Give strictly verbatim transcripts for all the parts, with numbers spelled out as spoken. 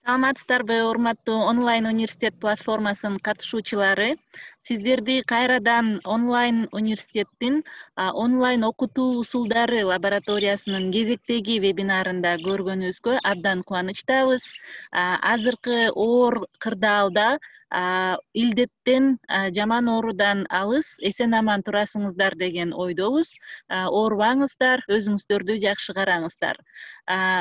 Саламатсыздарбы, урматтуу онлайн университет платформасынын катышуучулары. Сиздерди кайрадан онлайн университеттин онлайн окутуу усулдары лабораториясынын кезектеги вебинарында көргөнүбүзгө абдан кубанычтабыз. Азыркы оор кырдаалда илдеттен, жаман оорудан алыс, эсен аман турасыңыздар деген ойдобуз. Оорубаңыздар, өзүңүздөрдү жакшы караңыздар.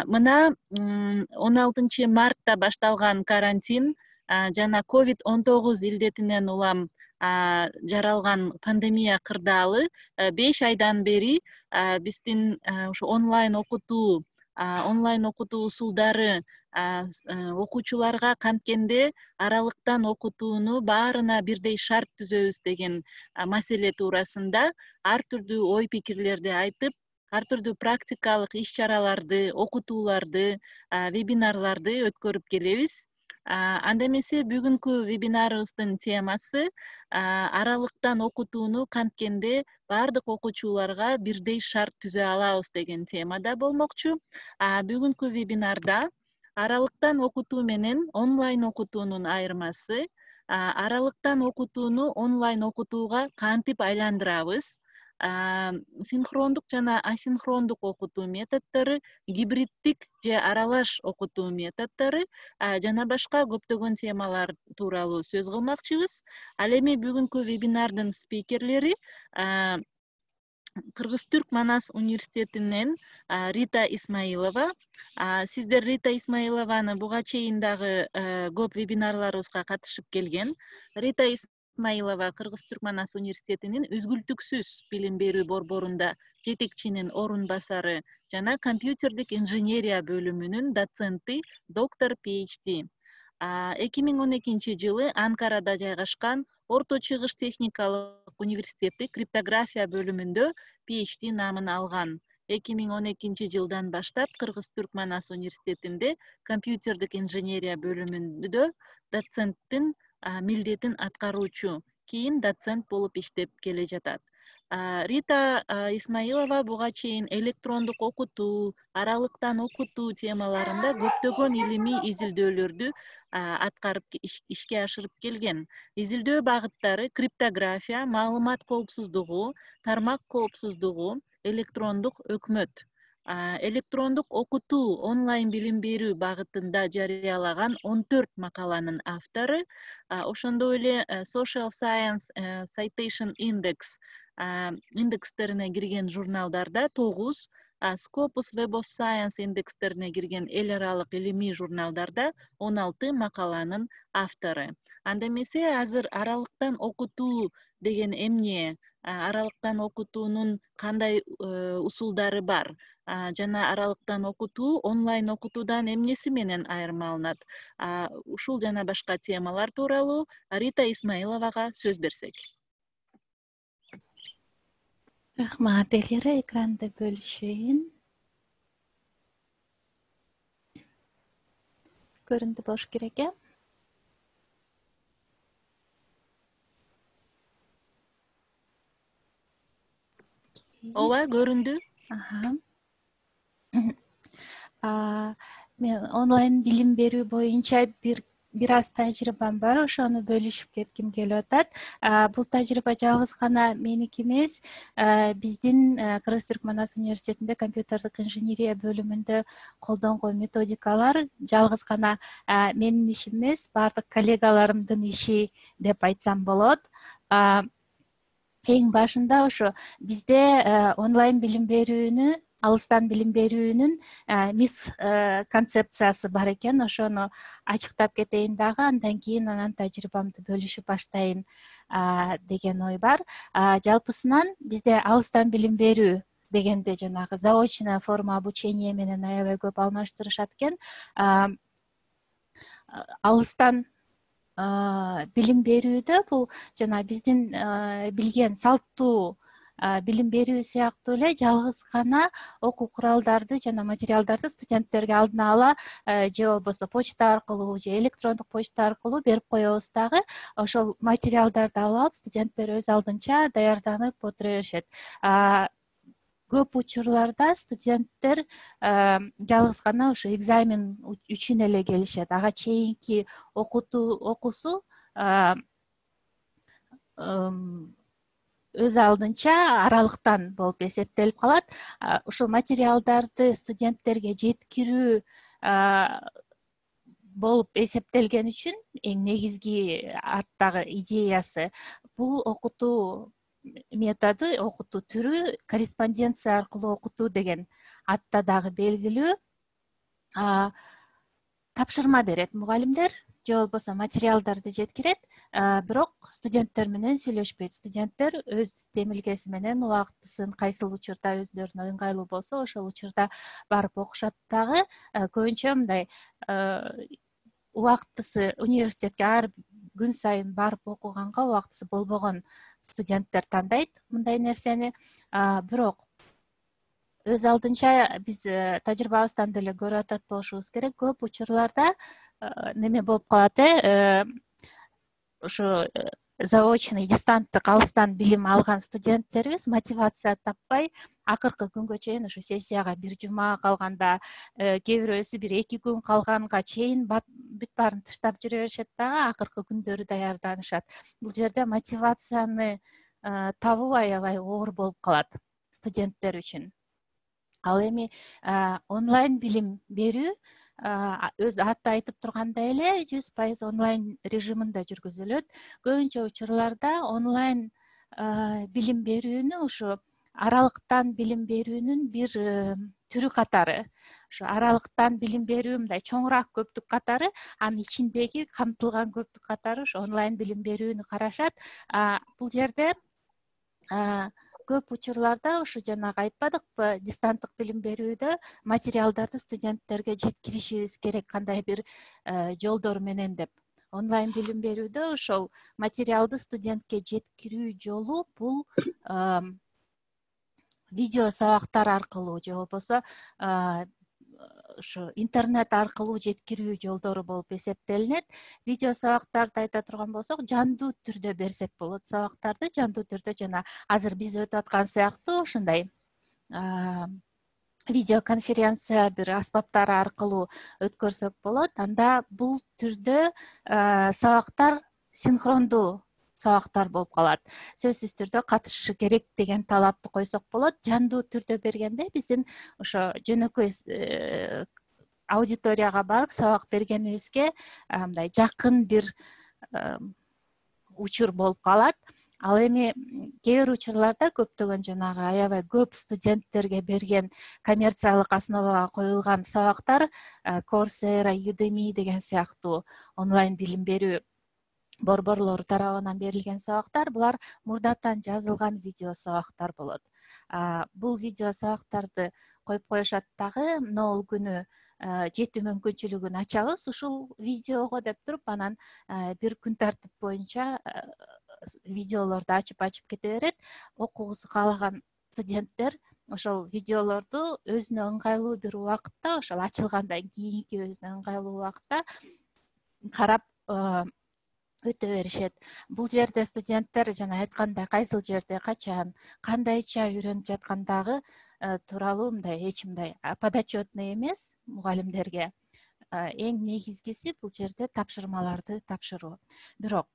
Мына он алтынчы мартта башталган карантин жана ковид он тогуз илдетинен улам жаралган пандемия кырдаалы беш айдан бери биздин ушу онлайн окутуу онлайн окутуу усулдары окуучуларга канткенде аралыктан окутууну баарына бирдей шарт түзөбүз деген маселе туурасында ар түрдүү ой пикирлерди айтып, ар түрдүү практикалык иш чараларды, окутууларды, вебинарларды өткөрүп келебиз. Анда эмесе бүгүнкү вебинарыбыздын темасы аралыктан окутууну канткенде баардык окуучуларга бирдей шарт түзө алабыз деген темада болмокчу. Бүгүнкү вебинарда аралыктан окутуу менен онлайн окутуунун айырмасы, аралыктан окутууну онлайн окутууга кантип айландырабыз, синхрондук жана асинхрондук окутуу методдору, гибриддик же аралаш окутуу методдору жана башка көптөгөн темалар тууралуу сөз кылмакчыбыз. Ал эми бүгүнкү вебинардын спикерлери Кыргыз-Түрк Манас университетинен Рита Исмаилова. Сиздер Рита Исмаилованы буга чейин дагы көп вебинарларыбызга катышып келген. Рита Исмаилова Кыргыз-Түрк Манас университетинин үзгүлтүксүз билим берүү борборунда жетекчинин орун басары жана компьютердик инженерия бөлүмүнүн доценти, доктор пи эйч ди. эки миң он экинчи жылы Анкарада жайгашкан Орто Чыгыш техникалык университети криптография бөлүмүндө пи эйч ди наамын алган. эки миң он экинчи жылдан баштап Кыргыз-Түрк Манас университетинде компьютердик инженерия бөлүмүндө доценттин милдетин аткаруучу, кийин доцент болуп иштеп келе жатат. Рита Исмаилова буга чейин электрондук окутуу, аралыктан окутуу темаларында көптөгөн илимий изилдөөлөрдү аткарып ишке ашырып келген. Изилдөө багыттары криптография, маалымат коопсуздугу, тармак коопсуздугу, электрондук өкмөт. Электрондук окутуу, онлайн билим берүү багытында жарыялаган он төрт макаланын автору, ошондой эле Social Science Citation Index индекстерине кирген журналдарда тогуз, Scopus Web of Science индекстерине кирген эл аралык илимий журналдарда он алты макаланын автору. Анда эмесе азыр аралыктан окутуу деген эмне, аралыктан окутуунун кандай усулдары бар жана аралыктан окутуу онлайн окутуудан эмнеси менен айырмаланат? Ушул жана башка темалар тууралуу Рита Исмаиловага сөз берсек. Рахмат, Элира, экранды бөлүшөйүн. Көрүндү болуш керек, э? Ооба, көрүндү. Мен онлайн билим берүү боюнча бир бир аз тажрыйбам бар, ошону бөлүшүп кетким келип атат. Бул тажрыйба жалгыз гана меники эмес, биздин Кыргыз-Түрк Манас университетинде компьютердик инженерия бөлүмүндө колдонгон методикалар жалгыз гана менин ишим эмес, баардык коллегаларымдын иши деп айтсам болот. Эң башында ошо бизде онлайн билим берүүнү, алыстан билим берүүнүн мис концепциясы бар экен. Ошону ачыктап кетейин дагы, андан кийин анан тажрыйбамды бөлүшүп баштайын деген ой бар. Жалпысынан бизде алыстан билим берүү дегенде жанагы заочная форма обучения менен аябай көп алмаштырышат экен. Алыстан билим берүүдө бул жана биздин билген салттуу билим берүү сыяктуу эле жалгыз гана окуу куралдарды жана материалдарды студенттерге алдына ала же болбосо почта аркылуу же электрондук почта аркылуу берип коебуз дагы. Ошол материалдарды алып алып студенттер өз алдынча даярданып отура беришет. көп учурларда студенттер жалгыз гана ошо экзамен үчүн эле келишет. Ага чейинки окутуу окуусу өз алдынча аралыктан болуп эсептелип калат. Ушул материалдарды студенттерге жеткирүү болуп эсептелген үчүн эң негизги арттагы идеясы бул окутуу методу, окутуу түрү корреспонденция аркылуу окутуу деген атта дагы белгилүү. Тапшырма берет мугалимдер же болбосо материалдарды жеткирет, бирок студенттер менен сүйлөшпөйт. Студенттер өз демилгеси менен убактысын кайсыл учурда өздөрүнө ыңгайлуу болсо ошол учурда барып окушат дагы. Көбүнчө мындай убактысы университетке ар күн сайын барып окуганга убактысы болбогон студенттер тандайт мындай нерсени. Бирок өз алдынча биз тажрыйбабыздан деле көрүп атат болушубуз керек. Көп учурларда неме болуп калат, э ошо заочный, дистанттык, алыстан билим алган студенттерибиз мотивация таппай, акыркы күнгө чейин ошо сессияга бир жума калганда, кээ бирөөсү бир эки күн калганга чейин бүт баарын тыштап жүрө беришет дагы акыркы күндөрү даярданышат. Бул жерде мотивацияны табуу аябай оор болуп калат студенттер үчүн. Ал эми онлайн билим берүү өз аты айтып тургандай эле жүз пайыз онлайн режиминде жүргүзүлөт. Көбүнчө учурларда онлайн билим берүүнү ушу аралыктан билим берүүнүн бир түрү катары. Ошо аралыктан билим берүү мындай чоңураак көптүк катары, анын ичиндеги камтылган көптүк катары ошо онлайн билим берүүнү карашат. Бул жерде көп учурларда ушу жанагы айтпадыкпы, дистанттык билим берүүдө материалдарды студенттерге жеткиришибиз керек кандай бир жолдор менен деп. Онлайн билим берүүдө ошол материалды студентке жеткирүү жолу бул видео сабактар аркылуу же болбосо ушу интернет аркылуу жеткирүү жолдору болуп эсептелинет. Видео сабактарды айта турган болсок, жандуу түрдө берсек болот. Сабактарды жандуу түрдө жана азыр биз өтүп аткан сыяктуу ушундай видеоконференция бир аспаптар аркылуу өткөрсөк болот. Анда бул түрдө сабактар синхрондуу сабактар болуп калат. Сөзсүз түрдө катышышы керек деген талапты койсок болот. Жандуу түрдө бергенде биздин ошо жөнөкөй аудиторияга барып сабак бергенибизге мындай жакын бир учур болуп калат. Ал эми кээ бир учурларда көптөгөн жанагы аябай көп студенттерге берген коммерциялык основага коюлган сабактар, Coursera, Udemy деген сыяктуу онлайн билим берүү борборлору тарабынан берилген сабактар, булар мурдатан жазылган видео сабактар болот. Бул видео сабактарды коюп коюшат дагы, могул күнү жетүү мүмкүнчүлүгүн ачабыз ушул видеого деп туруп, анан бир күн тартип боюнча видеолорду ачып-ачып кете берет. Окугусу каалаган студенттер ошол видеолорду өзүнө ыңгайлуу бир убакытта, ошол ачылгандан кийинки өзүнө ыңгайлуу убакытта карап өтө беришет. Бул жерде студенттер жана айткандай кайсыл жерде, качан, кандайча үйрөнүп жаткандагы тууралуу мындай эч мындай подотчетный эмес мугалимдерге. Эң негизгиси бул жерде тапшырмаларды тапшыруу. Бирок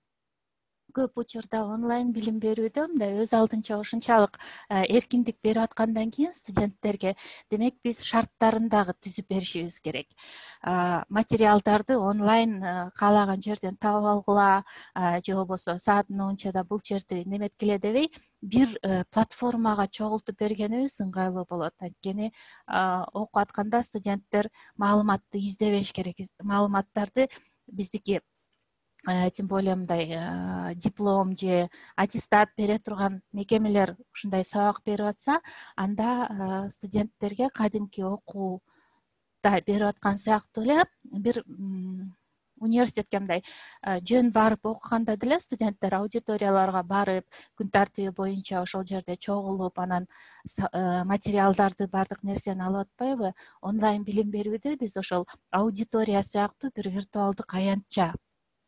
көп учурда онлайн билим берүүдө мындай өз алдынча ушунчалык эркиндик берип аткандан кийин студенттерге, демек биз шарттарын дагы түзүп беришибиз керек. Материалдарды онлайн каалаган жерден таап алгыла, же болбосо саат мынчада бул жерди неметкиле дебей, бир платформага чогултуп бергенибиз ыңгайлуу болот. Анткени окуп атканда студенттер маалыматты издебеш керек. Маалыматтарды биздики тем более мындай диплом же аттестат бере турган мекемелер ушундай сабак берип атса, анда студенттерге кадимки окууда берип аткан сыяктуу эле бир университетке мындай жөн барып окуганда деле студенттер аудиторияларга барып, күн тартиби боюнча ошол жерде чогулуп, анан материалдарды, баардык нерсени алып атпайбы? Онлайн билим берүүдө биз ошол аудитория сыяктуу бир виртуалдык аянтча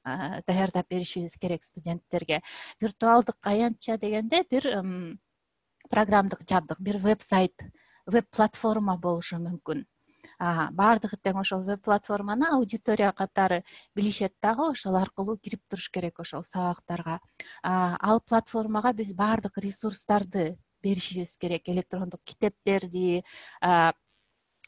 даярдап беришибиз керек студенттерге. Виртуалдык аянтча дегенде бир программдык жабдык, бир веб-сайт, веб-платформа болушу мүмкүн. Баардыгы тең ошол веб-платформаны аудитория катары билишет дагы, ошол аркылуу кирип туруш керек ошол сабактарга. Ал платформага биз баардык ресурстарды беришибиз керек, электрондук китептерди,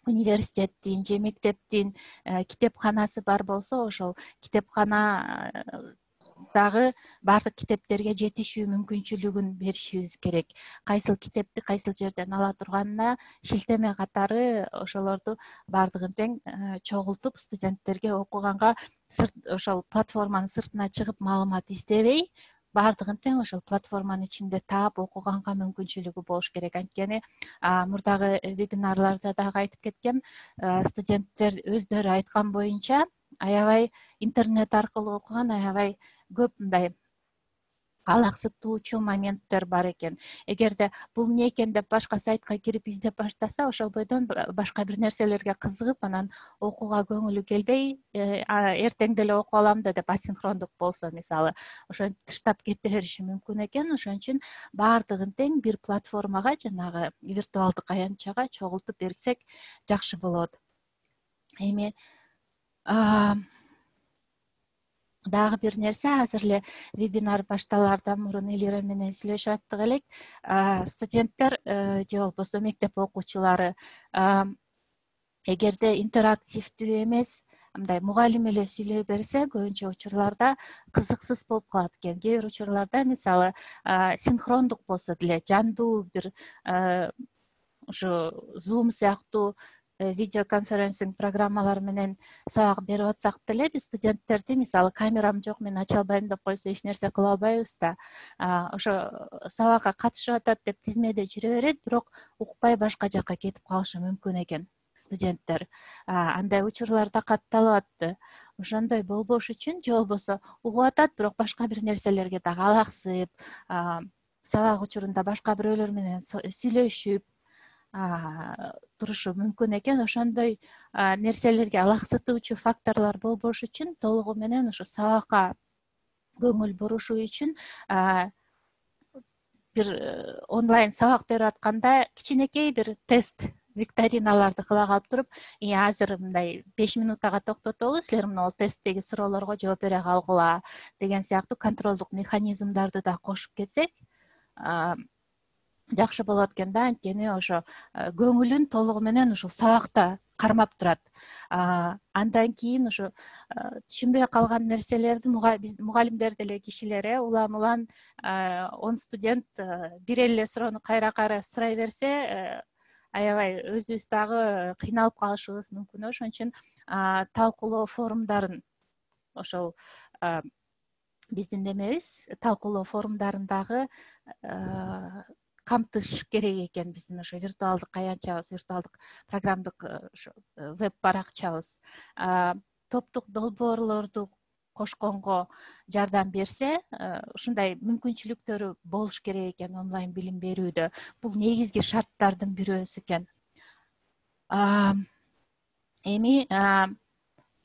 университеттин же мектептин китепканасы бар болсо, ошол китепкана дагы баардык китептерге жетишүү мүмкүнчүлүгүн беришибиз керек. Кайсыл китепти кайсыл жерден ала турганына шилтеме катары ошолорду баардыгын тең чогултуп, студенттерге окуганга ошол платформанын сыртына чыгып маалымат издебей, баардыгын тең ошол платформанын ичинде таап окуганга мүмкүнчүлүгү болуш керек. Анткени мурдагы вебинарларда дагы айтып кеткем, студенттер өздөрү айткан боюнча аябай интернет аркылуу окуган аябай көп мындай алаксытуучу моменттер бар экен. Эгерде бул эмне экен деп башка сайтка кирип издеп баштаса, ошол бойдон башка бир нерселерге кызыгып, анан окууга көңүлү келбей, эртең деле окуп алам да деп асинхрондук болсо, мисалы, ошентип тыштап кете бериши мүмкүн экен. Ошон үчүн баардыгын тең бир платформага, жанагы виртуалдык аянтчага чогултуп берсек жакшы болот. Эми дагы бир нерсе, азыр эле вебинар башталаардан мурун Элира менен сүйлөшүп аттык элек. Студенттер же болбосо мектеп окуучулары эгерде интерактивдүү эмес, мындай мугалим эле сүйлөй берсе, көбүнчө учурларда кызыксыз болуп калат экен. Кээ бир учурларда, мисалы, синхрондук болсо деле, жандуу бир ушу Zoom сыяктуу видеоконференсинг программалар менен сабак берип атсак деле, биз студенттерди, мисалы, камерам жок, мен ача албайм деп койсо эч нерсе кыла албайбыз да. Ошо сабакка катышып атат деп тизмеде жүрө берет, бирок укпай башка жакка кетип калышы мүмкүн экен студенттер. Андай учурларда катталып атты. Ошондой болбош үчүн, же болбосо угуп атат, бирок башка бир нерселерге дагы алаксып, сабак учурунда башка бирөөлөр менен сүйлөшүп турушу мүмкүн экен. Ошондой нерселерге алаксытуучу факторлор болбош үчүн толугу менен ушу сабакка көңүл бурушу үчүн бир онлайн сабак берип атканда кичинекей бир тест викториналарды кыла калып туруп, азыр мындай беш минутага токтотолу, силер мына тесттеги суроолорго жооп бере калгыла деген сыяктуу контролдук механизмдарды да кошуп кетсек жакшы болот экен да. Анткени ошо көңүлүн толугу менен ушул сабакта кармап турат. Андан кийин ушу түшүнбөй калган нерселерди биз мугалимдер деле кишилер, э улам улам он студент бир эле суроону кайра кайра сурай берсе, аябай өзүбүз дагы кыйналып калышыбыз мүмкүн. Ошон үчүн талкуулоо форумдарын, ошол биздин немебиз, талкуулоо форумдарын дагы камтыш керек экен. Биздин ошо виртуалдык аянтчабыз, виртуалдык программдык веб баракчабыз топтук долбоорлорду кошконго жардам берсе, ушундай мүмкүнчүлүктөрү болуш керек экен онлайн билим берүүдө. Бул негизги шарттардын бирөөсү экен. Эми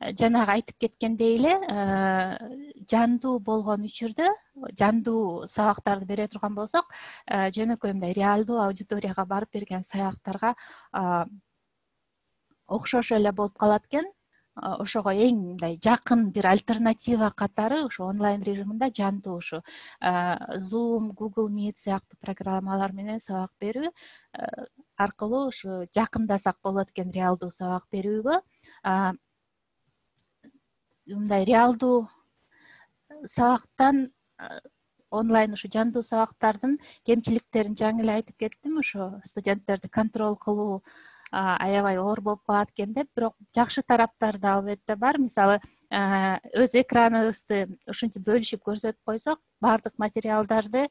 жанагы айтып кеткендей эле, жандуу болгон учурда, жандуу сабактарды бере турган болсок, жөнөкөй мындай реалдуу аудиторияга барып берген сабактарга окшош эле болуп калат экен. Ошого эң мындай жакын бир альтернатива катары ушу онлайн режиминде жандуу ушу Zoom, Google Meet сыяктуу программалар менен сабак берүү аркылуу ушу жакындасак болот экен реалдуу сабак берүүгө. Мындай реалдуу сабактан онлайн ушу жандуу сабактардын кемчиликтерин жаңы эле айтып кеттим. Ошо студенттерди контроль кылуу аябай оор болуп калат экен деп, бирок жакшы тараптары да албетте бар. Мисалы, өз экраныбызды ушинтип бөлүшүп көрсөтүп койсок, баардык материалдарды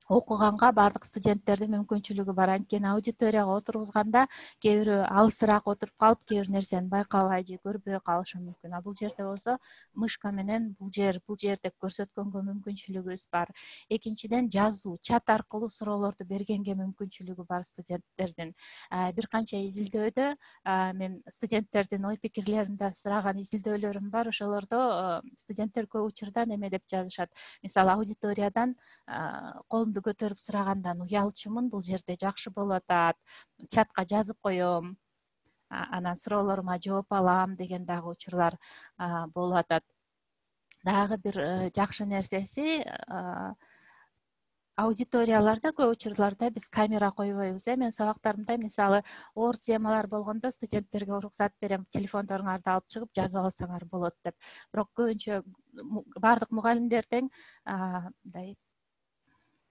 окуганга баардык студенттердин мүмкүнчүлүгү бар. Анткени аудиторияга отургузганда кээ бирөө алысыраак отуруп калып, кээ бир нерсени байкабай же көрбөй калышы мүмкүн. А бул жерде болсо мышка менен бул жер, бул жер деп көрсөткөнгө мүмкүнчүлүгүбүз бар. Экинчиден, жазуу, чат аркылуу суроолорду бергенге мүмкүнчүлүгү бар студенттердин. Бир канча изилдөөдө мен студенттердин ой пикирлеринде сураган изилдөөлөрүм бар. Ошолордо студенттер көп учурда неме деп жазышат. Мисалы, аудиториядан колун телефонду көтөрүп сурагандан уялчумун, бул жерде жакшы болуп атат, чатка жазып коем, анан суроолорума жооп алам деген дагы учурлар болуп атат. Дагы бир жакшы нерсеси, аудиторияларда көп учурларда биз камера койбойбуз. Мен сабактарымда мисалы оор темалар болгондо студенттерге уруксат берем, телефондоруңарды алып чыгып жазып алсаңар болот деп. Бирок көбүнчө баардык мугалимдер тең мындай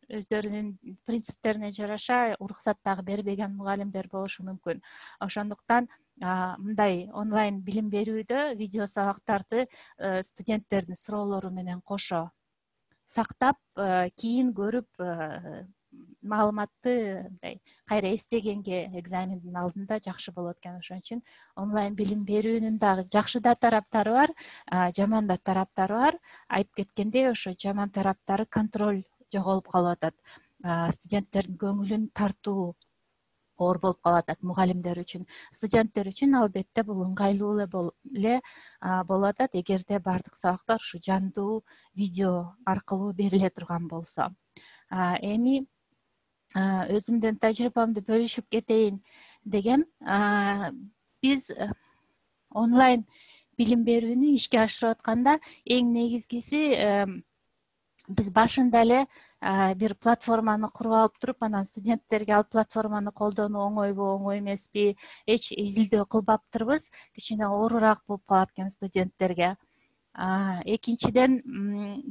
өздөрүнүн принциптерине жараша уруксат дагы бербеген мугалимдер болушу мүмкүн. Ошондуктан мындай онлайн билим берүүдө видео сабактарды студенттердин суроолору менен кошо сактап, кийин көрүп маалыматты мындай кайра эстегенге экзамендин алдында жакшы болот экен. Ошон үчүн онлайн билим берүүнүн дагы жакшы да тараптары бар, жаман да тараптары бар. Айтып кеткендей, ошо жаман тараптары контроль жоголуп калып атат. Студенттердин көңүлүн тартуу оор болуп калып атат мугалимдер үчүн. Студенттер үчүн албетте бул ыңгайлуу эле болуп атат, эгерде баардык сабактар ушу жандуу видео аркылуу бериле турган болсо. Эми өзүмдүн тажрыйбамды бөлүшүп кетейин дегем. Биз онлайн билим берүүнү ишке ашырып атканда эң негизгиси биз башында эле бир платформаны куруп алып туруп, анан студенттерге ал платформаны колдонуу оңойбу, оңой эмеспи, эч изилдөө кылбаптырбыз. Кичине оорураак болуп калат экен студенттерге. Экинчиден,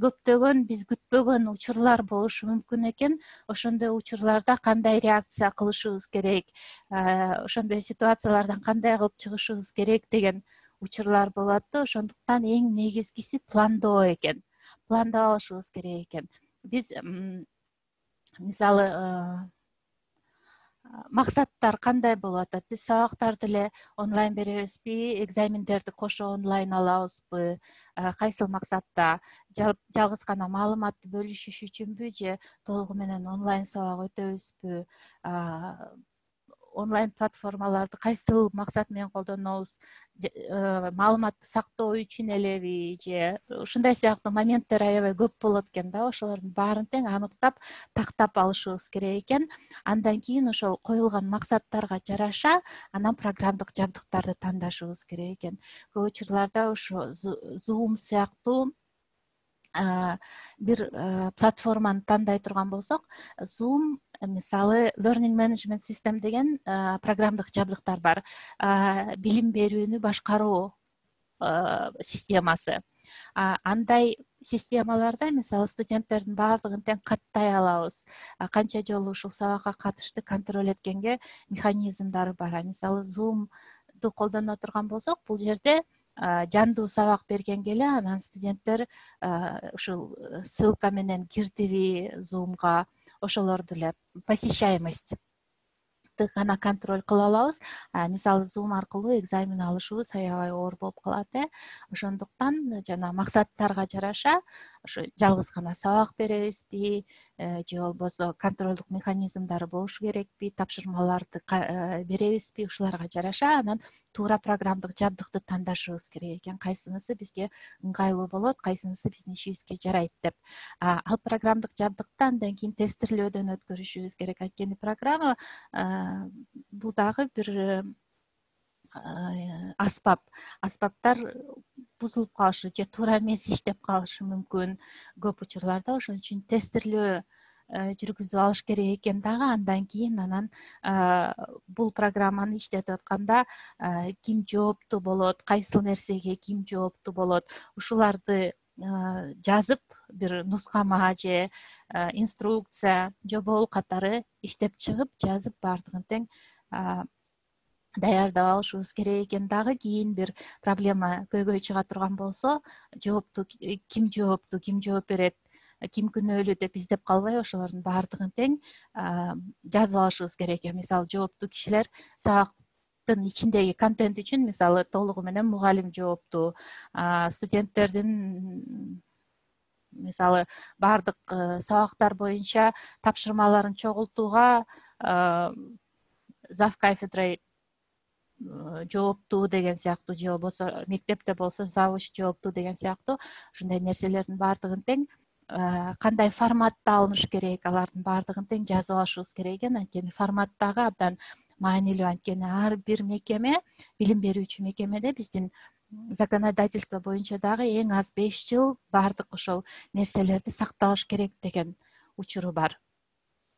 көптөгөн биз күтпөгөн учурлар болушу мүмкүн экен. Ошондой учурларда кандай реакция кылышыбыз керек, ошондой ситуациялардан кандай кылып чыгышыбыз керек деген учурлар болот да. Ошондуктан эң негизгиси пландоо экен. Пландап алышыбыз керек экен. Биз мисалы максаттар кандай болуп атат? Биз сабактарды эле онлайн беребизби, экзамендерди кошо онлайн алабызбы, кайсыл максатта? Жалгыз гана маалыматты бөлүшүш үчүнбү же толугу менен онлайн сабак өтөбүзбү? Онлайн платформаларды кайсыл максат менен колдонобуз? Маалыматты сактоо үчүн элеби же ушундай сыяктуу моменттер аябай көп болот экен да. Ошолордун баарын тең аныктап, тактап алышыбыз керек экен. Андан кийин ошол коюлган максаттарга жараша анан программдык жабдыктарды тандашыбыз керек экен. Көп учурларда ошо Zoom сыяктуу бир платформаны тандай турган болсок, Zoom мисалы Learning Management System деген программдык жабдыктар бар. Билим берүүнү башкаруу системасы. Андай системаларда мисалы студенттердин баардыгын тең каттай алабыз. Канча жолу ушул сабакка катышты контроль эткенге механизмдары бар. Мисалы Zoom'ду колдоно турган болсок, бул жерде жандуу сабак бергенге эле анан студенттер ушул ссылка менен кирдиби Zoom'га, ошолорду эле посещаемость гана контроль кыла алабыз. Мисалы Zoom аркылуу экзамен алышыбыз аябай оор болуп калат. Ошондуктан жана максаттарга жараша ошо жалгыз гана сабак беребизби же болбосо контролдук механизмдары болушу керекпи, тапшырмаларды беребизби, ушуларга жараша анан туура программдык жабдыкты тандашыбыз керек экен. Кайсынысы бизге ыңгайлуу болот, кайсынысы биздин ишибизге жарайт деп. Ал программдык жабдыкты андан кийин тестирлөөдөн өткөрүшүбүз керек. Анткени программа бул дагы бир аспап. Аспаптар бузулуп калышы же туура эмес иштеп калышы мүмкүн көп учурларда. Ошон үчүн тестирлөө жүргүзүп алыш керек экен дагы. Андан кийин анан бул программаны иштетип атканда ким жооптуу болот, кайсыл нерсеге ким жооптуу болот, ушуларды жазып бир нускама же инструкция, жобол катары иштеп чыгып, жазып баардыгын тең даярдап алышыбыз керек экен дагы. Кийин бир проблема көйгөй чыга турган болсо, жоопту ким жооптуу, ким жооп берет, ким күнөөлүү деп издеп калбай, ошолордун баардыгын тең жазып алышыбыз керек экен. Мисалы жооптуу кишилер сабактын ичиндеги контент үчүн мисалы толугу менен мугалим жооптуу, студенттердин мисалы баардык сабактар боюнча тапшырмаларын чогултууга зав кафедрой жооптуу деген сыяктуу, же болбосо мектепте болсо завуч жооптуу деген сыяктуу ушундай нерселердин баардыгын тең кандай форматта алыныш керек, алардын баардыгын тең жазып алышыбыз керек экен. Анткени формат дагы абдан маанилүү. Анткени ар бир мекеме, билим берүүчү мекемеде биздин законодательство боюнча дагы эң аз беш жыл баардык ошол нерселерди сакталыш керек деген учуру бар.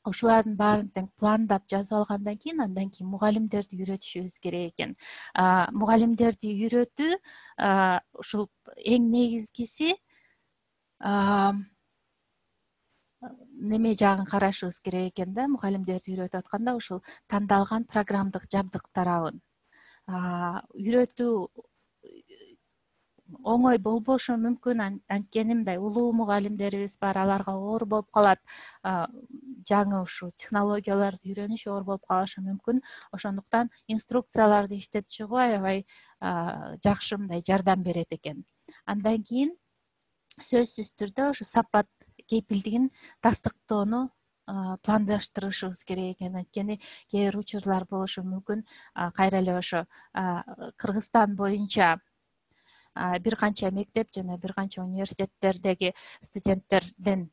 Ушулардын баарын тең пландап жазып алгандан кийин андан кийин мугалимдерди үйрөтүшүбүз керек экен. Мугалимдерди үйрөтүү ушул эң негизгиси неме жагын карашыбыз керек экен да. Мугалимдерди үйрөтүп атканда ушул тандалган программдык жабдык тарабын үйрөтүү оңой болбошу мүмкүн. Анткени мындай улуу мугалимдерибиз бар, аларга оор болуп калат. Жаңы ушул технологияларды үйрөнүш оор болуп калышы мүмкүн. Ошондуктан инструкцияларды иштеп чыгуу аябай жакшы мындай жардам берет экен. Андан кийин сөзсүз түрдө ошо сапат кепилдигин тастыктоону пландаштырышыбыз керек экен. Анткени кээ бир учурлар болушу мүмкүн. Кайра эле ошо Кыргызстан боюнча бир канча мектеп жана бир канча университеттердеги студенттерден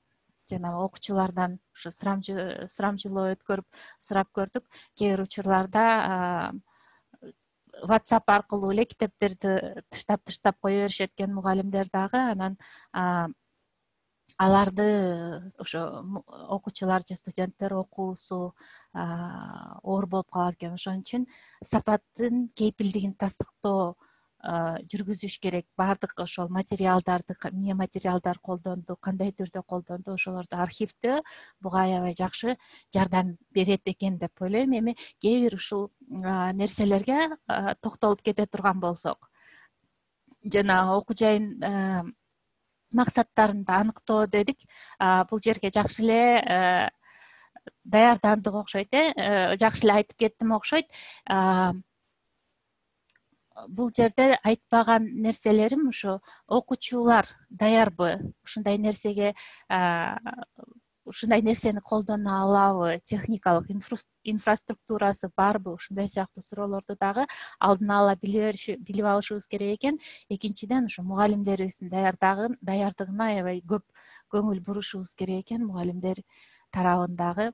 жана окуучулардан ушу сурамжылоо өткөрүп сурап көрдүк. Кээ бир учурларда WhatsApp аркылуу эле китептерди тыштап тыштап кое беришет экен мугалимдер дагы. Анан аларды ошо окуучулар же студенттер окуусу оор болуп калат экен. Ошон үчүн сапаттын кепилдигин тастыктоо жүргүзүш керек. Баардык ошол материалдарды, эмне материалдар колдонду, кандай түрдө колдонду, ошолорду архивдөө буга аябай жакшы жардам берет экен деп ойлойм. Эми кээ бир ушул нерселерге токтолуп кете турган болсок, жана окуу жайын максаттарын аныктоо дедик. Бул жерге жакшы эле даярдандык окшойт, э жакшы эле айтып кеттим окшойт. Бул жерде айтпаган нерселерим ушу окуучулар даярбы, ушундай нерсеге ушундай нерсени колдоно алабы, техникалык инфраструктурасы барбы, ушундай сыяктуу суроолорду дагы алдын ала билип алышыбыз керек экен. Экинчиден ушу мугалимдерибиздин даярдыгына аябай көп көңүл бурушубуз керек экен. Мугалимдер тарабын дагы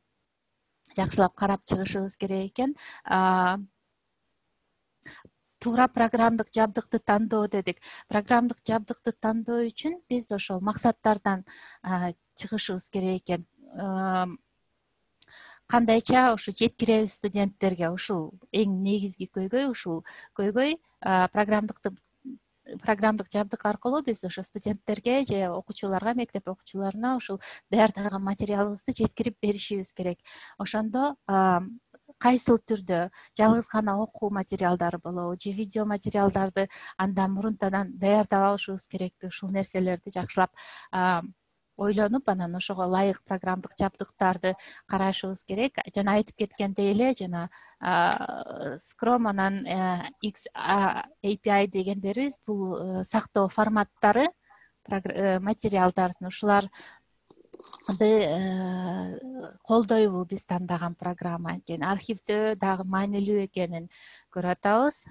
жакшылап карап чыгышыбыз керек экен. Туура программдык жабдыкты тандоо дедик. Программдык жабдыкты тандоо үчүн биз ошол максаттардан чыгышыбыз керек экен. Кандайча ушу жеткиребиз студенттерге? Ушул эң негизги көйгөй. Ушул көйгөй программдык программдык жабдык аркылуу биз ошо студенттерге же окуучуларга, мектеп окуучуларына ушул даярдаган материалыбызды жеткирип беришибиз керек. Ошондо кайсыл түрдө жалгыз гана окуу материалдары болобу же видео материалдарды андан мурунтадан даярдап алышыбыз керекпи? Ушул нерселерди жакшылап ойлонуп, анан ошого ылайык программдык жабдыктарды карашыбыз керек. Жана айтып кеткендей эле, жана Scrum анан X A P I дегендерибиз бул сактоо форматтары материалдардын, ушуларды колдойбу биз тандаган программа. Анткени архивдөө дагы маанилүү экенин көрүп атабыз.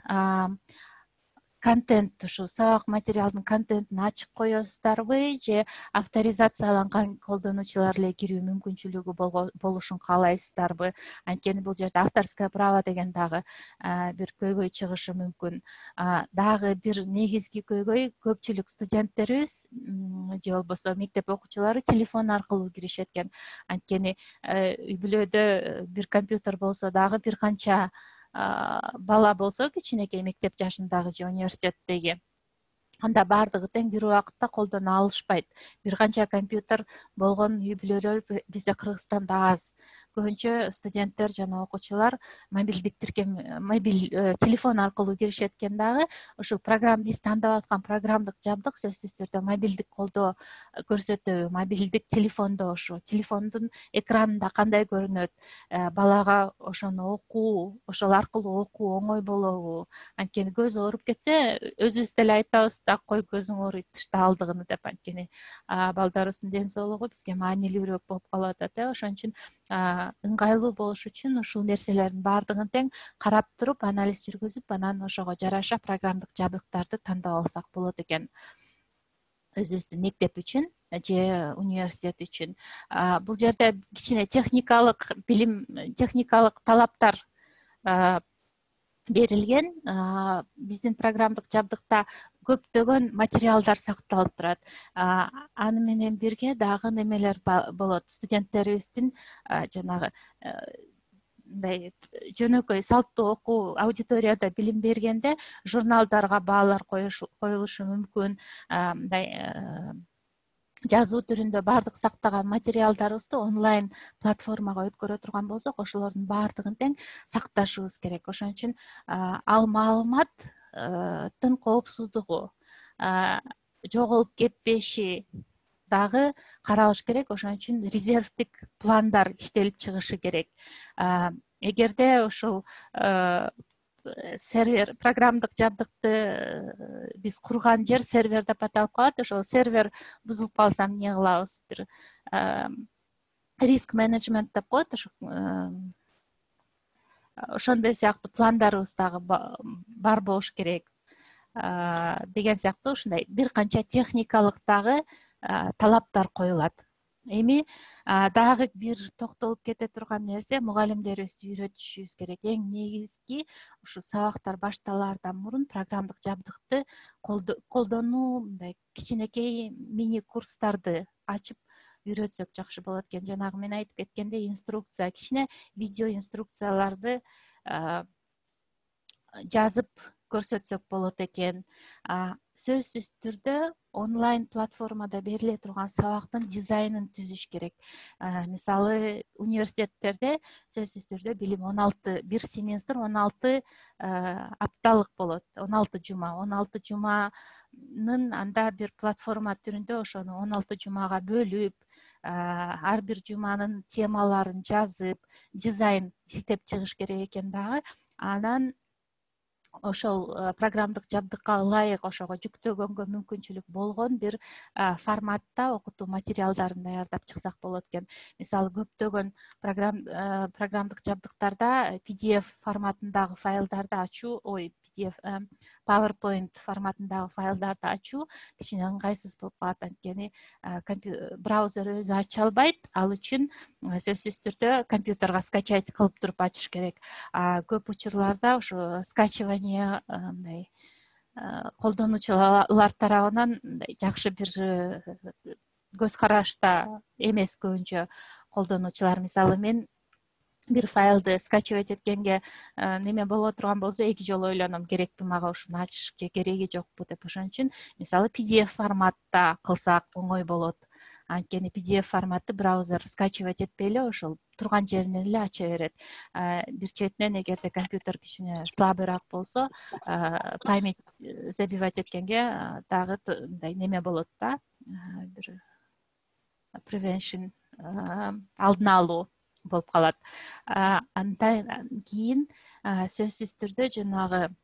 Контент, ушу сабак материалдын контентин ачык коесуздарбы же авторизацияланган колдонуучулар эле кирүү мүмкүнчүлүгү болушун каалайсыздарбы? Анткени бул жерде авторское право деген дагы бир көйгөй чыгышы мүмкүн. Дагы бир негизги көйгөй, көпчүлүк студенттерибиз же болбосо мектеп окуучулары телефон аркылуу киришет экен. Анткени үй бүлөдө бир компьютер болсо дагы бир канча бала болсо, кичинекей мектеп жашындагы же университеттеги, анда баардыгы тең бир убакытта колдоно алышпайт. Бир канча компьютер болгон үй бүлөлөр бизде Кыргызстанда аз. Көбүнчө студенттер жана окуучулар мобилдик тиркем, мобил телефон аркылуу киришет экен дагы. Ушул программа биз тандап аткан программдык жабдык сөзсүз түрдө мобилдик колдоо көрсөтөбү? Мобилдик телефондо ошо телефондун экранында кандай көрүнөт? Балага ошону окуу, ошол аркылуу окуу оңой болобу? Анткени көзү ооруп кетсе, өзүбүз деле айтабыз, так кой көзүң ооруйт, тышта алдыгыны деп. Анткени балдарыбыздын ден соолугу бизге маанилүүрөөк болуп калып атат. Ошон үчүн ыңгайлуу болуш үчүн ушул нерселердин баардыгын тең карап туруп, анализ жүргүзүп, анан ошого жараша программдык жабдыктарды тандап алсак болот экен. өзүбүздүн мектеп үчүн же университет үчүн. Бул жерде кичине техникалык билим, техникалык талаптар берилген. Биздин программдык жабдыкта көптөгөн материалдар сакталып турат. Аны менен бирге дагы немелер болот. Студенттерибиздин жанагы мындай жөнөкөй салттуу окуу аудиторияда билим бергенде журналдарга баалар коюлушу мүмкүн. Мындай жазуу түрүндө баардык сактаган материалдарыбызды онлайн платформага өткөрө турган болсок, ошолордун баардыгын тең сакташыбыз керек. Ошон үчүн ал маалыматтын коопсуздугу, жоголуп кетпеши дагы каралыш керек. Ошон үчүн резервдик пландар иштелип чыгышы керек. Эгерде ушул сервер, программдык жабдыкты биз курган жер сервер деп аталып калат. Ошол сервер бузулуп калса эмне кылабыз? Бир риск менеджмент деп коет. Ошондой сыяктуу пландарыбыз дагы бар болуш керек деген сыяктуу ушундай бир канча техникалык дагы талаптар коюлат. Эми дагы бир токтолуп кете турган нерсе, мугалимдерибизди үйрөтүшүбүз керек. Эң негизги ушу сабактар башталаардан мурун программдык жабдыкты колдонуу, мындай кичинекей мини курстарды ачып үйрөтсөк жакшы болот экен. Жанагы мен айтып кеткендей, инструкция, кичине видео инструкцияларды жазып көрсөтсөк болот экен. Сөзсүз түрдө онлайн платформада бериле турган сабактын дизайнын түзүш керек. Мисалы, университеттерде сөзсүз түрдө билим он алты, бир семестр он алты апталык болот. он алты жума, он алты жуманын анда бир платформа түрүндө ошону он алты жумага бөлүп, ар бир жуманын темаларын жазып, дизайн иштеп чыгыш керек экен дагы. Анан ошол программдык жабдыкка ылайык ошого жүктөгөнгө мүмкүнчүлүк болгон бир форматта окутуу материалдарын даярдап чыксак болот экен. Мисалы, көптөгөн программдык жабдыктарда пи ди эф форматындагы файлдарды ачуу, ой, пи ди эф, PowerPoint форматындагы файлдарды ачуу кичине ыңгайсыз болуп калат. Анткени браузер өзү ача албайт. Ал үчүн сөзсүз түрдө компьютерге скачать кылып туруп ачыш керек. Көп учурларда ошо скачивание мындай колдонуучулар тарабынан жакшы бир көз карашта эмес көбүнчө колдонуучулар. Мисалы, мен бир файлды скачивать эткенге неме боло турган болсо эки жолу ойлоном, керекпи мага ушуну ачыш же кереги жокпу деп. Ошон үчүн мисалы пи ди эф форматта кылсак оңой болот. Анткени пи ди эф форматты браузер скачивать этпей эле ошол турган жеринен эле ача берет. Бир четинен, эгерде компьютер кичине слабыйраак болсо, память забивать эткенге дагы мындай неме болот да, бир prevention, алдын алуу болуп калат. Андан кийин сөзсүз түрдө жанагы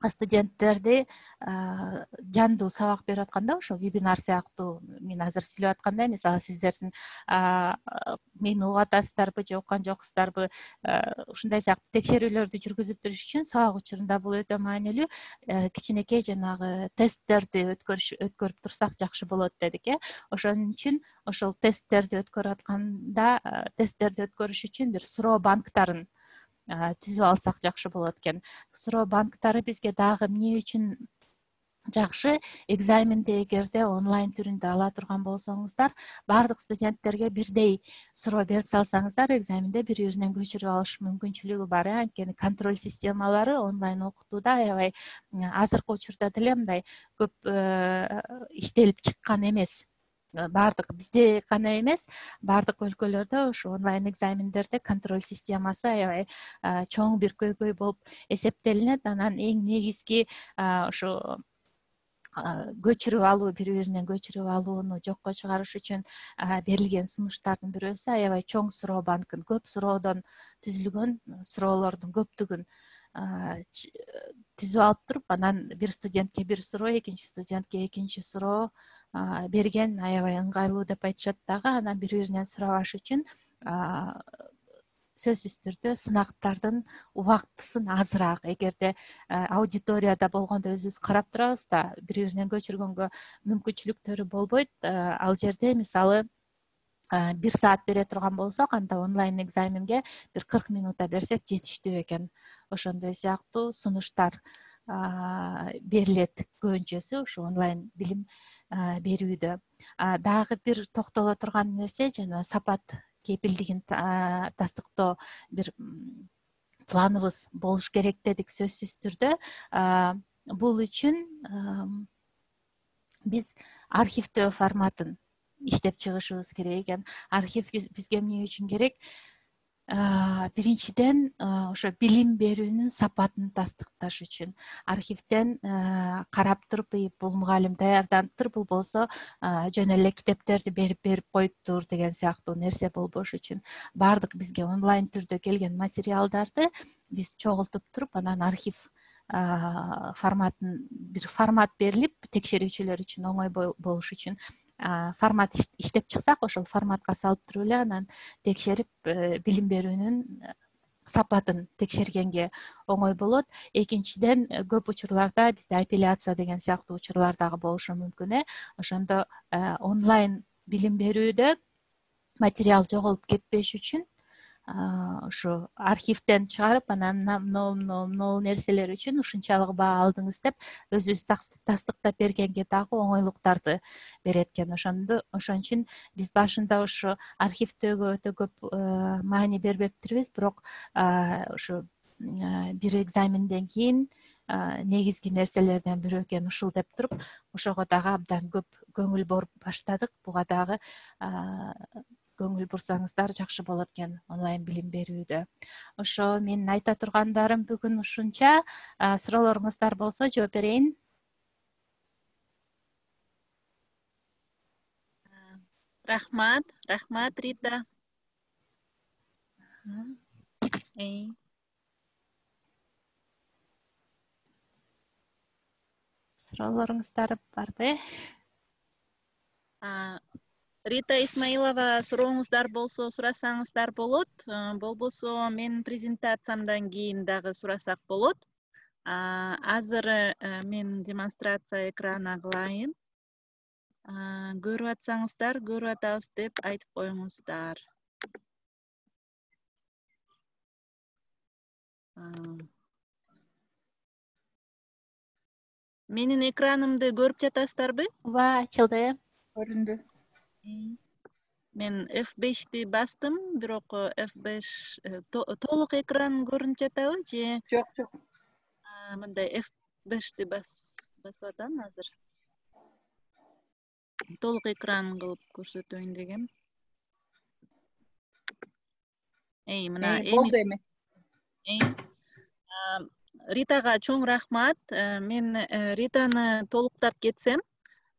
студенттерди жандуу сабак берип атканда, ошо вебинар сыяктуу мен азыр сүйлөп аткандай, мисалы, сиздердин мени угуп атасыздарбы же уккан жоксуздарбы, ушундай сыяктуу текшерүүлөрдү жүргүзүп туруш үчүн сабак учурунда бул өтө маанилүү. Кичинекей жанагы тесттерди өткөрүп турсак жакшы болот дедик, э. Ошон үчүн ошол тесттерди өткөрүп атканда, тесттерди өткөрүш үчүн бир суроо банктарын түзүп алсак жакшы болот экен. Суроо банктары бизге дагы эмне үчүн жакшы? Экзаменди эгерде онлайн түрүндө ала турган болсоңуздар, баардык студенттерге бирдей суроо берип салсаңыздар, экзаменде бири-биринен көчүрүп алыш мүмкүнчүлүгү бар. Анткени контроль системалары онлайн окутууда аябай азыркы учурда деле мындай көп иштелип чыккан эмес. Баардык бизде гана эмес, баардык өлкөлөрдө ушу онлайн экзамендерде контроль системасы аябай чоң бир көйгөй болуп эсептелинет. Анан эң негизги ошо көчүрүп алуу, бири-биринен көчүрүп алууну жокко чыгарыш үчүн берилген сунуштардын бирөөсү аябай чоң суроо банкын, көп суроодон түзүлгөн суроолордун көптүгүн түзүп алып туруп, анан бир студентке бир суроо, экинчи студентке экинчи суроо берген аябай ыңгайлуу деп айтышат дагы. Анан бири-биринен сурабаш үчүн сөзсүз түрдө сынактардын убактысын азыраак, эгерде аудиторияда болгондо өзүбүз карап турабыз да, бири биринен көчүргөнгө мүмкүнчүлүктөрү болбойт. Ал жерде мисалы бир саат бере турган болсок, анда онлайн экзаменге бир кырк минутта берсек жетиштүү экен. Ошондой сыяктуу сунуштар берилет көбүнчөсү ушу онлайн билим берүүдө. Дагы бир токтоло турган нерсе жана сапат кепилдигин тастыктоо бир планыбыз болуш керек дедик сөзсүз түрдө. Бул үчүн биз архивдөө форматын иштеп чыгышыбыз керек экен. Архив бизге эмне үчүн керек? Биринчиден ошо билим берүүнүн сапатын тастыкташ үчүн. Архивден карап туруп, бул мугалим даярданыптыр, бул болсо жөн эле китептерди берип берип коюптур деген сыяктуу нерсе болбош үчүн баардык бизге онлайн түрдө келген материалдарды биз чогултуп туруп, анан архив форматын бир формат берилип, текшерүүчүлөр үчүн оңой болуш үчүн формат иштеп чыксак, ошол форматка салып туруп эле анан текшерип билим берүүнүн сапатын текшергенге оңой болот. Экинчиден, көп учурларда бизде апелляция деген сыяктуу учурлар дагы болушу мүмкүн. Ошондо онлайн билим берүүдө материал жоголуп кетпеш үчүн ушу архивден чыгарып, анан могу могу нерселер үчүн ушунчалык баа алдыңыз деп өзүбүз тастыктап бергенге дагы оңойлуктарды берет экен. Ошондо ошон үчүн биз башында ушу архивдөөгө өтө көп маани бербептирбиз, бирок ушу бир экзаменден кийин негизги нерселерден бирөө экен ушул деп туруп, ошого дагы абдан көп көңүл буруп баштадык. Буга дагы көңүл бурсаңыздар жакшы болот экен онлайн билим берүүдө. Ошо менин айта тургандарым бүгүн ушунча. Суроолоруңуздар болсо жооп берейин. Рахмат, рахмат Рита. Суроолоруңуздар барбы? Рита Исмаилова, сурооңуздар болсо сурасаңыздар болот. Болбосо менин презентациямдан кийин дагы сурасак болот. Азыр мен демонстрация экрана кылайын. Көрүп атсаңыздар, көрүп атабыз деп айтып коюңуздар. Менин экранымды көрүп жатасыздарбы? Ооба, ачылды. Көрүндү. Мен эф бешти бастым, бирок эф беш толук экран көрүнүп жатабы же? Жок, жок. Мындай эф бешти басып атам азыр. Толук экран кылып көрсөтөйүн дегем. Эй, мына болду эми. Ритага чоң рахмат. Мен Ританы толуктап кетсем,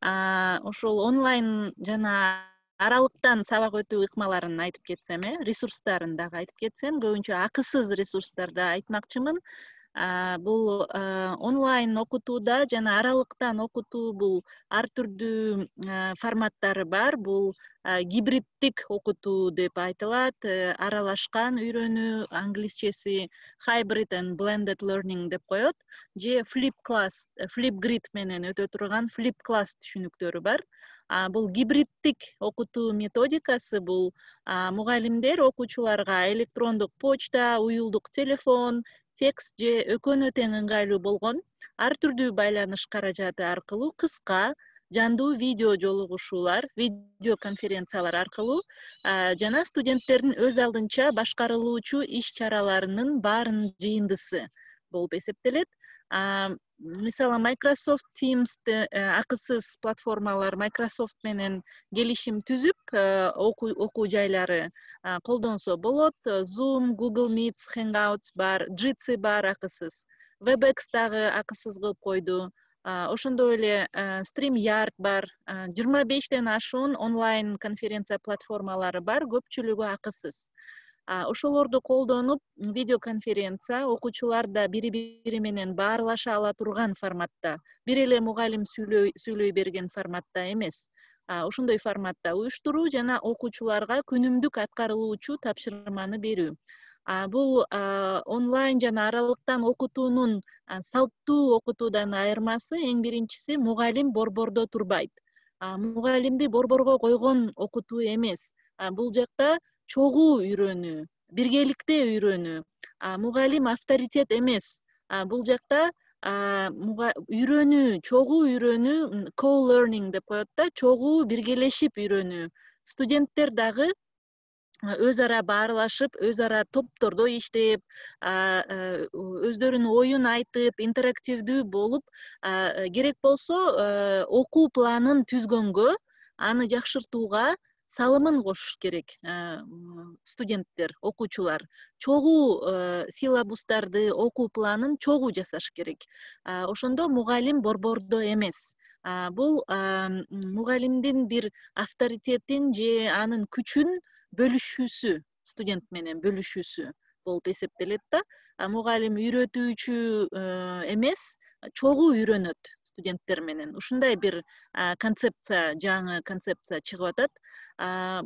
ошол онлайн жана аралыктан сабак өтүү ыкмаларын айтып кетсем, э, ресурстарын дагы айтып кетсем, көбүнчө акысыз ресурстарды айтмакчымын. Бул онлайн окутууда жана аралыктан окутуу бул ар түрдүү форматтары бар. Бул гибриддик окутуу деп айтылат. Аралашкан үйрөнүү, англисчеси hybrid and blended learning деп коет. Же flip class, flip grid менен өтө турган flip class түшүнүктөрү бар. Бул гибриддик окутуу методикасы бул мугалимдер окуучуларга электрондук почта, уюлдук телефон, текст же экөөнө тең ыңгайлуу болгон ар түрдүү байланыш каражаты аркылуу кыска, жандуу видео жолугушуулар, видео конференциялар аркылуу жана студенттердин өз алдынча башкарылуучу иш чараларынын баарынын жыйындысы болуп эсептелет. Мисалы Microsoft Teams акысыз платформалар Microsoft менен келишим түзүп, окуу жайлары колдонсо болот. Zoom, Google Meet, Hangouts бар, Jitsi бар акысыз. WebEx дагы акысыз кылып койду. Ошондой эле StreamYard бар. жыйырма бештен ашуун онлайн конференция платформалары бар, көпчүлүгү акысыз. Ошолорду колдонуп, видеоконференция окуучулар да бири-бири менен баарлаша ала турган форматта, бир эле мугалим сүйлөй берген форматта эмес, ошондой форматта уюштуруу жана окуучуларга күнүмдүк аткарылуучу тапшырманы берүү. Бул онлайн жана аралыктан окутуунун салттуу окутуудан айырмасы эң биринчиси мугалим борбордо турбайт. Мугалимди борборго койгон окутуу эмес. Бул жакта чогуу үйрөнүү, биргеликте үйрөнүү. Мугалим авторитет эмес. Бул жакта үйрөнүү, чогуу үйрөнүү, co-learning деп коет да, чогуу биргелешип үйрөнүү. Студенттер дагы өз ара баарлашып, өз ара топтордо иштеп, өздөрүнүн оюн айтып, интерактивдүү болуп, керек болсо окуу планын түзгөнгө, аны жакшыртууга салымын кошуш керек. Студенттер, окуучулар чогуу силабустарды, окуу планын чогуу жасаш керек. Ошондо мугалим борбордо эмес. Бул мугалимдин бир авторитетин же анын күчүн бөлүшүүсү, студент менен бөлүшүүсү болуп эсептелет да. Мугалим үйрөтүүчү эмес, чогуу үйрөнөт студенттер менен. Ушундай бир концепция, жаңы концепция чыгып атат.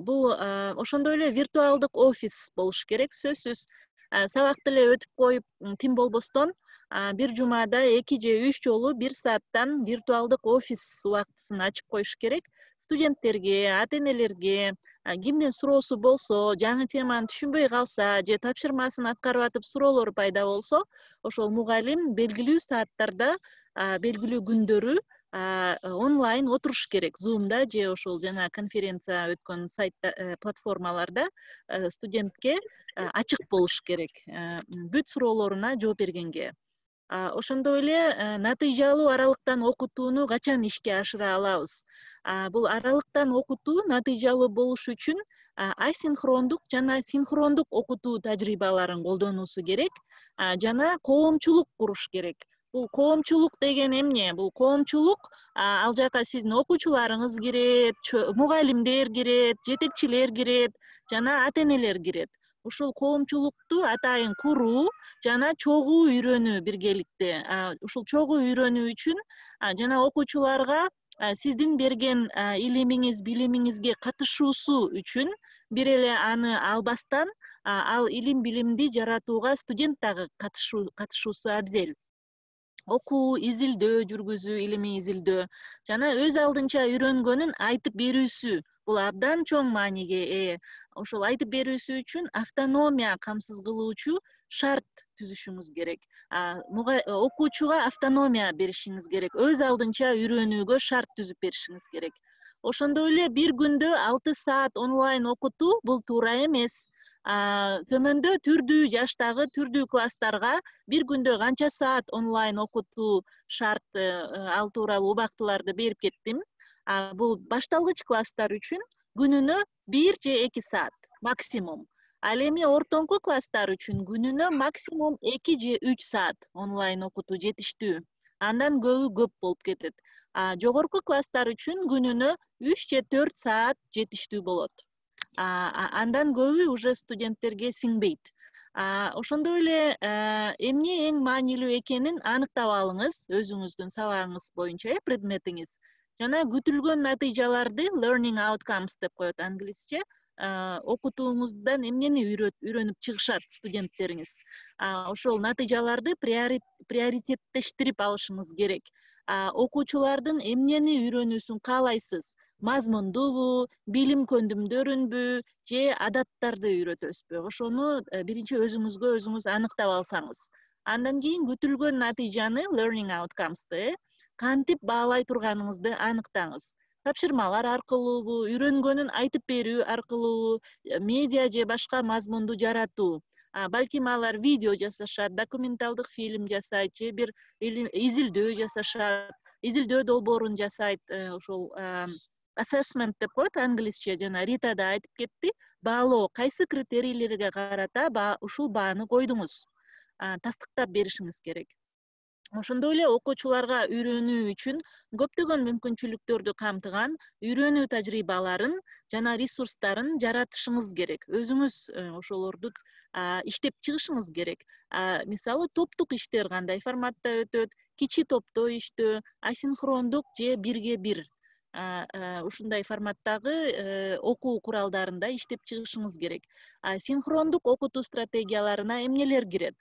Бул ошондой эле виртуалдык офис болуш керек, сөзсүз. Сабакты эле өтүп коюп, тим болбостон бир жумада эки же үч жолу бир сааттан виртуалдык офис убактысын ачып коюш керек. Студенттерге, ата-энелерге кимдин суроосу болсо, жаңы теманы түшүнбөй калса же тапшырмасын аткарып атып суроолор пайда болсо, ошол мугалим белгилүү сааттарда, белгилүү күндөрү онлайн отуруш керек. Zoom'да же ошол жана конференция өткөн сайтта, платформаларда студентке ачык болуш керек, бүт суроолоруна жооп бергенге. Ошондой эле натыйжалуу аралыктан окутууну качан ишке ашыра алабыз? Бул аралыктан окутуу натыйжалуу болуш үчүн асинхрондук жана синхрондук окутуу тажрыйбаларын колдонуусу керек, жана коомчулук куруш керек. Бул коомчулук деген эмне? Бул коомчулук, ал жака сиздин окуучуларыңыз кирет, мугалимдер кирет, жетекчилер кирет, жана ата-энелер кирет. Ушул коомчулукту атайын куруу жана чогуу үйрөнүү биргеликте. Ушул чогуу үйрөнүү үчүн жана окуучуларга сиздин берген илимиңиз, билимиңизге катышуусу үчүн бир эле аны албастан, ал илим билимди жаратууга студент дагы катышуусу абзел. Окуу, изилдөө жүргүзүү, илимий изилдөө жана өз алдынча үйрөнгөнүн айтып берүүсү бул абдан чоң мааниге ээ. Ошол айтып берүүсү үчүн автономия камсыз кылуучу шарт түзүшүңүз керек. Окуучуга автономия беришиңиз керек. Өз алдынча үйрөнүүгө шарт түзүп беришиңиз керек. Ошондой эле бир күндө алты саат онлайн окутуу бул туура эмес. Төмөндө түрдүү жаштагы, түрдүү класстарга бир күндө канча саат онлайн окутуу шарт, ал тууралуу убактыларды берип кеттим. Бул башталгыч класстар үчүн күнүнө бир же эки саат максимум. Ал эми ортоңку класстар үчүн күнүнө максимум эки же үч саат онлайн окутуу жетиштүү. Андан көбү көп болуп кетет. Жогорку класстар үчүн күнүнө үч же төрт саат жетиштүү болот. Андан көбү уже студенттерге сиңбейт. Ошондой эле эмне эң маанилүү экенин аныктап алыңыз өзүңүздүн сабагыңыз боюнча, предметиңиз. Жана күтүлгөн натыйжаларды learning outcomes деп коет англисче, окутууңуздан эмнени үйрөнүп чыгышат студенттериңиз. Ошол натыйжаларды приоритеттештирип алышыңыз керек. Окуучулардын эмнени үйрөнүүсүн каалайсыз? Мазмундубу, билим көндүмдөрүнбү же адаттарды үйрөтөсүзбү? Ошону биринчи өзүңүзгө өзүңүз аныктап алсаңыз. Андан кийин күтүлгөн натыйжаны learning outcomes'ты кантип баалай турганыңызды аныктаңыз. Тапшырмалар аркылуубу, үйрөнгөнүн айтып берүү аркылуубу, медиа же башка мазмунду жаратуу. Балким алар видео жасашат, документалдык фильм жасайт же бир изилдөө жасашат, изилдөө долбоорун жасайт. Ошол assessment деп коет англисче, жана Рита да айтып кетти. Баалоо, кайсы критерийлерге карата ушул бааны койдуңуз? Тастыктап беришиңиз керек. Ошондой эле окуучуларга үйрөнүү үчүн көптөгөн мүмкүнчүлүктөрдү камтыган үйрөнүү тажрыйбаларын жана ресурстарын жаратышыңыз керек. Өзүңүз ошолорду иштеп чыгышыңыз керек. Мисалы, топтук иштер кандай форматта өтөт, кичи топто иштөө, асинхрондук же бирге бир. ушундай форматтагы окуу куралдарында иштеп чыгышыңыз керек. Синхрондук окутуу стратегияларына эмнелер кирет?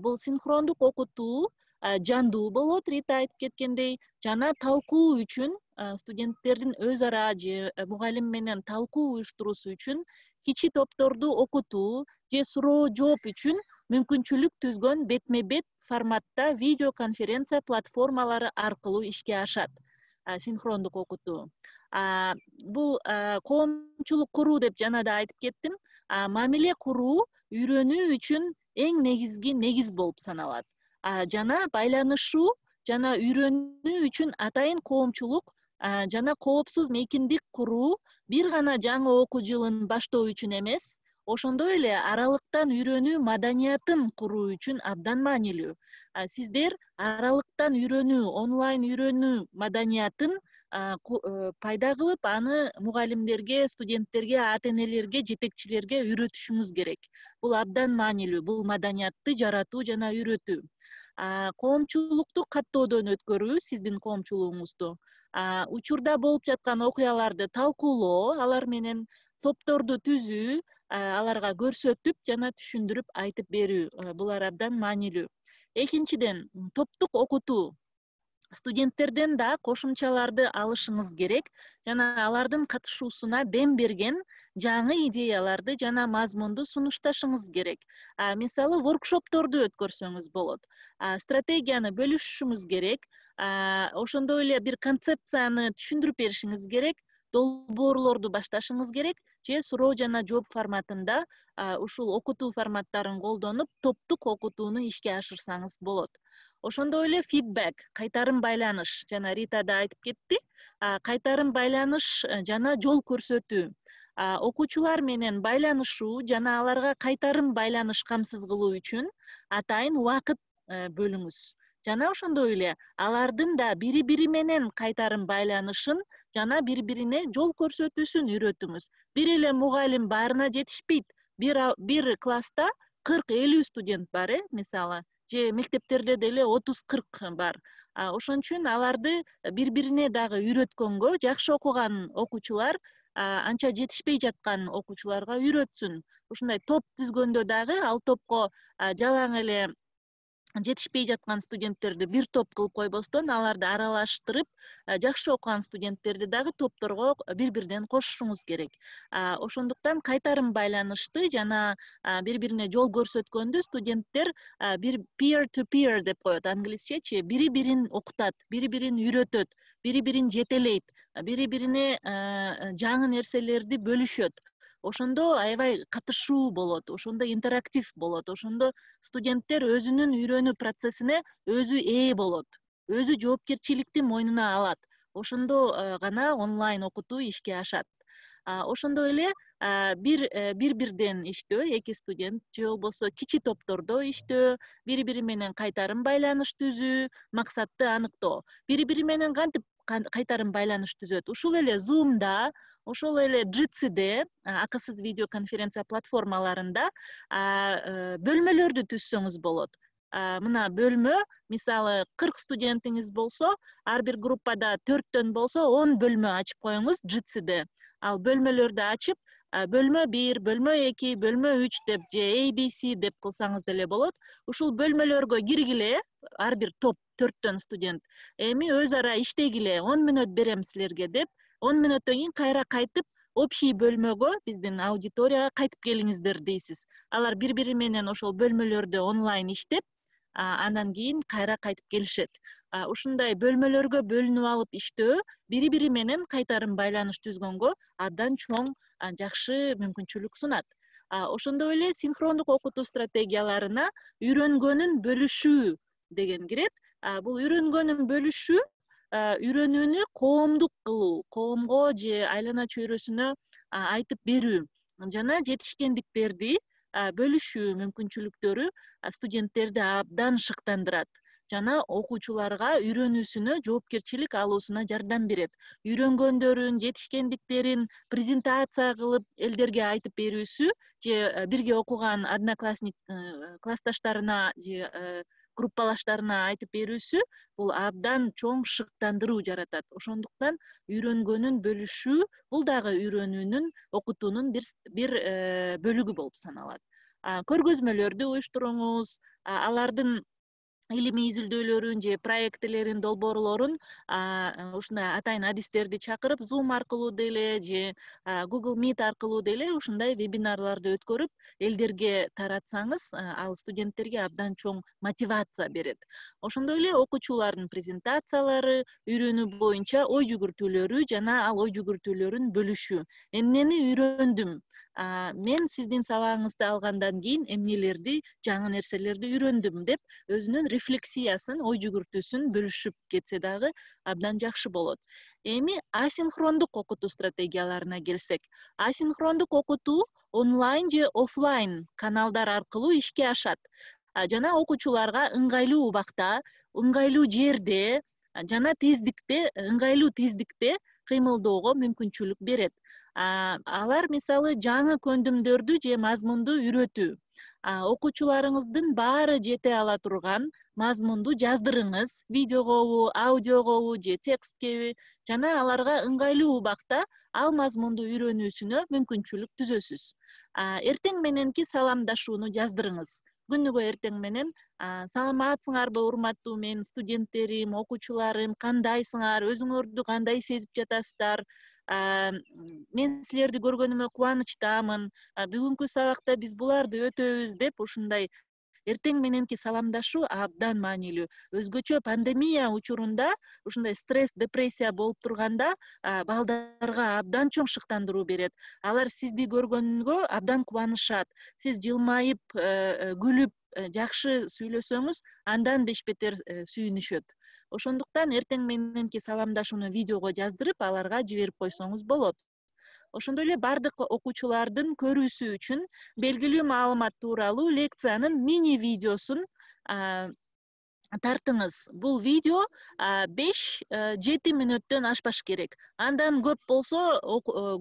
Бул синхрондук окутуу жандуу болот, Рита айтып кеткендей, жана талкуу үчүн студенттердин өз ара же мугалим менен талкуу уюштуруусу үчүн кичи топторду окутуу же суроо жооп үчүн мүмкүнчүлүк түзгөн бетме бет форматта видеоконференция платформалары аркылуу ишке ашат синхрондук окутуу. Бул коомчулук куруу деп жана да айтып кеттим. Мамиле куруу үйрөнүү үчүн эң негизги негиз болуп саналат. Жана байланышуу жана үйрөнүү үчүн атайын коомчулук жана коопсуз мейкиндик куруу бир гана жаңы окуу жылын баштоо үчүн эмес, ошондой эле аралыктан үйрөнүү маданиятын куруу үчүн абдан маанилүү. Сиздер аралыктан үйрөнүү, онлайн үйрөнүү маданиятын пайда кылып, аны мугалимдерге, студенттерге, ата энелерге, жетекчилерге үйрөтүшүңүз керек. Бул абдан маанилүү, бул маданиятты жаратуу жана үйрөтүү. Коомчулукту каттоодон өткөрүү, сиздин коомчулугуңузду, учурда болуп жаткан окуяларды талкуулоо, алар менен топторду түзүү, аларга көрсөтүп жана түшүндүрүп айтып берүү, булар абдан маанилүү. Экинчиден, топтук окутуу. Студенттерден да кошумчаларды алышыңыз керек жана алардын катышуусуна дем берген жаңы идеяларды жана мазмунду сунушташыңыз керек. Мисалы, воркшопторду өткөрсөңүз болот. Стратегияны бөлүшүшүңүз керек. Ошондой эле бир концепцияны түшүндүрүп беришиңиз керек. Долбоорлорду башташыңыз керек же суроо жана жооп форматында ушул окутуу форматтарын колдонуп, топтук окутууну ишке ашырсаңыз болот. Ошондой эле фидбек, кайтарым байланыш, жана Рита да айтып кетти, кайтарым байланыш жана жол көрсөтүү. Окуучулар менен байланышуу жана аларга кайтарым байланыш камсыз кылуу үчүн атайын убакыт бөлүңүз. Жана ошондой эле алардын да бири-бири менен кайтарым байланышын жана бири-бирине жол көрсөтүүсүн үйрөтүңүз. Бир эле мугалим баарына жетишпейт. Бир бир класста кырк элүү студент бар, э, мисалы, же мектептерде деле отуз кырк бар. Ошон үчүн аларды бири-бирине дагы үйрөткөнгө, жакшы окуган окуучулар анча жетишпей жаткан окуучуларга үйрөтсүн. Ушундай топ түзгөндө дагы ал топко жалаң эле жетишпей жаткан студенттерди бир топ кылып койбостон, аларды аралаштырып, жакшы окуган студенттерди дагы топторго бири-биринен кошушуңуз керек. Ошондуктан кайтарым байланышты жана бири-бирине жол көрсөткөндү студенттер бир peer to peer деп коет англисчечи, бири-бирин окутат, бири-бирин үйрөтөт, бири-бирин жетелейт, бири-бирине жаңы нерселерди бөлүшөт. Ошондо аябай катышуу болот, ошондо интерактив болот, ошондо студенттер өзүнүн үйрөнүү процессине өзү ээ болот, өзү жоопкерчиликти мойнуна алат. Ошондо гана онлайн окутуу ишке ашат. Ошондой эле бир бир-бирден иштөө, эки студент же болбосо кичи топтордо иштөө, бири-бири менен кайтарым байланыш түзүү, максатты аныктоо. Бири-бири менен кантип кайтарым байланыш түзөт? Ушул эле Zoom'да, ошол эле Jitsi акысыз видеоконференция платформаларында бөлмөлөрдү түзсөңүз болот. Мына бөлмө, мисалы, кырк студентиңиз болсо, ар бир группада төрттөн болсо он бөлмө ачып коюңуз Jitsi'de. Ал бөлмөлөрдү ачып, бөлмө бир, бөлмө эки, бөлмө үч деп же A B C деп кылсаңыз деле болот. Ушул бөлмөлөргө киргиле, ар бир топ төрттөн студент. Эми өз ара иштегиле, он мүнөт берем силерге деп, он мүнөттөн кийин кайра кайтып, общий бөлмөгө, биздин аудиторияга кайтып келиңиздер дейсиз. Алар бири-бири менен ошол бөлмөлөрдө онлайн иштеп, андан кийин кайра кайтып келишет. Ушундай бөлмөлөргө бөлүнүп алып иштөө бири-бири менен кайтарым байланыш түзгөнгө абдан чоң жакшы мүмкүнчүлүк сунат. Ошондой эле синхрондук окутуу стратегияларына үйрөнгөнүн бөлүшүү деген кирет. Бул үйрөнгөнүн бөлүшүү үйрөнүүнү коомдук кылуу, коомго же айлана чөйрөсүнө айтып берүү жана жетишкендиктерди бөлүшүү мүмкүнчүлүктөрү студенттерди абдан шыктандырат жана окуучуларга үйрөнүүсүнө жоопкерчилик алуусуна жардам берет. Үйрөнгөндөрүн, жетишкендиктерин презентация кылып элдерге айтып берүүсү же бирге окуган одноклассник классташтарына же группалаштарына айтып берүүсү бул абдан чоң шыктандыруу жаратат. Ошондуктан үйрөнгөнүн бөлүшүү бул дагы үйрөнүүнүн, окутуунун бир бир бөлүгү болуп саналат. Көргөзмөлөрдү уюштуруңуз, алардын илимий изилдөөлөрүн же проектилерин, долбоорлорун ушундай атайын адистерди чакырып, Zoom аркылуу деле же Google Meet аркылуу деле ушундай вебинарларды өткөрүп, элдерге таратсаңыз, ал студенттерге абдан чоң мотивация берет. Ошондой эле окуучулардын презентациялары, үйрөнүү боюнча ой жүгүртүүлөрү жана ал ой жүгүртүүлөрүн бөлүшүү. Эмнени үйрөндүм? Мен сиздин сабагыңызды алгандан кийин эмнелерди, жаңы нерселерди үйрөндүм деп өзүнүн рефлексиясын, ой жүгүртүүсүн бөлүшүп кетсе дагы абдан жакшы болот. Эми асинхрондук окутуу стратегияларына келсек, асинхрондук окутуу онлайн же офлайн каналдар аркылуу ишке ашат. Жана окуучуларга ыңгайлуу убакта, ыңгайлуу жерде жана тездикте, ыңгайлуу тездикте кыймылдоого мүмкүнчүлүк берет. Алар мисалы жаңы көндүмдөрдү же мазмунду үйрөтүү. Окуучуларыңыздын баары жете ала турган мазмунду жаздырыңыз, видеогобу, аудиогобу же тексткеби, жана аларга ыңгайлуу убакта ал мазмунду үйрөнүүсүнө мүмкүнчүлүк түзөсүз. Эртең мененки саламдашууну жаздырыңыз. Күнүгө эртең менен саламатсыңарбы урматтуу менин студенттерим, окуучуларым, кандайсыңар, өзүңөрдү кандай сезип жатасыздар? Мен силерди көргөнүмө кубанычтамын. Бүгүнкү сабакта биз буларды өтөбүз деп ушундай эртең мененки саламдашуу абдан маанилүү. Өзгөчө пандемия учурунда ушундай стресс, депрессия болуп турганда балдарга абдан чоң шыктандыруу берет. Алар сизди көргөнгө абдан кубанышат. Сиз жылмайып, күлүп, жакшы сүйлөсөңүз, андан беш бетер сүйүнүшөт. Ошондуктан эртең мененки саламдашууну видеого жаздырып, аларга жиберип койсоңуз болот. Ошондой эле бардык окуучулардын көрүүсү үчүн белгилүү маалымат тууралуу лекциянын мини видеосун тартыңыз. Бул видео беш жети мүнөттөн ашпаш керек. Андан көп болсо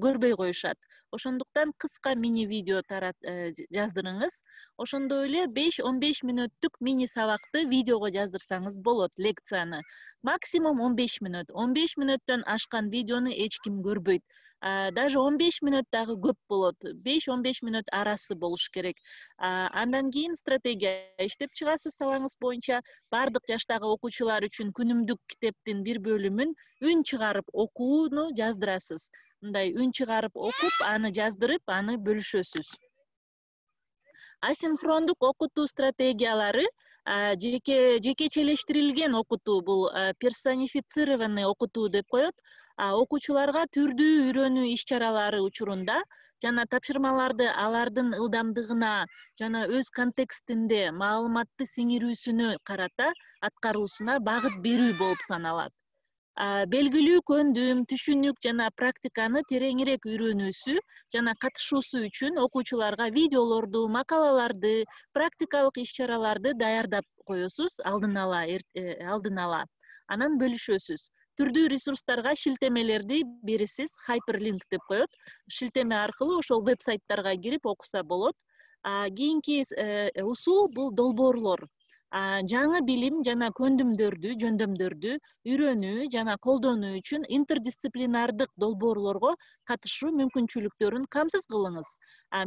көрбөй коюшат. Ошондуктан кыска мини видео жаздырыңыз. Ошондой эле беш он беш мүнөттүк мини сабакты видеого жаздырсаңыз болот, лекцияны. Максимум он беш мүнөт. он беш мүнөттөн ашкан видеону эч ким көрбөйт. Даже он беш мүнөт дагы көп болот. беш он беш мүнөт арасы болуш керек. Андан кийин стратегия иштеп чыгасыз сабагыңыз боюнча. Бардык жаштагы окуучулар үчүн күнүмдүк китептин бир бөлүмүн үн чыгарып окууну жаздырасыз. Мындай үн чыгарып окуп, аны жаздырып, аны бөлүшөсүз. Асинхрондук окутуу стратегиялары жеке жекечелештирилген окутуу, бул персонифицированный окутуу деп коет. Окуучуларга түрдүү үйрөнүү иш-чаралары учурунда жана тапшырмаларды алардын ылдамдыгына жана өз контекстинде маалыматты сиңирүүсүнө карата аткаруусуна багыт берүү болуп саналат. Белгилүү көндүм, түшүнүк жана практиканы тереңирээк үйрөнүүсү жана катышуусу үчүн окуучуларга видеолорду, макалаларды, практикалык иш-чараларды даярдап коесуз алдын ала, алдын ала. Анан бөлүшөсүз. Түрдүү ресурстарга шилтемелерди бересиз, хайперлинк деп коет. Шилтеме аркылуу ошол веб-сайттарга кирип окуса болот. Кийинки усул бул долбоорлор. Жаңы билим жана көндүмдөрдү, жөндөмдөрдү үйрөнүү жана колдонуу үчүн интердисциплинардык долбоорлорго катышуу мүмкүнчүлүктөрүн камсыз кылыңыз.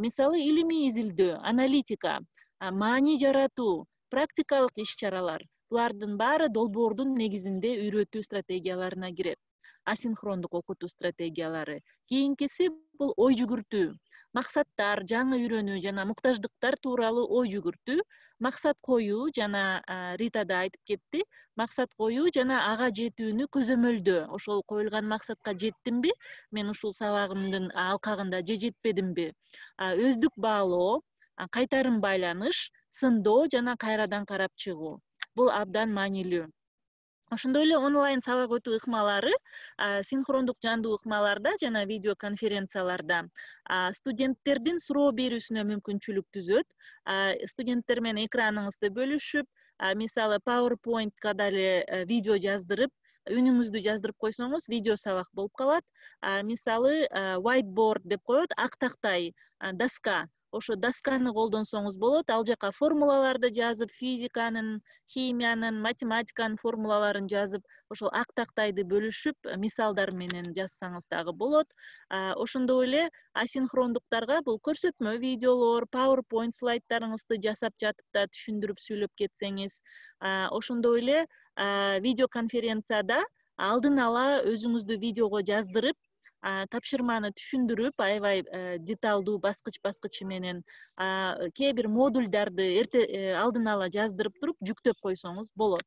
Мисалы, илимий изилдөө, аналитика, маани жаратуу, практикалык иш-чаралар. Булардын баары долбоордун негизинде үйрөтүү стратегияларына кирет. Асинхрондук окутуу стратегиялары. Кийинкиси бул ой жүгүртүү. Максаттар, жаңы үйрөнүү жана муктаждыктар тууралуу ой жүгүртүү, максат коюу жана Рита да айтып кетти, максат коюу жана ага жетүүнү көзөмөлдөө. Ошол коюлган максатка жеттимби? Мен ушул сабагымдын алкагында же жетпедимби? Өздүк баалоо, кайтарым байланыш, сындоо жана кайрадан карап чыгуу. Бул абдан маанилүү. Ошондой эле онлайн сабак өтүү ыкмалары, синхрондук жандуу ыкмаларда жана видеоконференцияларда студенттердин суроо берүүсүнө мүмкүнчүлүк түзөт. Студенттер менен экраныңызды бөлүшүп, мисалы PowerPoint-ка дале видео жаздырып, үнүңүздү жаздырып койсоңуз, видео сабак болуп калат. Мисалы whiteboard деп коет, ак тактай доска. ошо досканы колдонсоңуз болот. Ал жака формулаларды жазып, физиканын, химиянын, математиканын формулаларын жазып, ошол ак тактайды бөлүшүп, мисалдар менен жазсаңыз дагы болот. Ошондой эле асинхрондуктарга бул көрсөтмө видеолор, PowerPoint слайдтарыңызды жасап жатып да түшүндүрүп сүйлөп кетсеңиз, ошондой эле видеоконференцияда алдын ала өзүңүздү видеого жаздырып, тапшырманы түшүндүрүп, аябай деталдуу баскыч баскычы менен кээ бир модульдарды эрте алдын ала жаздырып туруп жүктөп койсоңуз болот.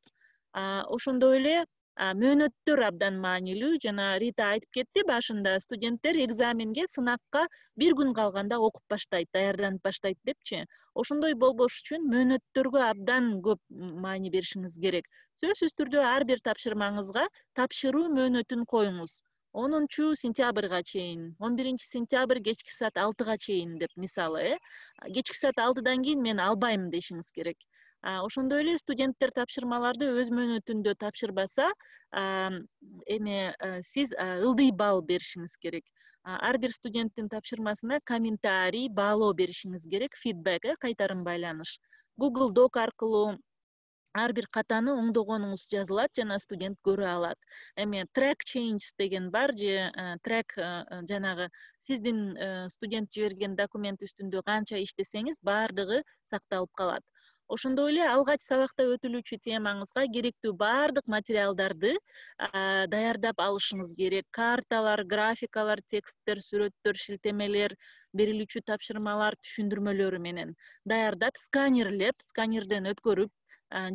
Ошондой эле мөөнөттөр абдан маанилүү. Жана Рита айтып кетти башында, студенттер экзаменге, сынакка бир күн калганда окуп баштайт, даярданып баштайт депчи. Ошондой болбош үчүн мөөнөттөргө абдан көп маани беришиңиз керек. Сөзсүз түрдө ар бир тапшырмаңызга тапшыруу мөөнөтүн коюңуз. онунчу сентябрга чейин, он биринчи сентябрь кечки саат алтыга чейин деп, мисалы, э кечки саат алтыдан кийин мен албайм дешиңиз керек. Ошондой эле студенттер тапшырмаларды өз мөөнөтүндө тапшырбаса, эме сиз ылдый балл беришиңиз керек. Ар бир студенттин тапшырмасына комментарий, баалоо беришиңиз керек, фидбек, э кайтарым байланыш. Google Doc аркылуу ар бир катаны оңдогонуңуз жазылат жана студент көрө алат. Эми track changes деген бар, же track жанагы сиздин студент жиберген документ үстүндө канча иштесеңиз, баардыгы сакталып калат. Ошондой эле алгач сабакта өтүлүүчү темаңызга керектүү баардык материалдарды даярдап алышыңыз керек. Карталар, графикалар, тексттер, сүрөттөр, шилтемелер, берилүүчү тапшырмалар, түшүндүрмөлөрү менен даярдап, сканерлеп, сканерден өткөрүп,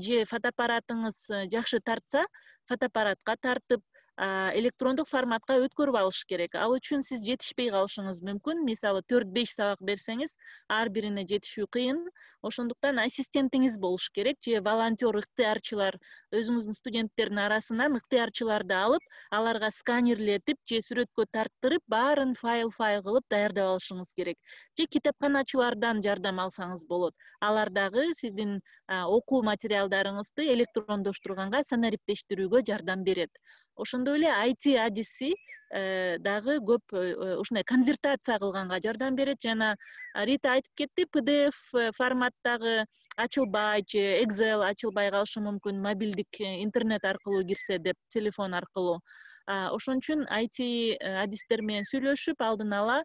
же фотоаппаратыңыз жакшы тартса, фотоаппаратка тартып, электрондук форматка өткөрүп алыш керек. Ал үчүн сиз жетишпей калышыңыз мүмкүн. Мисалы, төрт беш сабак берсеңиз, ар бирине жетишүү кыйын. Ошондуктан ассистентиңиз болуш керек, же волонтер, ыктыярчылар, өзүңүздүн студенттердин арасынан ыктыярчыларды алып, аларга сканерлетип же сүрөткө тарттырып, баарын файл-файл кылып даярдап алышыңыз керек. Же китепканачылардан жардам алсаңыз болот. Алар дагы сиздин окуу материалдарыңызды электрондоштурганга, санариптештирүүгө жардам берет. Ошондой эле ай ти адиси дагы көп ушундай конвертация кылганга жардам берет. Жана Рита айтып кетти, пи ди эф форматтагы ачылбай же Excel ачылбай калышы мүмкүн, мобилдик интернет аркылуу кирсе деп, телефон аркылуу. Ошон үчүн ай ти адистер менен сүйлөшүп, алдын ала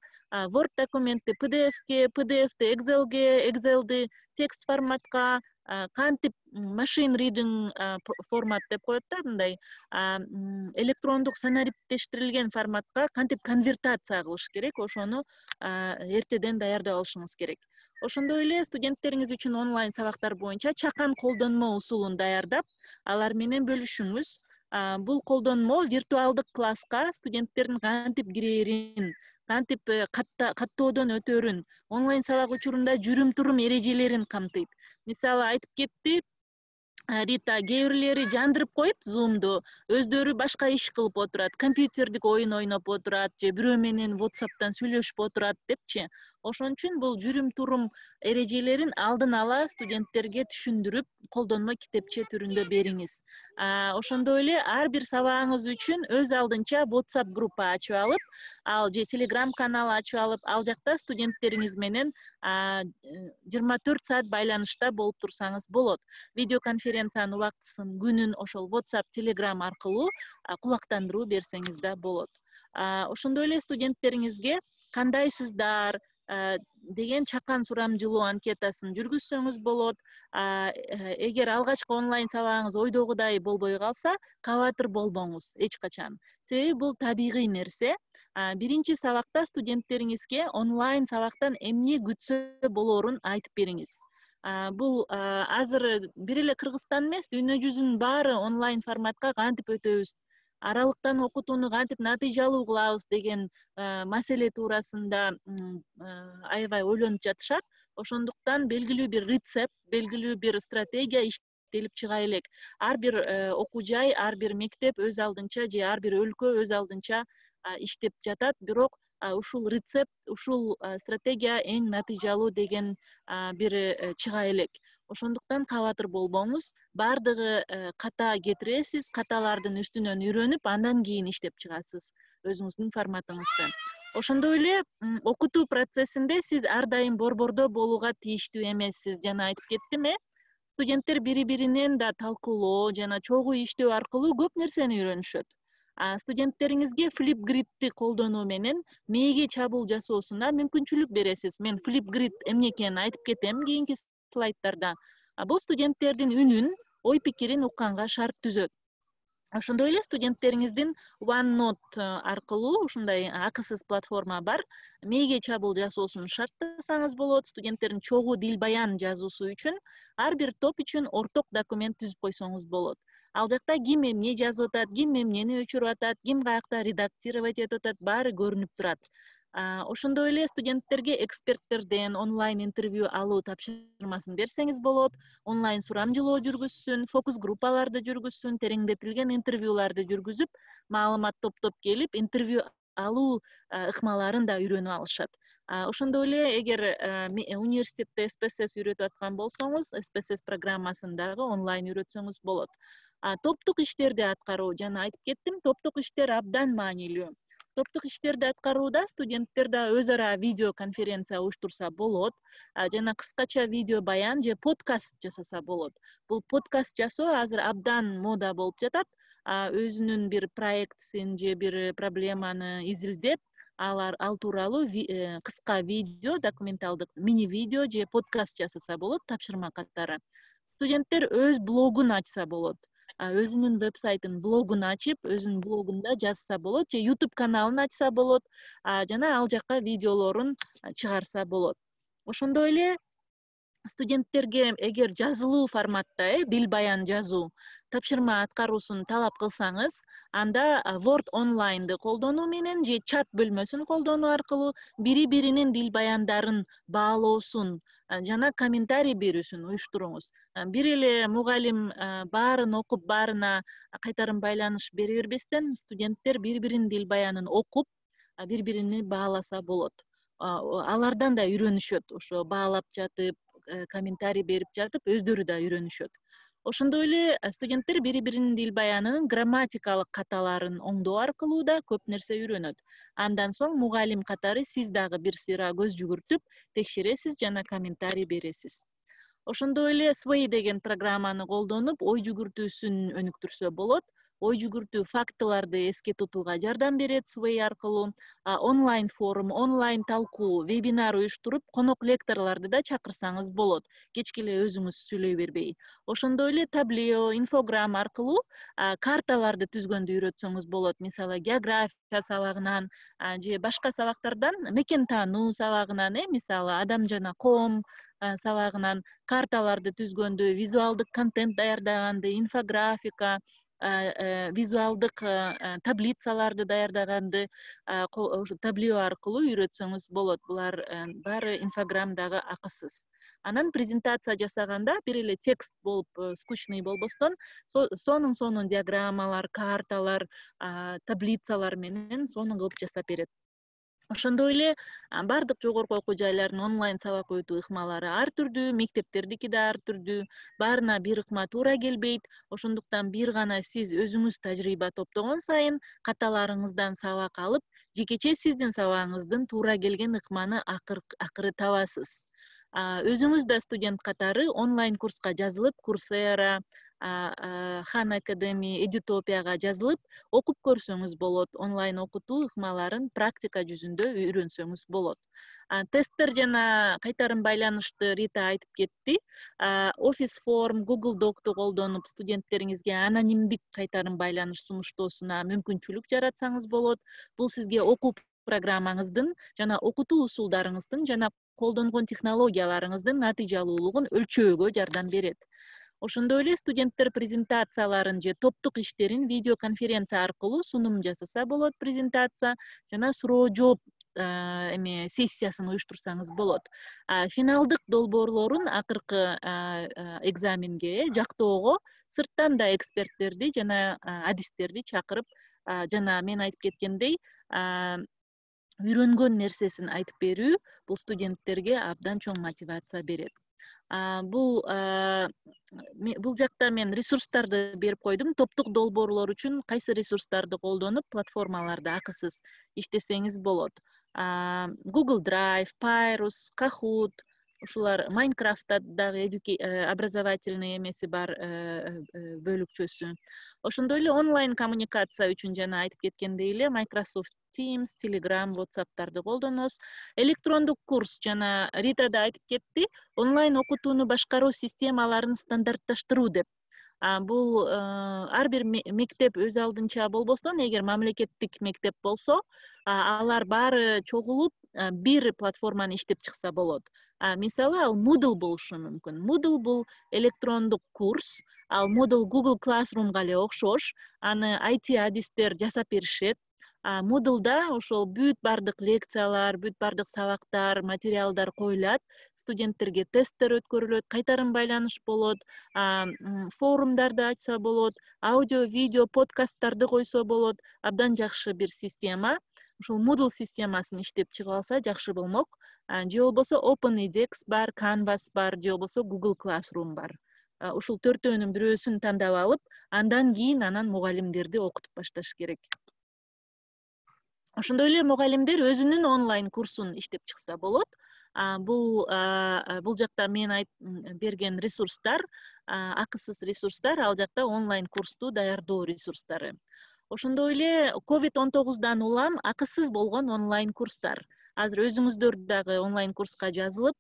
Word документти пи ди эфке, пи ди эфти Excelге, Excelди текст форматка, кантип machine reading формат деп коет да, мындай электрондук санариптештирилген форматка кантип конвертация кылыш керек, ошону эртеден даярдап алышыңыз керек. Ошондой эле студенттериңиз үчүн онлайн сабактар боюнча чакан колдонмо усулун даярдап, алар менен бөлүшүңүз. Бул колдонмо виртуалдык класска студенттердин кантип кирээрин, кантип каттоодон өтөрүн, онлайн сабак учурунда жүрүм-турум эрежелерин камтыйт. Мисалы, айтып кетти Рита, кээ бирлери жандырып коюп Zoom'ду, өздөрү башка иш кылып отурат, компьютердик оюн ойноп отурат, же бирөө менен WhatsApp'тан сүйлөшүп отурат депчи. Ошон үчүн бул жүрүм-турум эрежелерин алдын ала студенттерге түшүндүрүп, колдонмо китепче түрүндө бериңиз. Ошондой эле ар бир сабагыңыз үчүн өз алдынча WhatsApp группа ачып алып, ал же Telegram канал ачып алып, ал жакта студенттериңиз менен жыйырма төрт саат байланышта болуп турсаңыз болот. Видеоконференциянын убактысын, күнүн ошол WhatsApp, Telegram аркылуу кулактандыруу берсеңиз да болот. Ошондой эле студенттериңизге кандайсыздар деген чакан сурамжылоо анкетасын жүргүзсөңүз болот. Эгер алгачкы онлайн сабагыңыз ойдогудай болбой калса, кабатыр болбоңуз эч качан. Себеби бул табигый нерсе. Биринчи сабакта студенттериңизге онлайн сабактан эмне күтсө болоорун айтып бериңиз. Бул азыр бир эле Кыргызстан эмес, дүйнө жүзүнүн баары онлайн форматка кантип өтөбүз, аралыктан окутууну кантип натыйжалуу кылабыз деген маселе туурасында аябай ойлонуп жатышат. Ошондуктан белгилүү бир рецепт, белгилүү бир стратегия иштелип чыга элек. Ар бир окуу жай, ар бир мектеп өз алдынча же ар бир өлкө өз алдынча иштеп жатат, бирок ушул рецепт, ушул стратегия эң натыйжалуу деген бир чыга элек. Ошондуктан кабатыр болбоңуз, баардыгы ката кетиресиз, каталардын үстүнөн үйрөнүп, андан кийин иштеп чыгасыз өзүңүздүн форматыңызды. Ошондой эле окутуу процессинде сиз ар дайым борбордо болууга тийиштүү эмессиз. Жана айтып кеттим э, студенттер бири-биринен да талкуулоо жана чогуу иштөө аркылуу көп нерсени үйрөнүшөт. Студенттериңизге Flipgrid'ти колдонуу менен мээге чабуул жасоосуна мүмкүнчүлүк бересиз. Мен Flipgrid эмне экенин айтып кетем кийинки слайдтарда. Бул студенттердин үнүн, ой пикирин укканга шарт түзөт. Ошондой эле студенттериңиздин OneNote аркылуу ушундай акысыз платформа бар. Мээге чабуул жасоосун шарттасаңыз болот. Студенттердин чогуу дил баян жазуусу үчүн ар бир топ үчүн орток документ түзүп койсоңуз болот. Ал жакта ким эмне жазып атат, ким эмнени өчүрүп атат, ким каякта редактировать этип атат, баары көрүнүп турат. Ошондой эле студенттерге эксперттерден онлайн интервью алуу тапшырмасын берсеңиз болот. Онлайн сурамжылоо жүргүзсүн, фокус группаларды жүргүзсүн, тереңдетилген интервьюларды жүргүзүп, маалымат топтоп келип, интервью алуу ыкмаларын да үйрөнүп алышат. Ошондой эле эгер университетте эс пи эс эс үйрөтүп аткан болсоңуз, эс пи эс эс программасын дагы онлайн үйрөтсөңүз болот. Топтук иштерди аткаруу, жана айтып кеттим, топтук иштер абдан маанилүү. Топтук иштерди аткарууда студенттер да өз ара видео конференция уюштурса болот, жана кыскача видео баян же подкаст жасаса болот. Бул подкаст жасоо азыр абдан мода болуп жатат. Өзүнүн бир проектин же бир проблеманы изилдеп, алар ал тууралуу кыска видео, документалдык мини видео же подкаст жасаса болот тапшырма катары. Студенттер өз блогун ачса болот. Өзүнүн вебсайтын, блогун ачып, өзүнүн блогунда жазса болот же YouTube каналын ачса болот, жана ал жакка видеолорун чыгарса болот. Ошондой эле студенттерге эгер жазылуу форматта, э, дил баян жазуу тапшырма аткаруусун талап кылсаңыз, анда Word Online'ды колдонуу менен же чат бөлмөсүн колдонуу аркылуу бири-биринин дил баяндарын баалоосун жана комментарий берүүсүн уюштуруңуз. Бир эле мугалим баарын окуп, баарына кайтарым байланыш бере бербестен, студенттер бири-биринин дил баянын окуп, бири-бирини бааласа болот. Алардан да үйрөнүшөт, ошо баалап жатып, комментарий берип жатып, өздөрү да үйрөнүшөт. Ошондой эле студенттер бири-биринин дил баянынын грамматикалык каталарын оңдоо аркылуу да көп нерсе үйрөнөт. Андан соң мугалим катары сиз дагы бир сыйра көз жүгүртүп, текшересиз жана комментарий бересиз. Ошондой эле Sway деген программаны колдонуп, ой жүгүртүүсүн өнүктүрсө болот. Ой жүгүртүү фактыларды эске тутууга жардам берет Sway аркылуу. Онлайн форум, онлайн талкуу, вебинар уюштуруп, конок лекторлорду да чакырсаңыз болот. Кечке эле өзүңүз сүйлөй бербей. Ошондой эле таблио, инфограмма аркылуу карталарды түзгөндү үйрөтсөңүз болот. Мисалы, география сабагынан же башка сабактардан, мекен таануу сабагынан, э, мисалы, адам жана коом сабагынан карталарды түзгөндү, визуалдык контент даярдаганды, инфографика, визуалдык таблицаларды даярдаганды таблио аркылуу үйрөтсөңүз болот. Булар баары инфограммдагы акысыз. Анан презентация жасаганда бир эле текст болуп, скучный болбостон, сонун сонун диаграммалар, карталар, таблицалар менен сонун кылып жасап берет. Ошондой эле бардык жогорку окуу жайлардын онлайн сабак өтүү ыкмалары ар түрдүү, мектептердики да ар түрдүү, баарына бир ыкма туура келбейт. Ошондуктан бир гана сиз өзүңүз тажрыйба топтогон сайын каталарыңыздан сабак алып, жекече сиздин сабагыңыздын туура келген ыкманы акыры табасыз. Өзүңүз да студент катары онлайн курска жазылып, Coursera, Khan Academy, Edutopияга жазылып, окуп көрсөңүз болот. Онлайн окутуу ыкмаларын практика жүзүндө үйрөнсөңүз болот. Тесттер жана кайтарым байланышты Рита айтып кетти. Office Form, Google Doc'ту колдонуп, студенттериңизге анонимдик кайтарым байланыш сунуштоосуна мүмкүнчүлүк жаратсаңыз болот. Бул сизге окуу программаңыздын жана окутуу усулдарыңыздын жана колдонгон технологияларыңыздын натыйжалуулугун өлчөөгө жардам берет. Ошондой эле студенттер презентацияларын же топтук иштерин видеоконференция аркылуу сунум жасаса болот, презентация жана суроо жооп эме сессиясын уюштурсаңыз болот. Финалдык долбоорлорун акыркы экзаменге жактоого сырттан да эксперттерди жана адистерди чакырып, жана мен айтып кеткендей, үйрөнгөн нерсесин айтып берүү бул студенттерге абдан чоң мотивация берет. Бул бул жакта мен ресурстарды берип койдум. Топтук долбоорлор үчүн кайсы ресурстарды колдонуп платформаларды акысыз иштесеңиз болот. Google Drive, Pyrus, Kahoot, ушулар Майнкрафтта дагы образовательный эмеси бар бөлүкчөсү. Ошондой эле онлайн коммуникация үчүн жана айтып кеткендей эле Microsoft Teams, Telegram, WhatsApp'тарды колдоносуз. Электрондук курс жана Рита да айтып кетти, онлайн окутууну башкаруу системаларын стандартташтыруу деп. Бул ар бир мектеп өз алдынча болбостон, эгер мамлекеттик мектеп болсо, алар баары чогулуп бир платформаны иштеп чыкса болот. Мисалы, ал Moodle болушу мүмкүн. Moodle бул электрондук курс, ал Moodle Google Classroom'га эле окшош, аны ай ти адистер жасап беришет. Moodle'да ошол бүт бардык лекциялар, бүт бардык сабактар, материалдар коюлат, студенттерге тесттер өткөрүлөт, кайтарым байланыш болот, форумдарды ачса болот, аудио, видео, подкасттарды койсо болот. Абдан жакшы бир система. Ушул Moodle системасын иштеп чыгып алса жакшы болмок. Же болбосо OpenEDX бар, Canvas бар, же болбосо Google Classroom бар. Ушул төртөөнүн бирөөсүн тандап алып, андан кийин анан мугалимдерди окутуп башташ керек. Ошондой эле мугалимдер өзүнүн онлайн курсун иштеп чыкса болот. Бул бул жакта мен берген ресурстар, акысыз ресурстар, ал жакта онлайн курсту даярдоо ресурстары. Ошондой эле ковид он тогуздан улам акысыз болгон онлайн курстар. Азыр өзүңүздөр дагы онлайн курска жазылып,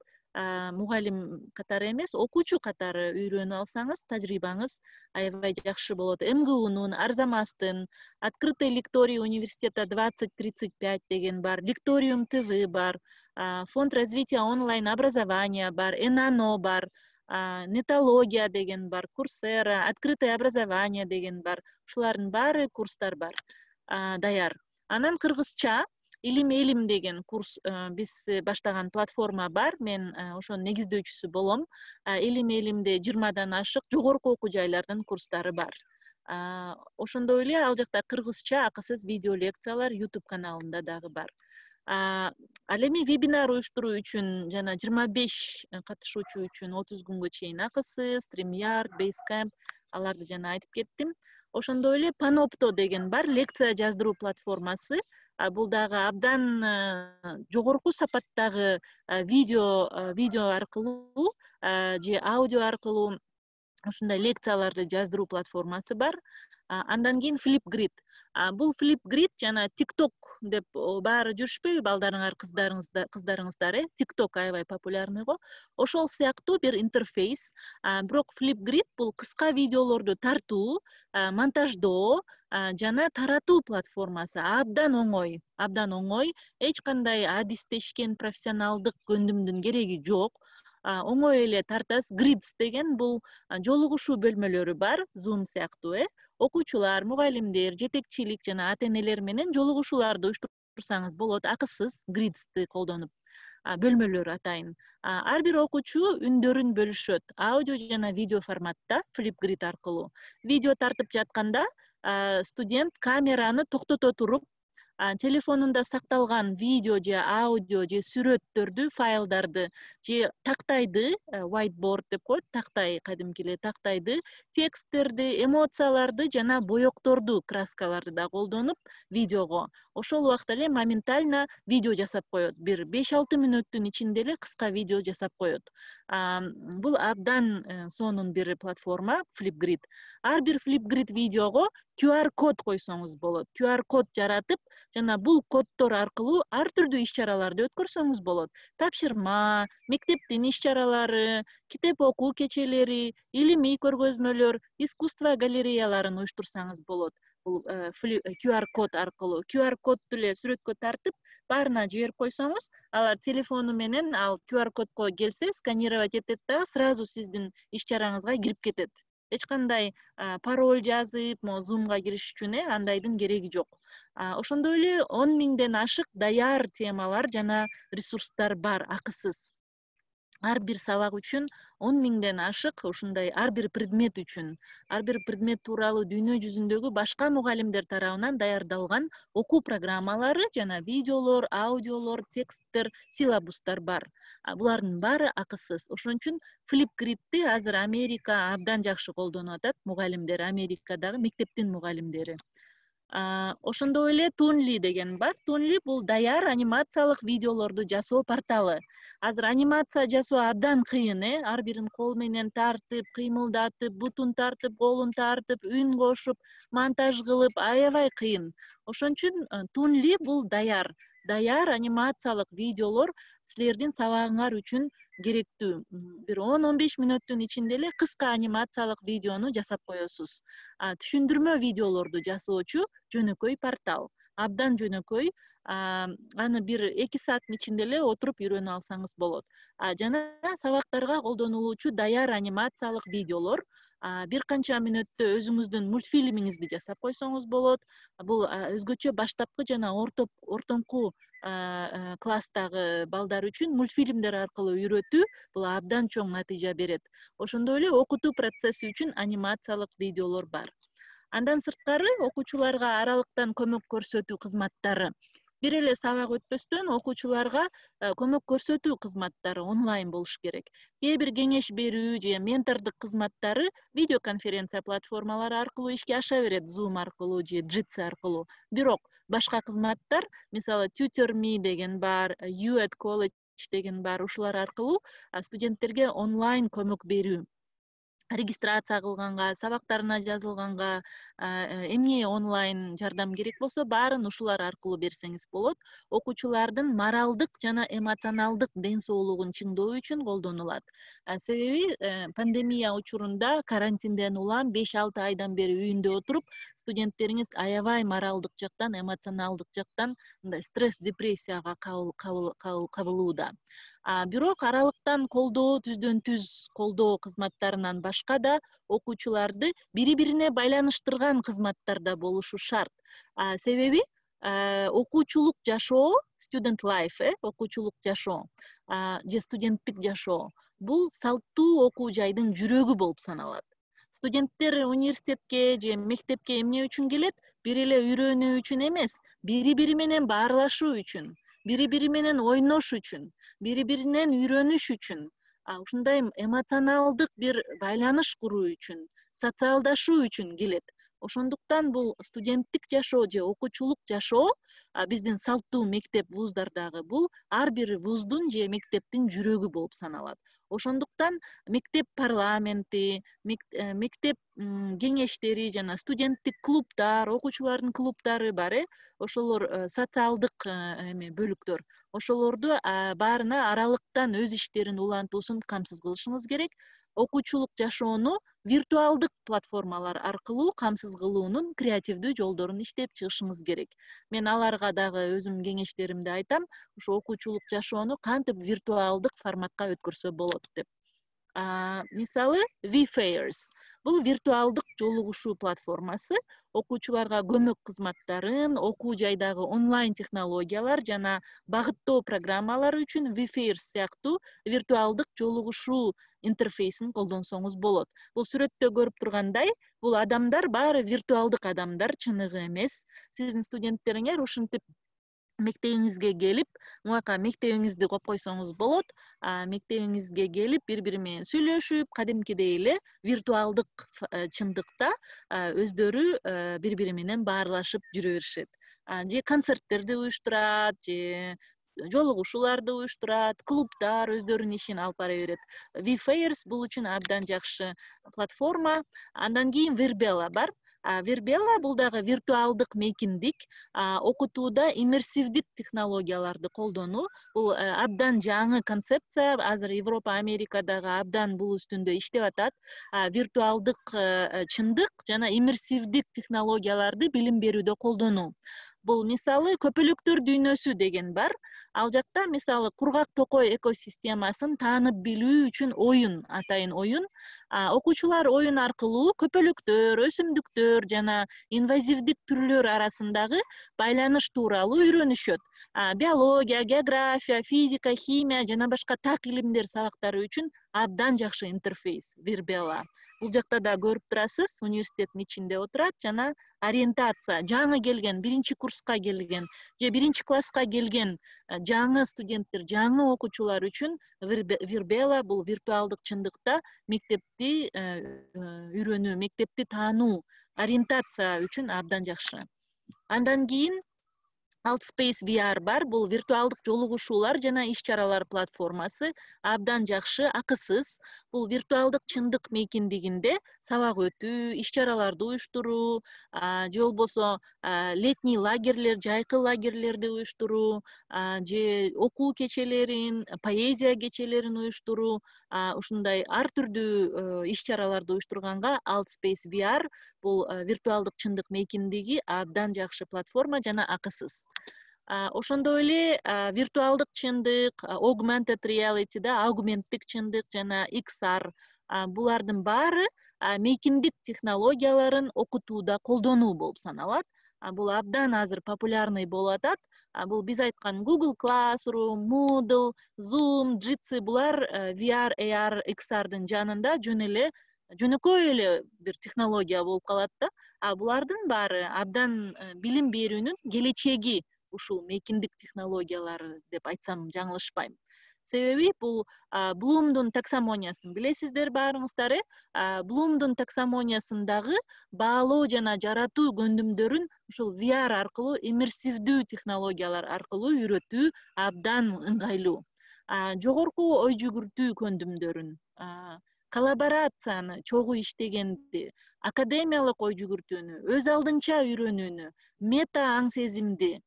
мугалим катары эмес, окуучу катары үйрөнүп алсаңыз, тажрыйбаңыз аябай жакшы болот. эм гэ унун, Арзамастын, Открытый лекторий университета двадцать тридцать пять деген бар, Лекториум ТВ бар, Фонд развития онлайн образования бар, Энано бар, Нетология деген бар, Курсера, Открытое образование деген бар. Ушулардын баары курстар бар, даяр. Анан кыргызча Илим Элим деген курс биз баштаган платформа бар. Мен ошонун негиздөөчүсү болом. Илим Элимде жыйырмадан ашык жогорку окуу жайлардын курстары бар. Ошондой эле ал жакта кыргызча акысыз видео лекциялар YouTube каналында дагы бар. Ал эми вебинар уюштуруу үчүн жана жыйырма беш катышуучу үчүн отуз күнгө чейин акысыз, StreamYard, Basecamp, аларды жана айтып кеттим. Ошондой эле Panopto деген бар, лекция жаздыруу платформасы. Бул дагы абдан жогорку сапаттагы видео видео аркылуу же аудио аркылуу ушундай лекцияларды жаздыруу платформасы бар. Андан кийин Flipgrid. Бул Flipgrid жана TikTok деп баары жүрүшпөйбү, балдарыңар, кыздарыңыздар, кыздарыңыздар, э? TikTok аябай популярный го. Ошол сыяктуу бир интерфейс. Бирок Flipgrid бул кыска видеолорду тартуу, монтаждоо жана таратуу платформасы. Абдан оңой, абдан оңой. Эч кандай адистешкен профессионалдык көндүмдүн кереги жок. Оңой эле тартасыз. Grids деген бул жолугушуу бөлмөлөрү бар, Zoom сыяктуу, э? Окуучулар, мугалимдер, жетекчилик жана ата-энелер менен жолугушууларды уюштурсаңыз болот, акысыз Grids'ти колдонуп. Бөлмөлөр атайын. Ар бир окуучу үндөрүн бөлүшөт, аудио жана видео форматта Flipgrid аркылуу. Видео тартып жатканда студент камераны токтото туруп, телефонунда сакталган видео же аудио же сүрөттөрдү, файлдарды же тактайды, whiteboard деп коет, тактай, кадимки эле тактайды, тексттерди, эмоцияларды жана боекторду, краскаларды да колдонуп видеого ошол убакта эле моментально видео жасап коет. Бир беш алты мүнөттүн ичинде эле кыска видео жасап коет. Бул абдан сонун бир платформа Flipgrid. Ар бир Flipgrid видеого ку ар код койсоңуз болот. ку ар код жаратып, жана бул коддор аркылуу ар түрдүү иш-чараларды өткөрсөңүз болот. Тапшырма, мектептин иш-чаралары, китеп окуу кечелери, илимий көргөзмөлөр, искусство галереяларын уюштурсаңыз болот. Бул ку ар код аркылуу, ку ар кодду эле сүрөткө тартып, баарына жиберип койсоңуз, алар телефону менен ал ку ар кодко келсе, сканировать этет да, сразу сиздин иш-чараңызга кирип кетет. Эч кандай пароль жазып, Zoom'га кириш үчүн андайдын кереги жок. Ошондой эле он миңден ашык даяр темалар жана ресурстар бар, акысыз. ар бир сабак үчүн он миңден ашык ушундай ар бир предмет үчүн ар бир предмет тууралуу дүйнө жүзүндөгү башка мугалимдер тарабынан даярдалган окуу программалары жана видеолор, аудиолор, тексттер, силабустар бар. Булардын баары акысыз. Ошон үчүн Flipgrid'ти азыр Америка абдан жакшы колдонуп атат, мугалимдер, Америкадагы мектептин мугалимдери. Ошондой эле Toonly деген бар. Toonly бул даяр анимациялык видеолорду жасоо порталы. Азыр анимация жасоо абдан кыйын, э, ар бирин кол менен тартып, кыймылдатып, бутун тартып, колун тартып, үн кошуп, монтаж кылып аябай кыйын. Ошон үчүн Toonly бул даяр, даяр анимациялык видеолор силердин сабагыңар үчүн керектүү. Бир он он беш мүнөттүн ичинде эле кыска анимациялык видеону жасап коесуз. Түшүндүрмө видеолорду жасоочу жөнөкөй портал. Абдан жөнөкөй. Аны бир эки сааттын ичинде эле отуруп үйрөнүп алсаңыз болот. Жана сабактарга колдонулуучу даяр анимациялык видеолор бир канча мүнөттө өзүңүздүн мультфильмиңизди жасап койсоңуз болот. Бул өзгөчө баштапкы жана орто ортоңку класстагы балдар үчүн мультфильмдер аркылуу үйрөтүү бул абдан чоң натыйжа берет. Ошондой эле окутуу процесси үчүн анимациялык видеолор бар. Андан сырткары окуучуларга аралыктан көмөк көрсөтүү кызматтары. Бир эле сабак өтпөстөн окуучуларга көмөк көрсөтүү кызматтары онлайн болуш керек. Кээ бир кеңеш берүү же ментордук кызматтары видеоконференция платформалары аркылуу ишке аша берет, Zoom аркылуу же Jitsi аркылуу. Бирок башка кызматтар, мисалы TutorMe деген бар, You at College деген бар, ушулар аркылуу студенттерге онлайн көмөк берүү. Регистрация кылганга, сабактарына жазылганга, эмне онлайн жардам керек болсо, баарын ушулар аркылуу берсеңиз болот. Окуучулардын моралдык жана эмоционалдык ден соолугун чыңдоо үчүн колдонулат. Себеби пандемия учурунда карантинден улам беш алты айдан бери үйүндө отуруп, студенттериңиз аябай моралдык жактан, эмоционалдык жактан мындай стресс, депрессияга кабылууда. Бирок аралыктан колдоо, түздөн түз колдоо кызматтарынан башка да окуучуларды бири-бирине байланыштырган кызматтар да болушу шарт. Себеби окуучулук жашоо, student life, э, окуучулук жашоо же студенттик жашоо бул салттуу окуу жайдын жүрөгү болуп саналат. Студенттер университетке же мектепке эмне үчүн келет? Бир эле үйрөнүү үчүн эмес, бири-бири менен баарлашуу үчүн, бири-бири менен ойнош үчүн, бири-биринен үйрөнүш үчүн, ушундай эмоционалдык бир байланыш куруу үчүн, социалдашуу үчүн келет. Ошондуктан бул студенттик жашоо же окуучулук жашоо биздин салттуу мектеп вуздардагы бул ар бир вуздун же мектептин жүрөгү болуп саналат. Ошондуктан мектеп парламенти, мектеп кеңештери жана студенттик клубдар, окуучулардын клубдары бар, э, ошолор социалдык эме бөлүктөр. Ошолорду баарына аралыктан өз иштерин улантуусун камсыз кылышыңыз керек. Окуучулук жашоону виртуалдык платформалар аркылуу камсыз кылуунун креативдүү жолдорун иштеп чыгышыңыз керек. Мен аларга дагы өзүм кеңештеримди айтам, ушу окуучулук жашоону кантип виртуалдык форматка өткөрсө болот деп. Мисалы, VFairs. Бул виртуалдык жолугушуу платформасы окуучуларга көмөк кызматтарын, окуу жайдагы онлайн технологиялар жана багыттоо программалары үчүн VFairs сыяктуу виртуалдык жолугушуу интерфейсин колдонсоңуз болот. Бул сүрөттө көрүп тургандай, бул адамдар баары виртуалдык адамдар, чыныгы эмес. Сиздин студенттериңер ушинтип мектебиңизге келип, муака мектебиңизди коюп койсоңуз болот. Мектебиңизге келип, бири-бири менен сүйлөшүп, кадимкидей эле виртуалдык чындыкта өздөрү бири-бири менен баарлашып жүрө беришет. Же концерттерди уюштурат, же жолугушууларды уюштурат, клубдар өздөрүнүн ишин алып бара берет. VFairs бул үчүн абдан жакшы платформа. Андан кийин Virbela бар. Virbela бул дагы виртуалдык мейкиндик, окутууда иммерсивдик технологияларды колдонуу. Бул абдан жаңы концепция, азыр Европа, Америкадагы абдан бул үстүндө иштеп атат. Виртуалдык чындык жана иммерсивдик технологияларды билим берүүдө колдонуу. Бул мисалы көпөлөктөр дүйнөсү деген бар. Ал жакта мисалы кургак токой экосистемасын таанып билүү үчүн оюн, атайын оюн. Окуучулар оюн аркылуу көпөлөктөр, өсүмдүктөр жана инвазивдик түрлөр арасындагы байланыш тууралуу үйрөнүшөт. Биология, география, физика, химия жана башка так илимдер сабактары үчүн абдан жакшы интерфейс Virbela. Бул жакта да көрүп турасыз, университеттин ичинде отурат жана ориентация, жаңы келген, биринчи курска келген же биринчи класска келген жаңы студенттер, жаңы окуучулар үчүн Virbela бул виртуалдык чындыкта мектепти үйрөнүү, мектепти таануу, ориентация үчүн абдан жакшы. Андан кийин Altspace ви ар бар, бул виртуалдык жолугушуулар жана иш-чаралар платформасы, абдан жакшы, акысыз. Бул виртуалдык чындык мейкиндигинде сабак өтүү, иш-чараларды уюштуруу, же болбосо летний лагерлер, жайкы лагерлерди уюштуруу, же окуу кечелерин, поэзия кечелерин уюштуруу, ушундай ар түрдүү иш-чараларды уюштурганга Altspace ви ар бул виртуалдык чындык мейкиндиги абдан жакшы платформа жана акысыз. Ошондой эле виртуалдык чындык, augmented reality да аугменттик чындык жана икс ар булардын баары мейкиндик технологияларын окутууда колдонуу болуп саналат. Бул абдан азыр популярный болуп атат. Бул биз айткан Google Classroom, Moodle, Zoom, Jitsi булар ви ар, эй ар, икс ардын жанында жөн эле жөнөкөй эле бир технология болуп калат да. А булардын баары абдан билим берүүнүн келечеги ушул мейкиндик технологиялары деп айтсам жаңылышпайм. Себеби бул Блумдун таксономиясын билесиздер баарыңыздар, э? Блумдун таксономиясындагы баалоо жана жаратуу көндүмдөрүн ушул ви ар аркылуу, иммерсивдүү технологиялар аркылуу үйрөтүү абдан ыңгайлуу. Жогорку ой жүгүртүү көндүмдөрүн, коллаборацияны, чогуу иштегенди, академиялык ой жүгүртүүнү, өз алдынча үйрөнүүнү, мета аң сезимди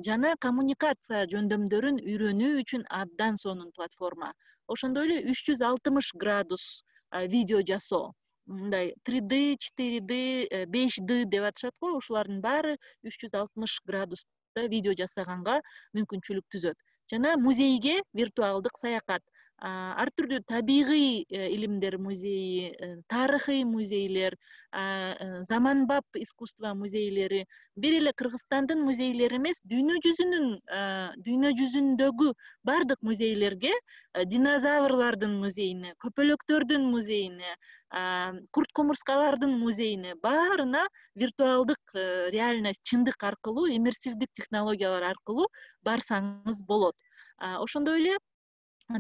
жана коммуникация жөндөмдөрүн үйрөнүү үчүн абдан сонун платформа. Ошондой эле үч жүз алтымыш градус видео жасоо, мындай три дэ, четыре дэ, беш дэ деп атышат го, ушулардын баары үч жүз алтымыш градуста видео жасаганга мүмкүнчүлүк түзөт. Жана музейге виртуалдык саякат, ар түрдүү табигый илимдер музейи, тарыхый музейлер, заманбап искусство музейлери, бир эле Кыргызстандын музейлери эмес, дүйнө жүзүнүн, дүйнө жүзүндөгү бардык музейлерге, динозаврлардын музейине, көпөлөктөрдүн музейине, курт кумурскалардын музейине баарына виртуалдык реальность чындык аркылуу, иммерсивдик технологиялар аркылуу барсаңыз болот. Ошондой эле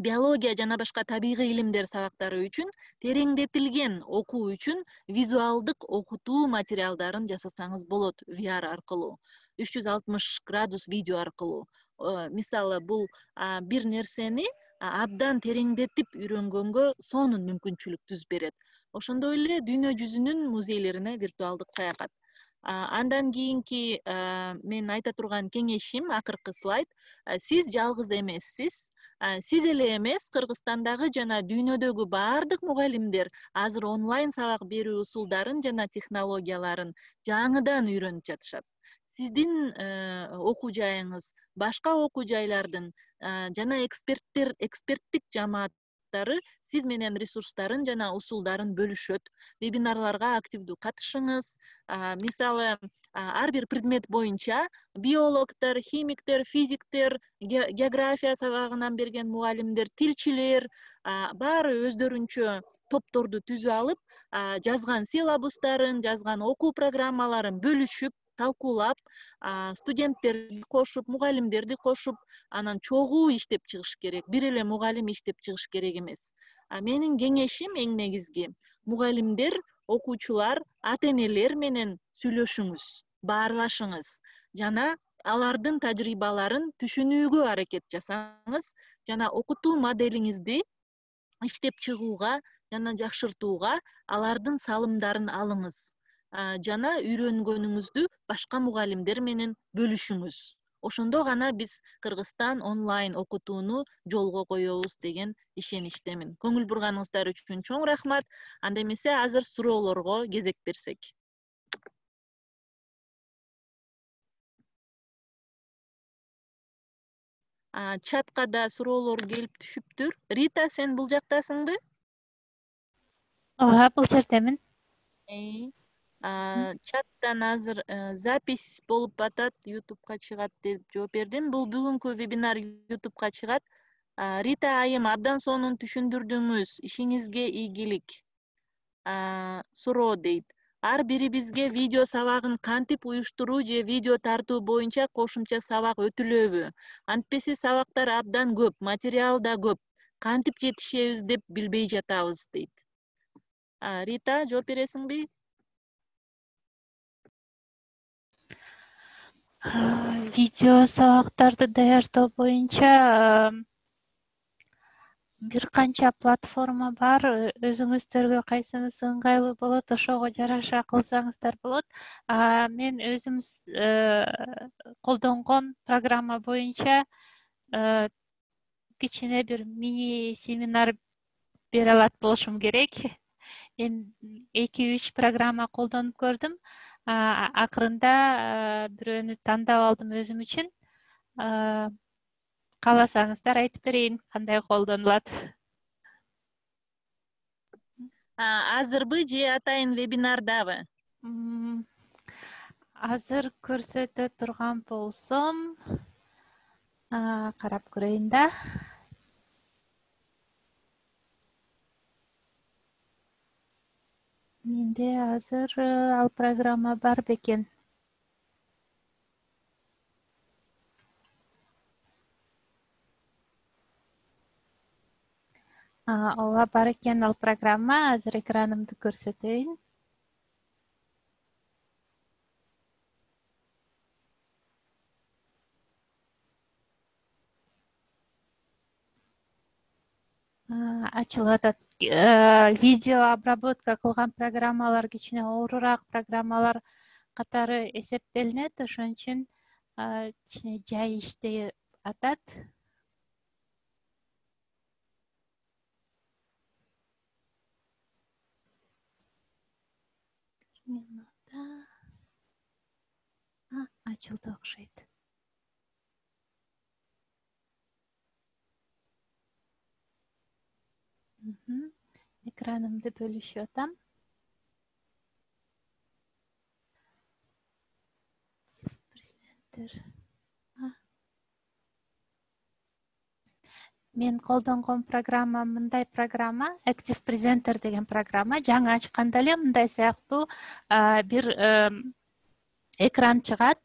биология жана башка табигый илимдер сабактары үчүн тереңдетилген окуу үчүн визуалдык окутуу материалдарын жасасаңыз болот ви ар аркылуу, үч жүз алтымыш градус видео аркылуу. Мисалы, бул бир нерсени абдан тереңдетип үйрөнгөнгө сонун мүмкүнчүлүк түзүп берет. Ошондой эле дүйнө жүзүнүн музейлерине виртуалдык саякат. Андан кийинки мен айта турган кеңешим, акыркы слайд, сиз жалгыз эмессиз. Сиз эле эмес, Кыргызстандагы жана дүйнөдөгү бардык мугалимдер азыр онлайн сабак берүү усулдарын жана технологияларын жаңыдан үйрөнүп жатышат. Сиздин окуу жайыңыз, башка окуу жайлардын жана эксперттер, эксперттик жамааттары сиз менен ресурстарын жана усулдарын бөлүшөт. Вебинарларга активдүү катышыңыз. Мисалы, ар бир предмет боюнча биологдор, химиктер, физиктер, география сабагынан берген мугалимдер, тилчилер баары өздөрүнчө топторду түзүп алып, жазган силабустарын, жазган окуу программаларын бөлүшүп, талкуулап, студенттерди кошуп, мугалимдерди кошуп, анан чогуу иштеп чыгыш керек. Бир эле мугалим иштеп чыгыш керек эмес. Менин кеңешим эң негизги, мугалимдер, окуучулар, ата-энелер менен сүйлөшүңүз, баарлашыңыз жана алардын тажрыйбаларын түшүнүүгө аракет жасаңыз жана окутуу моделиңизди иштеп чыгууга жана жакшыртууга алардын салымдарын алыңыз жана үйрөнгөнүңүздү башка мугалимдер менен бөлүшүңүз. Ошондо гана биз Кыргызстан онлайн окутууну жолго коебуз деген ишеничтемин. Көңүл бурганыңыздар үчүн чоң рахмат. Анда эмесе азыр суроолорго кезек берсек. чатка да суроолор келип түшүптүр. Рита, сен бул жактасыңбы? ооба, бул жердемин. Чаттан азыр запись болуп атат, ютубка чыгат деп жооп бердим. Бул бүгүнкү вебинар ютубка чыгат. Рита айым, абдан сонун түшүндүрдүңүз. Ишиңизге ийгилик. Суроо дейт. Ар бирибизге видео сабагын кантип уюштуруу же видео тартуу боюнча кошумча сабак өтүлөбү? Антпеси сабактар абдан көп, материал да көп. Кантип жетишебиз деп билбей жатабыз дейт. Рита, жооп бересиңби? Видео сабактарды даярдоо боюнча бир канча платформа бар. Өзүңүздөргө кайсынысы ыңгайлуу болот, ошого жараша кылсаңыздар болот. Мен өзүм колдонгон программа боюнча кичине бир мини семинар бере алат болушум керек. Мен эки үч программа колдонуп көрдүм. Акырында бирөөнү тандап алдым өзүм үчүн. Кааласаңыздар айтып берейин кандай колдонулат. Азырбы же атайын вебинардабы? Азыр көрсөтө турган болсом, карап көрөйүн да. Менде азыр ал программа бар бекен. Ооба, бар экен ал программа. Азыр экранымды көрсөтөйүн. Ачылып атат. Видео обработка кылган программалар кичине оорураак программалар катары эсептелинет. Ошон үчүн кичине жай иштей атат. Ачылды окшойт. Экранымды бөлүшүп атам. Мен колдонгон программа мындай программа, Active Presenter деген программа. Жаңы ачканда эле мындай сыяктуу бир экран чыгат.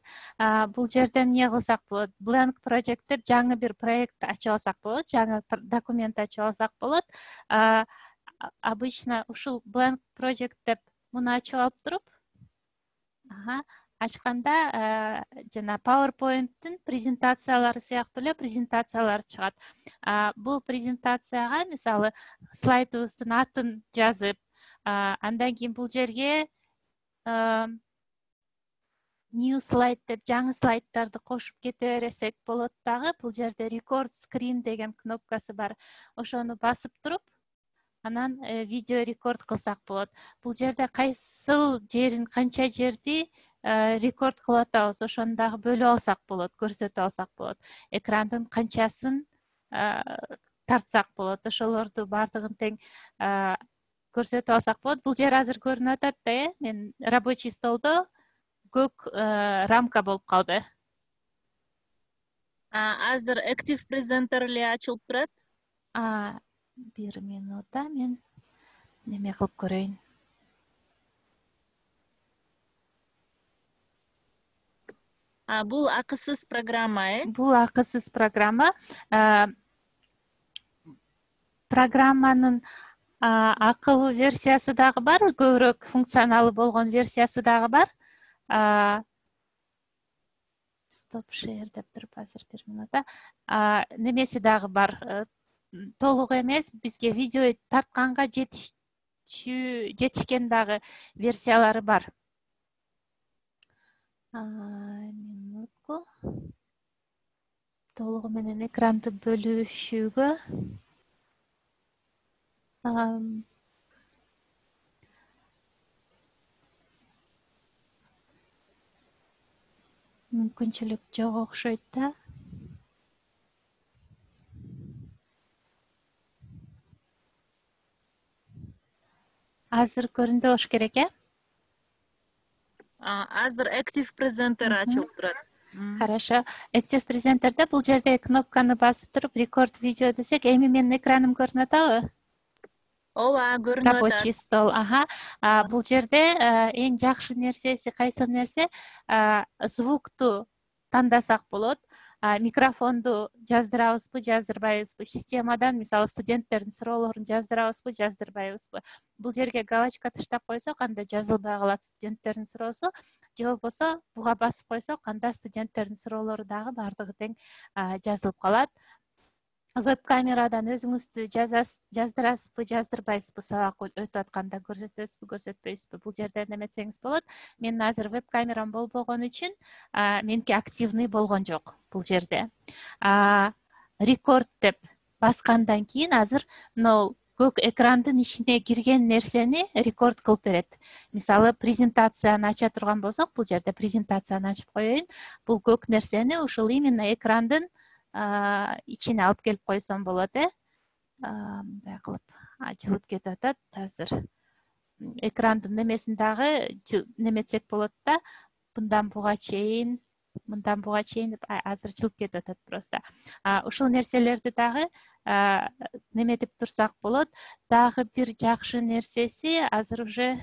Бул жерден эмне кылсак болот? Blank Project деп жаңы бир проект ачып алсак болот, жаңы документ ачып алсак болот. Обычно ушул Blank Project деп муну ачып алып туруп, ачканда жана PowerPoint'тин презентациялары сыяктуу эле презентациялар чыгат. Бул презентацияга мисалы слайдыбыздын атын жазып, андан кийин бул жерге New slide деп жаңы слайдтарды кошуп кете берсек болот дагы. Бул жерде Record Screen деген кнопкасы бар. Ошону басып туруп, анан видео рекорд кылсак болот. Бул жерде кайсыл жерин, канча жерди рекорд кылып атабыз, ошону дагы бөлүп алсак болот, көрсөтүп алсак болот. Экрандын канчасын тартсак болот. Ошолорду бардыгын тең көрсөтүп алсак болот. Бул жер азыр көрүнүп атат да, э? Мен рабочий столдо көк рамка болуп калды. Азыр Active Presenter эле ачылып турат. Бир минутта мен неме кылып көрөйүн. Бул акысыз программа, э? Бул акысыз программа. Программанын акылуу версиясы дагы бар, көбүрөөк функционалы болгон версиясы дагы бар. Stop share деп туруп азыр бир минутта. Немеси дагы бар. Толук эмес, бизге видео тартканга жетишкен дагы версиялары бар. Минутку. Толугу менен экранды бөлүшүүгө мүмкүнчүлүк жок окшойт да. азыр көрүндү болуш керек, э? Азыр Active Presenter ачылып турат. Хорошо. Active Presenter'де бул жерде кнопканы басып туруп рекорд видео десек, эми менин экраным көрүнүп атабы? Ооба, көрүнүп атат. Рабочий стол. Аха. Бул жерде эң жакшы нерсеси кайсы нерсе? Звукту тандасак болот. Микрофонду жаздырабызбы, жаздырбайбызбы? Системадан, мисалы, студенттердин суроолорун жаздырабызбы, жаздырбайбызбы? Бул жерге галочка таштап койсок, анда жазылбай калат студенттердин суроосу. Же болбосо буга басып койсок, анда студенттердин суроолору дагы баардыгы тең жазылып калат. Веб-камерадан өзүңүздү жаздырасызбы, жаздырбайсызбы, сабак өтүп атканда көрсөтөсүзбү, көрсөтпөйсүзбү? Бул жерде неметсеңиз болот. Менин азыр веб-камерам болбогон үчүн меники активный болгон жок бул жерде. Рекорд деп баскандан кийин азыр мына көк экрандын ичине кирген нерсени рекорд кылып берет. Мисалы, презентацияны ача турган болсок, бул жерде презентацияны ачып коеюн. Бул көк нерсени ушул именно экрандын ичине алып келип койсом болот, э? Мындай кылып ачылып кетип атат азыр. Экрандын немесин дагы неметсек болот да, мындан буга чейин, мындан буга чейин деп азыр жылып кетип атат просто. Ушул нерселерди дагы неметип турсак болот. Дагы бир жакшы нерсеси азыр уже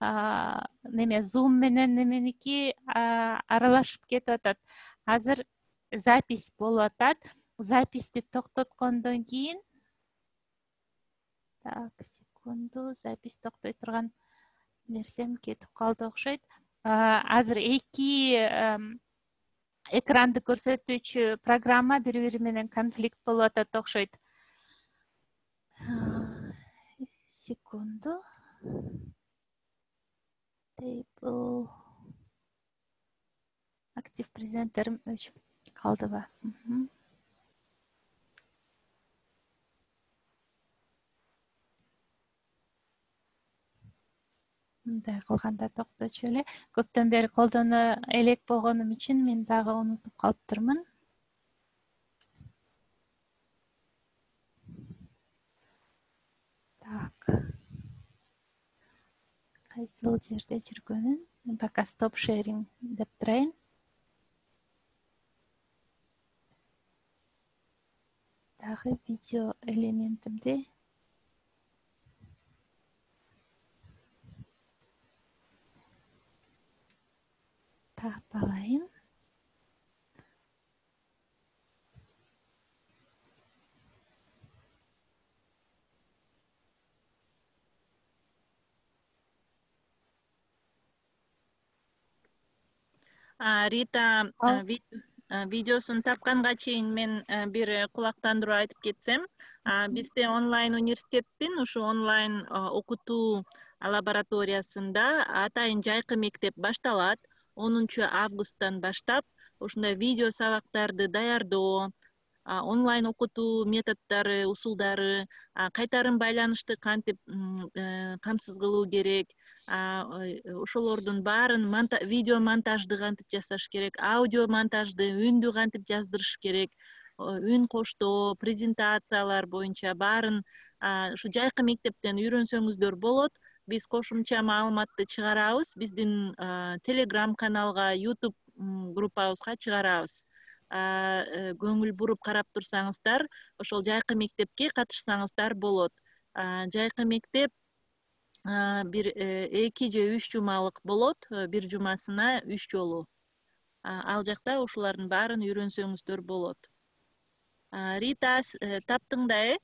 неме Zoom менен неменики аралашып кетип атат. Азыр запись болуп атат. Записти токтоткондон кийин, так, секунду, запись токтой турган нерсем кетип калды окшойт. Азыр эки экранды көрсөтүүчү программа бири-бири менен конфликт болуп атат окшойт. Секунду. Table. Active Presenter өчүп калдыбы? Мындай кылганда токточу эле. Көптөн бери колдоно элек болгонум үчүн мен дагы унутуп калыптырмын. Так. Кайсыл жерде жүргөнүн? Пока stop sharing деп турайын. Дагы видео элементимди таап алайын. Рита видеосун тапканга чейин мен бир кулактандыруу айтып кетсем, бизде онлайн университеттин ушу онлайн окутуу лабораториясында атайын жайкы мектеп башталат. онунчу августтан баштап ушундай видео сабактарды даярдоо, онлайн окутуу методдору, усулдары, кайтарым байланышты кантип камсыз кылуу керек, ошолордун баарын видео монтажды кантип жасаш керек, аудио монтажды, үндү кантип жаздырыш керек, үн коштоо, презентациялар боюнча баарын ушу жайкы мектептен үйрөнсөңүздөр болот. Биз кошумча маалыматты чыгарабыз, биздин Telegram каналга, YouTube группабызга чыгарабыз. Көңүл буруп карап турсаңыздар, ошол жайкы мектепке катышсаңыздар болот. Жайкы мектеп бир эки же үч жумалык болот, бир жумасына үч жолу. Ал жакта ушулардын баарын үйрөнсөңүздөр болот. Рита, таптың да, э?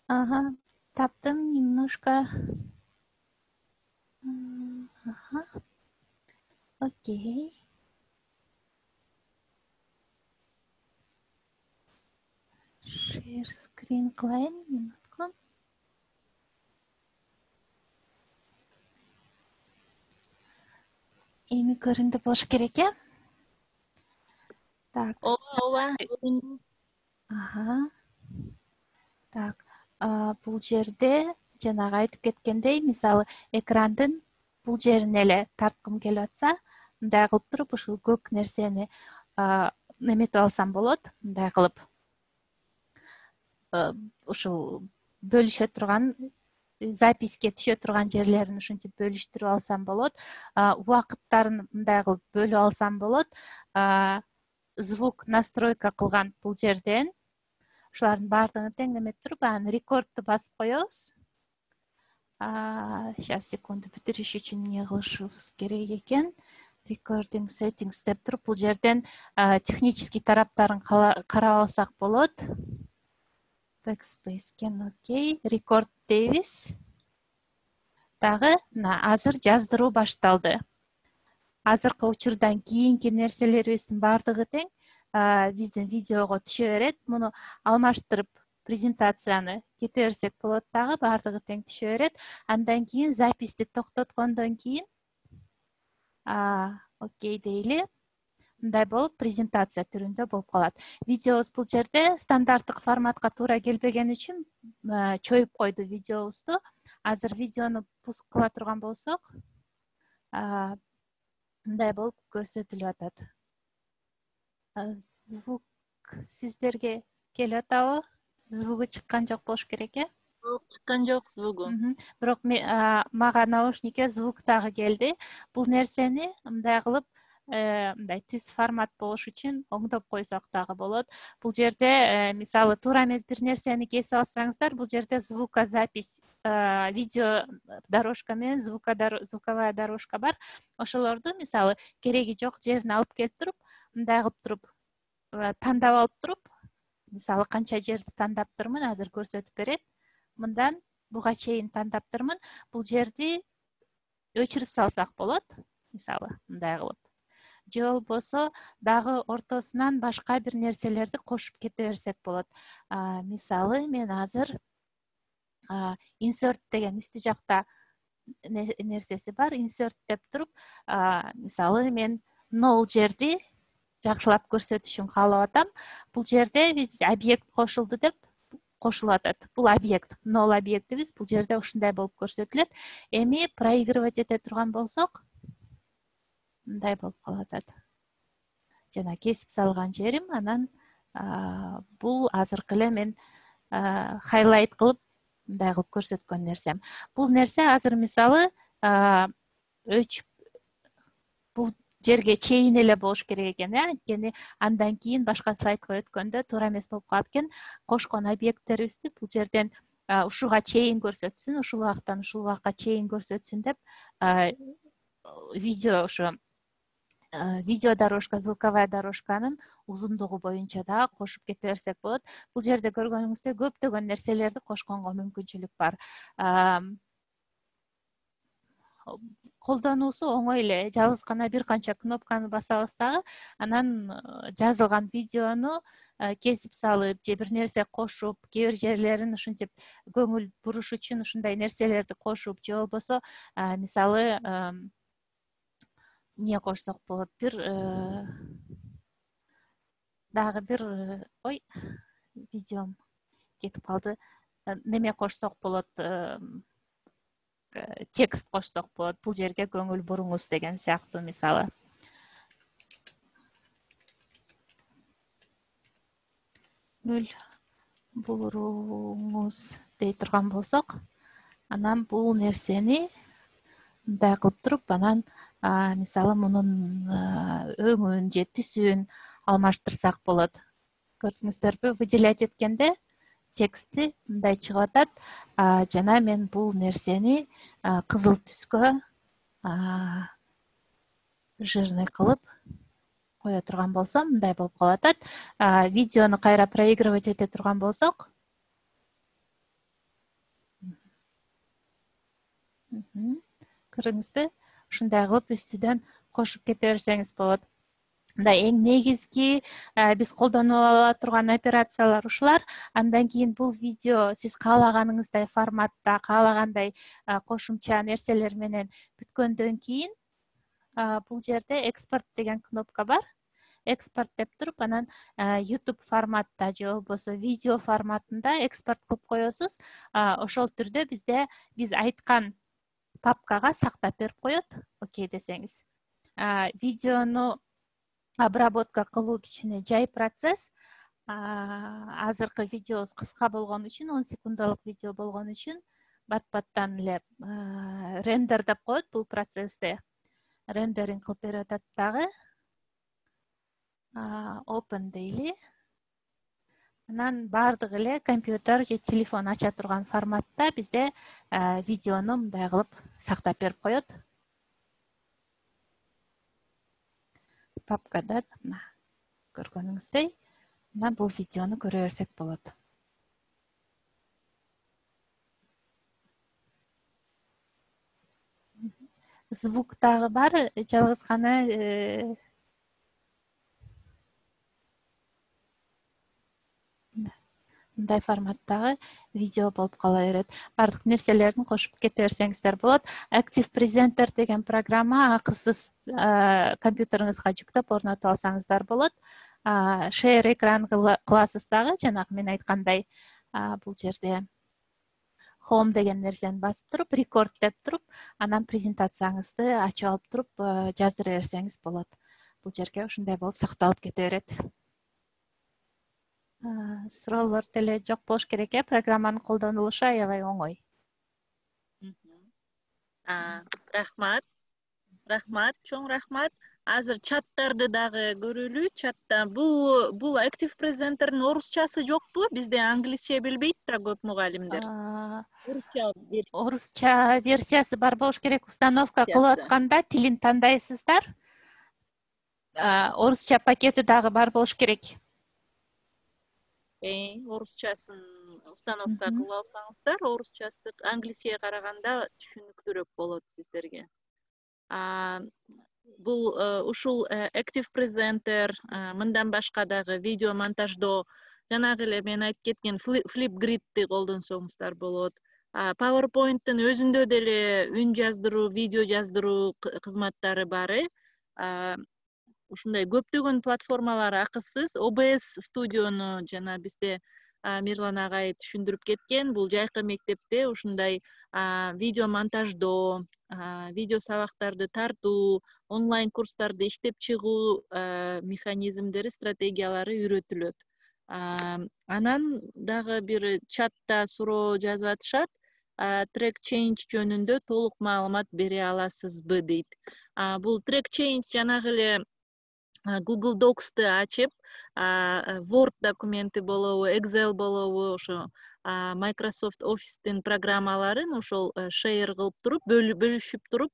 Ага, таптым немножко. Ага. Окей. Share screen кылайын, минутку. Эми көрүндү болуш керек, э? Так. Ооба, ооба. Ага. Так, бул жерде жанагы айтып кеткендей, мисалы, экрандын бул жерине эле тарткым келип атса, мындай кылып туруп ушул көк нерсени неметип алсам болот, мындай кылып ушул бөлүшө турган записке түшө турган жерлерин ушинтип бөлүштүрүп алсам болот. Убакыттарын мындай кылып бөлүп алсам болот. Звук настройка кылган бул жерден ушулардын баардыгын теңдемеп туруп, анан рекордду басып коебуз. Сейчас секунду бүтүрүш үчүн эмне кылышыбыз керек экен? Recording settings деп туруп, бул жерден технический тараптарын карап алсак болот. Backspace кен, окей. Record дейбиз. Дагы азыр жаздыруу башталды. Азыркы учурдан кийинки нерселерибиздин баардыгы тең биздин видеого түшө берет. Муну алмаштырып презентацияны кете берсек болот дагы, баардыгы тең түшө берет. Андан кийин записти токтоткондон кийин окей дейли. Мындай болуп презентация түрүндө болуп калат. Видеобуз бул жерде стандарттык форматка туура келбеген үчүн чоюп койду видеобузду. Азыр видеону пуск кыла турган болсок, мындай болуп көрсөтүлүп атат. Звук сиздерге келип атабы? Звугу чыккан жок болуш керек, э? Жок, чыккан жок звугу. Бирок мага наушникке звук дагы келди. Бул нерсени мындай кылып, мындай түз формат болуш үчүн оңдоп койсок дагы болот. Бул жерде мисалы туура эмес бир нерсени кесип алсаңыздар, бул жерде звукозапись, видео дорожка менен звуковая дорожка бар. Ошолорду мисалы кереги жок жерин алып келип туруп, мындай кылып туруп, тандап алып туруп, мисалы канча жерди тандап турмун, азыр көрсөтүп берет. Мындан буга чейин тандап турмун. Бул жерди өчүрүп салсак болот, мисалы мындай кылып. Же болбосо дагы ортосунан башка бир нерселерди кошуп кете берсек болот. Мисалы мен азыр insert деген үстү жакта нерсеси бар. Insert деп туруп, мисалы мен null жерди жакшылап көрсөтүшүн каалап атам. Бул жерде объект кошулду деп кошулуп атат. Бул объект, null объектибиз бул жерде ушундай болуп көрсөтүлөт. Эми проигрывать эте турган болсок, мындай болуп калып атат. Жана кесип салган жерим, анан бул азыркы эле мен хайлайт кылып мындай кылып көрсөткөн нерсем. Бул нерсе азыр мисалы өчүп бул жерге чейин эле болуш керек экен, э? Анткени андан кийин башка слайдка өткөндө туура эмес болуп калат экен. Кошкон объекттерибизди бул жерден ушуга чейин көрсөтсүн, ушул убактан ушул убакка чейин көрсөтсүн деп видео ошо видео дорожка, звуковая дорожканын узундугу боюнча да кошуп кете берсек болот. Бул жерде көргөнүңүздөй көптөгөн нерселерди кошконго мүмкүнчүлүк бар. Колдонуусу оңой эле. Жалгыз гана бир канча кнопканы басабыз дагы, анан жазылган видеону кесип салып, же бир нерсе кошуп, кээ бир жерлерин ушинтип көңүл буруш үчүн ушундай нерселерди кошуп, же болбосо мисалы эмне кошсок болот, бир дагы бир ой видеом кетип калды. Неме кошсок болот, текст кошсок болот. Бул жерге көңүл буруңуз деген сыяктуу мисалы. Көңүл буруңуз дей турган болсок, анан бул нерсени мындай кылып туруп, анан мисалы мунун өңүн же түсүн алмаштырсак болот. Көрдүңүздөрбү? Выделять эткенде тексти мындай чыгып атат. Жана мен бул нерсени кызыл түскө жирный кылып кое турган болсом, мындай болуп калып атат. Видеону кайра проигрывать эте турган болсок, көрдүңүзбү? Ушундай кылып үстүдөн кошуп кете берсеңиз болот. Мындай эң негизги биз колдонуп ала турган операциялар ушулар. Андан кийин бул видео сиз каалаганыңыздай форматта, каалагандай кошумча нерселер менен бүткөндөн кийин бул жерде экспорт деген кнопка бар. Экспорт деп туруп, анан YouTube форматта же болбосо видео форматында экспорт кылып коесуз. Ошол түрдө бизде биз айткан папкага сактап берип коет. Окей десеңиз. Видеону обработка кылуу кичине жай процесс. Азыркы видеобуз кыска болгон үчүн, он секундалык видео болгон үчүн бат баттан эле рендер деп коет бул процессте. Рендеринг кылып берип атат дагы. Open дейли. Анан баардыгы эле компьютер же телефон ача турган форматта бизде видеону мындай кылып сактап берип коет. Папкада мына көргөнүңүздөй, мына бул видеону көрө берсек болот. Звук дагы бар, жалгыз гана мындай форматтагы видео болуп кала берет. Бардык нерселерин кошуп кете берсеңиздер болот. Active Presenter деген программа акысыз компьютериңизге жүктөп орнотуп алсаңыздар болот. Share экран кыласыз дагы, жанагы мен айткандай, бул жерде Home деген нерсени басып туруп, Record деп туруп, анан презентацияңызды ачып алып туруп жаздыра берсеңиз болот. Бул жерге ушундай болуп сакталып кете берет. Суроолор деле жок болуш керек э, программанын колдонулушу аябай оңой. Рахмат. Рахмат, чоң рахмат. Азыр чаттарды дагы көрөлү. Чатта бул бул Active Presenter'дин орусчасы жокпу? Бизде англисче билбейт да көп мугалимдер. Орусча версия. Орусча версиясы бар болуш керек. Установка кылып атканда тилин тандайсыздар. Орусча пакети дагы бар болуш керек. Э, орусчасын установка кылып алсаңыздар, орусчасы англисчеге караганда түшүнүктүүрөөк болот сиздерге. Бул ушул Active Presenter, мындан башка дагы видео монтаждоо, жанагы эле мен айтып кеткен Flipgrid'ти колдонсоңуздар болот. PowerPoint'тын өзүндө деле үн жаздыруу, видео жаздыруу кызматтары бар э. Ушундай көптөгөн платформалар акысыз. о бэ эс студиону жана бизде Мирлан агай түшүндүрүп кеткен. Бул жайкы мектепте ушундай видео монтаждоо, видео сабактарды тартуу, онлайн курстарды иштеп чыгуу механизмдери, стратегиялары үйрөтүлөт. Анан дагы бир чатта суроо жазып атышат. Track change жөнүндө толук маалымат бере аласызбы дейт. Бул track change жанагы эле Google Docs'ты ачып, Word документи болобу, Excel болобу, ошо Microsoft Office'тин программаларын ошол share кылып туруп, бөлүшүп туруп,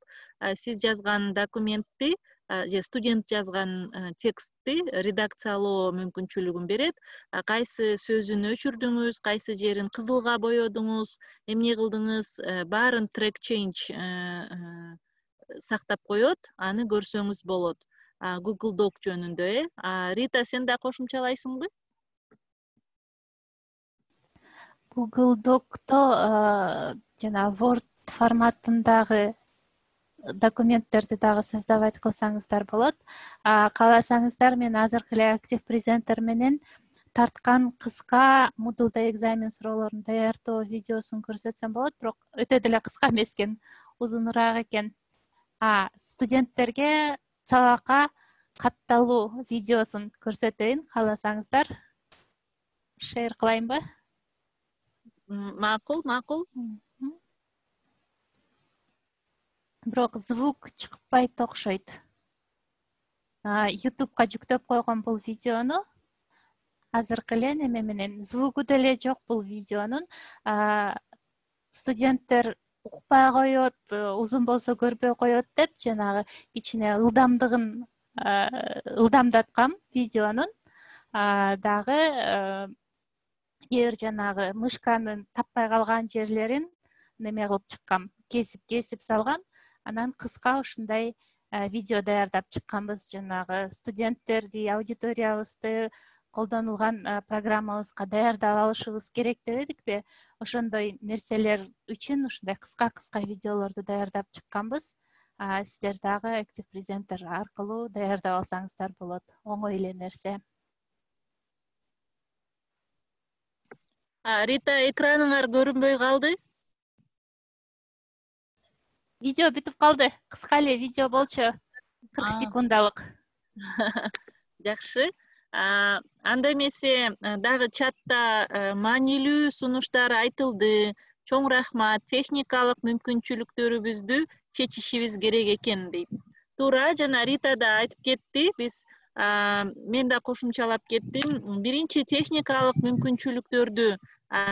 сиз жазган документти, же студент жазган текстти редакциялоо мүмкүнчүлүгүн берет. Кайсы сөзүн өчүрдүңүз, кайсы жерин кызылга боёдуңуз, эмне кылдыңыз, баарын track change сактап коет, аны көрсөңүз болот. Google Doc жөнүндө, э. Рита, сен да кошумчалайсыңбы? Google Doc'то жана Word форматындагы документтерди дагы создавать кылсаңыздар болот. Кааласаңыздар, мен азыркы эле Active Presenter менен тарткан кыска Moodle'да экзамен суроолорун даярдоо видеосун көрсөтсөм болот, бирок өтө деле кыска эмес экен, узунураак экен. Студенттерге сабакка катталуу видеосун көрсөтөйүн, кааласаңыздар. Share кылайынбы? Макул, макул. Бирок звук чыкпайт окшойт. YouTube'га жүктөп койгон бул видеону азыркы эле неме менен, звугу деле жок бул видеонун. Студенттер укпай коет, узун болсо көрбөй коет деп, жанагы кичине ылдамдыгын ылдамдаткам видеонун. Дагы кээ бир жанагы мышканын таппай калган жерлерин неме кылып чыккам, кесип-кесип салгам. Анан кыска ушундай видео даярдап чыкканбыз. Жанагы студенттерди, аудиториябызды колдонулган программабызга даярдап алышыбыз керек дебедикпи? Ошондой нерселер үчүн ушундай кыска-кыска видеолорду даярдап чыкканбыз. Сиздер дагы Active Presenter аркылуу даярдап алсаңыздар болот. Оңой эле нерсе. Рита, экраныңар көрүнбөй калды? Видео бүтүп калды. Кыска эле видео болчу. кырк секундалык. Жакшы. Анда эмесе дагы чатта маанилүү сунуштар айтылды. Чоң рахмат. Техникалык мүмкүнчүлүктөрүбүздү чечишибиз керек экен дейт. Туура, жана Рита да айтып кетти. Биз мен да кошумчалап кеттим. Биринчи техникалык мүмкүнчүлүктөрдү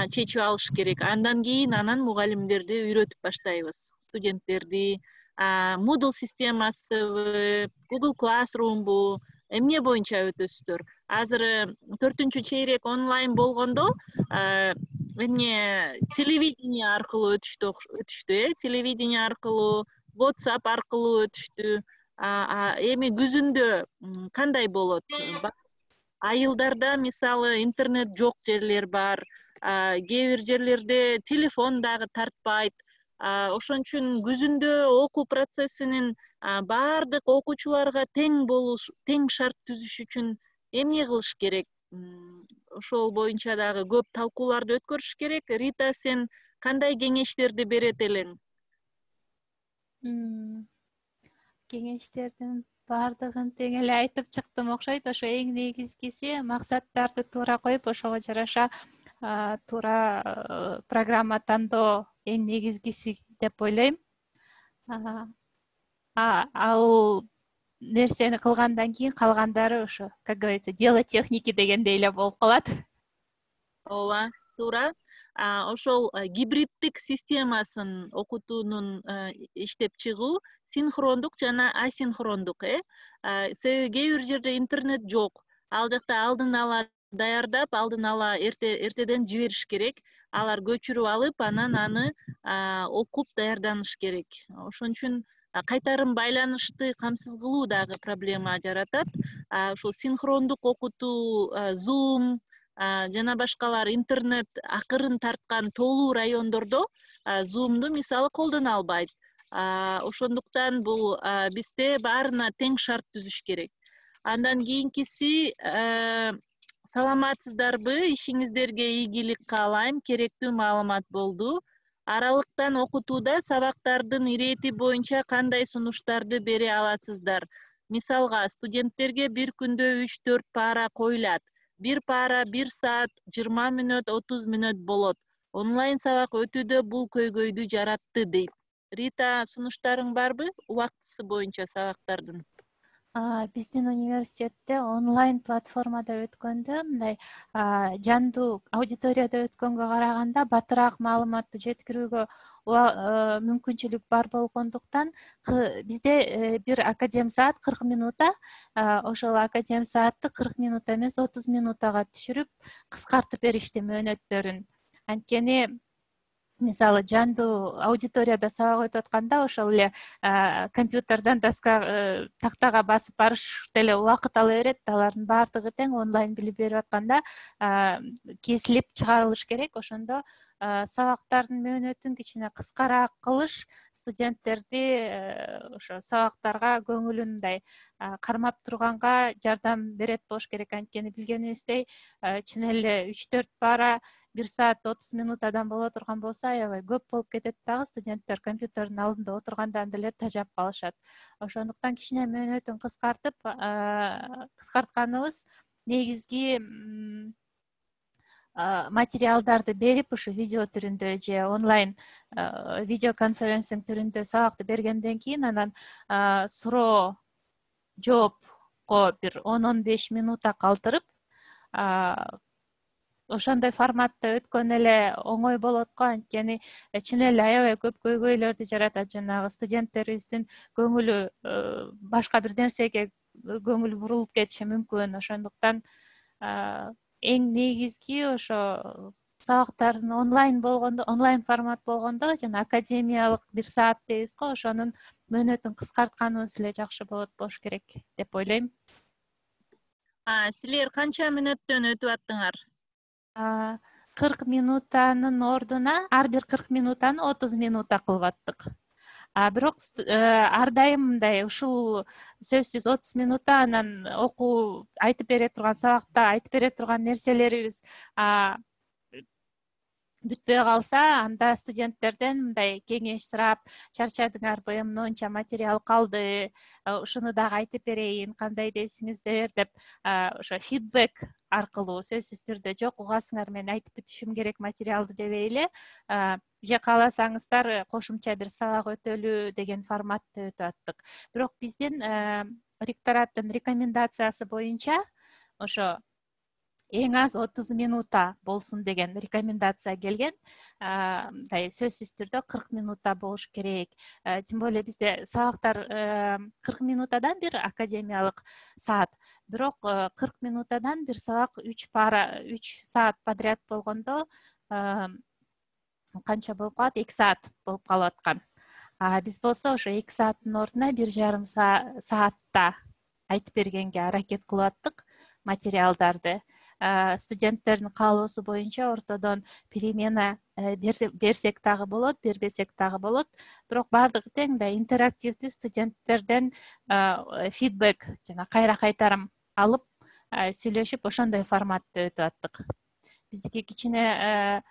чечип алыш керек. Андан кийин анан мугалимдерди үйрөтүп баштайбыз. Студенттерди Moodle системасыбы, Google Classroom'бу, эмне боюнча өтөсүздөр? Азыр төртүнчү чейрек онлайн болгондо эмне телевидение аркылуу өтүштү, өтүштү, э, телевидение аркылуу, WhatsApp аркылуу өтүштү. Эми күзүндө кандай болот? Айылдарда мисалы интернет жок жерлер бар, кээ бир жерлерде телефон дагы тартпайт. Ошон үчүн күзүндө окуу процессинин баардык окуучуларга тең болуш, тең шарт түзүш үчүн эмне кылыш керек? Ошол боюнча дагы көп талкууларды өткөрүш керек. Рита, сен кандай кеңештерди берет элең? Кеңештердин баардыгын тең эле айтып чыктым окшойт. Ошо эң негизгиси максаттарды туура коюп, ошого жараша туура программа тандоо эң негизгиси деп ойлойм. Ал нерсени кылгандан кийин калгандары ошо, как говорится, дело техники дегендей эле болуп калат. Ооба, туура. Ошол гибриддик системасын окутуунун иштеп чыгуу синхрондук жана асинхрондук, э. Себеби кээ бир жерде интернет жок. Ал жакта алдын ала даярдап, алдын ала эртеден жибериш керек. Алар көчүрүп алып, анан аны окуп даярданыш керек. Ошон үчүн кайтарым байланышты камсыз кылуу дагы проблема жаратат. Ошол синхрондук окутуу, Zoom жана башкалар интернет акырын тарткан тоолуу райондордо Zoom'ду мисалы колдоно албайт. Ошондуктан бул бизде баарына тең шарт түзүш керек. Андан кийинкиси, саламатсыздарбы? Ишиңиздерге ийгилик каалайм. Керектүү маалымат болду. Аралыктан окутууда сабактардын ирети боюнча кандай сунуштарды бере аласыздар? Мисалга, студенттерге бир күндө үч төрт пара коюлат. Бир пара бир саат жыйырма мүнөт, отуз мүнөт болот. Онлайн сабак өтүүдө бул көйгөйдү жаратты дейт. Рита, сунуштарың барбы? Убактысы боюнча сабактардын? Биздин университетте онлайн платформада өткөндө мындай жандуу аудиторияда өткөнгө караганда батыраак маалыматты жеткирүүгө мүмкүнчүлүк бар болгондуктан бизде бир академ саат кырк минута, ошол академ саатты кырк минута эмес отуз минутага түшүрүп кыскартып беришти мөөнөттөрүн. Анткени мисалы жандуу аудиторияда сабак өтүп атканда ошол эле компьютерден доска тактага басып барыш деле убакыт ала берет. Алардын баардыгы тең онлайн билим берип атканда кесилип чыгарылыш керек. Ошондо сабактардын мөөнөтүн кичине кыскараак кылыш студенттерди ошо сабактарга көңүлүн мындай кармап турганга жардам берет болуш керек. Анткени билгенибиздей чын эле үч төрт пара бир саат отуз минутадан боло турган болсо аябай көп болуп кетет дагы. Студенттер компьютердин алдында отургандан деле тажап калышат. Ошондуктан кичине мөөнөтүн кыскартып, кыскартканыбыз негизги материалдарды берип, ушу видео түрүндө же онлайн видео конференцинг түрүндө сабакты бергенден кийин анан суроо жоопко бир он он беш минута калтырып, ошондой форматта өткөн эле оңой болот го. Анткени чын эле аябай көп көйгөйлөрдү жаратат. Жанагы студенттерибиздин көңүлү башка бир нерсеге көңүл бурулуп кетиши мүмкүн. Ошондуктан эң негизги ошо сабактардын онлайн болгондо, онлайн формат болгондо жана академиялык бир саат дейбиз го, ошонун мөөнөтүн кыскартканыбыз эле жакшы болот болуш керек деп ойлойм. Силер канча мүнөттөн өтүп аттыңар? кырк минутанын ордуна ар бир кырк минутаны отуз минута кылып аттык. Бирок ар дайым мындай ушул сөзсүз отуз минутта анан окуу айтып бере турган сабакта айтып бере турган нерселерибиз бүтпөй калса, анда студенттерден мындай кеңеш сурап, чарчадыңарбы, монча материал калды, ушуну дагы айтып берейин, кандай дейсиңиздер деп, ошо фидбек аркылуу сөзсүз түрдө жок угасыңар, мен айтып бүтүшүм керек материалды дебей эле, же кааласаңыздар кошумча бир сабак өтөлү деген форматты өтүп аттык. Бирок биздин ректораттын рекомендациясы боюнча ошо эң аз отуз минута болсун деген рекомендация келген. Мындай сөзсүз түрдө кырк минута болуш керек. Тем более бизде сабактар кырк минутадан бир академиялык саат. Бирок кырк минутадан бир сабак үч пара, үч саат подряд болгондо канча болуп калат? эки саат болуп калып аткан. А биз болсо ошо эки сааттын ордуна бир жарым саатта айтып бергенге аракет кылып аттык материалдарды. Студенттердин каалоосу боюнча ортодон перемена берсек дагы болот, бербесек дагы болот. Бирок баардыгы тең да интерактивдүү студенттерден фидбек жана кайра кайтарым алып сүйлөшүп, ошондой форматты өтүп аттык. Биздики кичине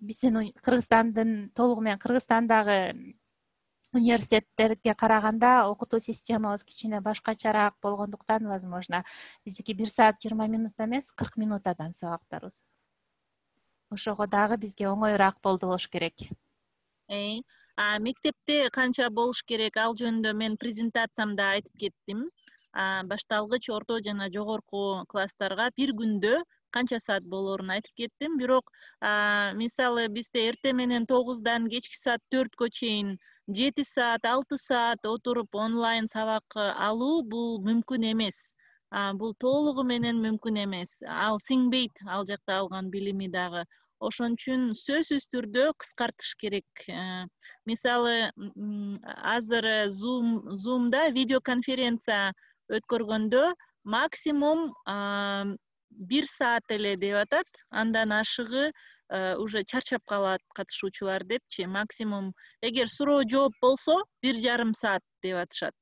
биздин Кыргызстандын толугу менен Кыргызстандагы университеттерге караганда окутуу системабыз кичине башкачараак болгондуктан, возможно, биздики бир саат жыйырма минут эмес, кырк минутадан сабактарыбыз. Ошого дагы бизге оңоюраак болду болуш керек. Эй, а мектепте канча болуш керек, ал жөнүндө мен презентациямда айтып кеттим. Башталгыч, орто жана жогорку класстарга бир күндө канча саат болоорун айтып кеттим. Бирок мисалы бизде эртең менен тогуздан кечки саат төрткө чейин жети саат, алты саат отуруп онлайн сабак алуу бул мүмкүн эмес. Бул толугу менен мүмкүн эмес. Ал сиңбейт ал жакта алган билими дагы. Ошон үчүн сөзсүз түрдө кыскартыш керек. Мисалы азыр Zoom Zoom'да видеоконференция өткөргөндө максимум бир саат эле деп атат. Андан ашыгы уже чарчап калат катышуучулар депчи. Максимум эгер суроо жооп болсо бир жарым саат деп атышат.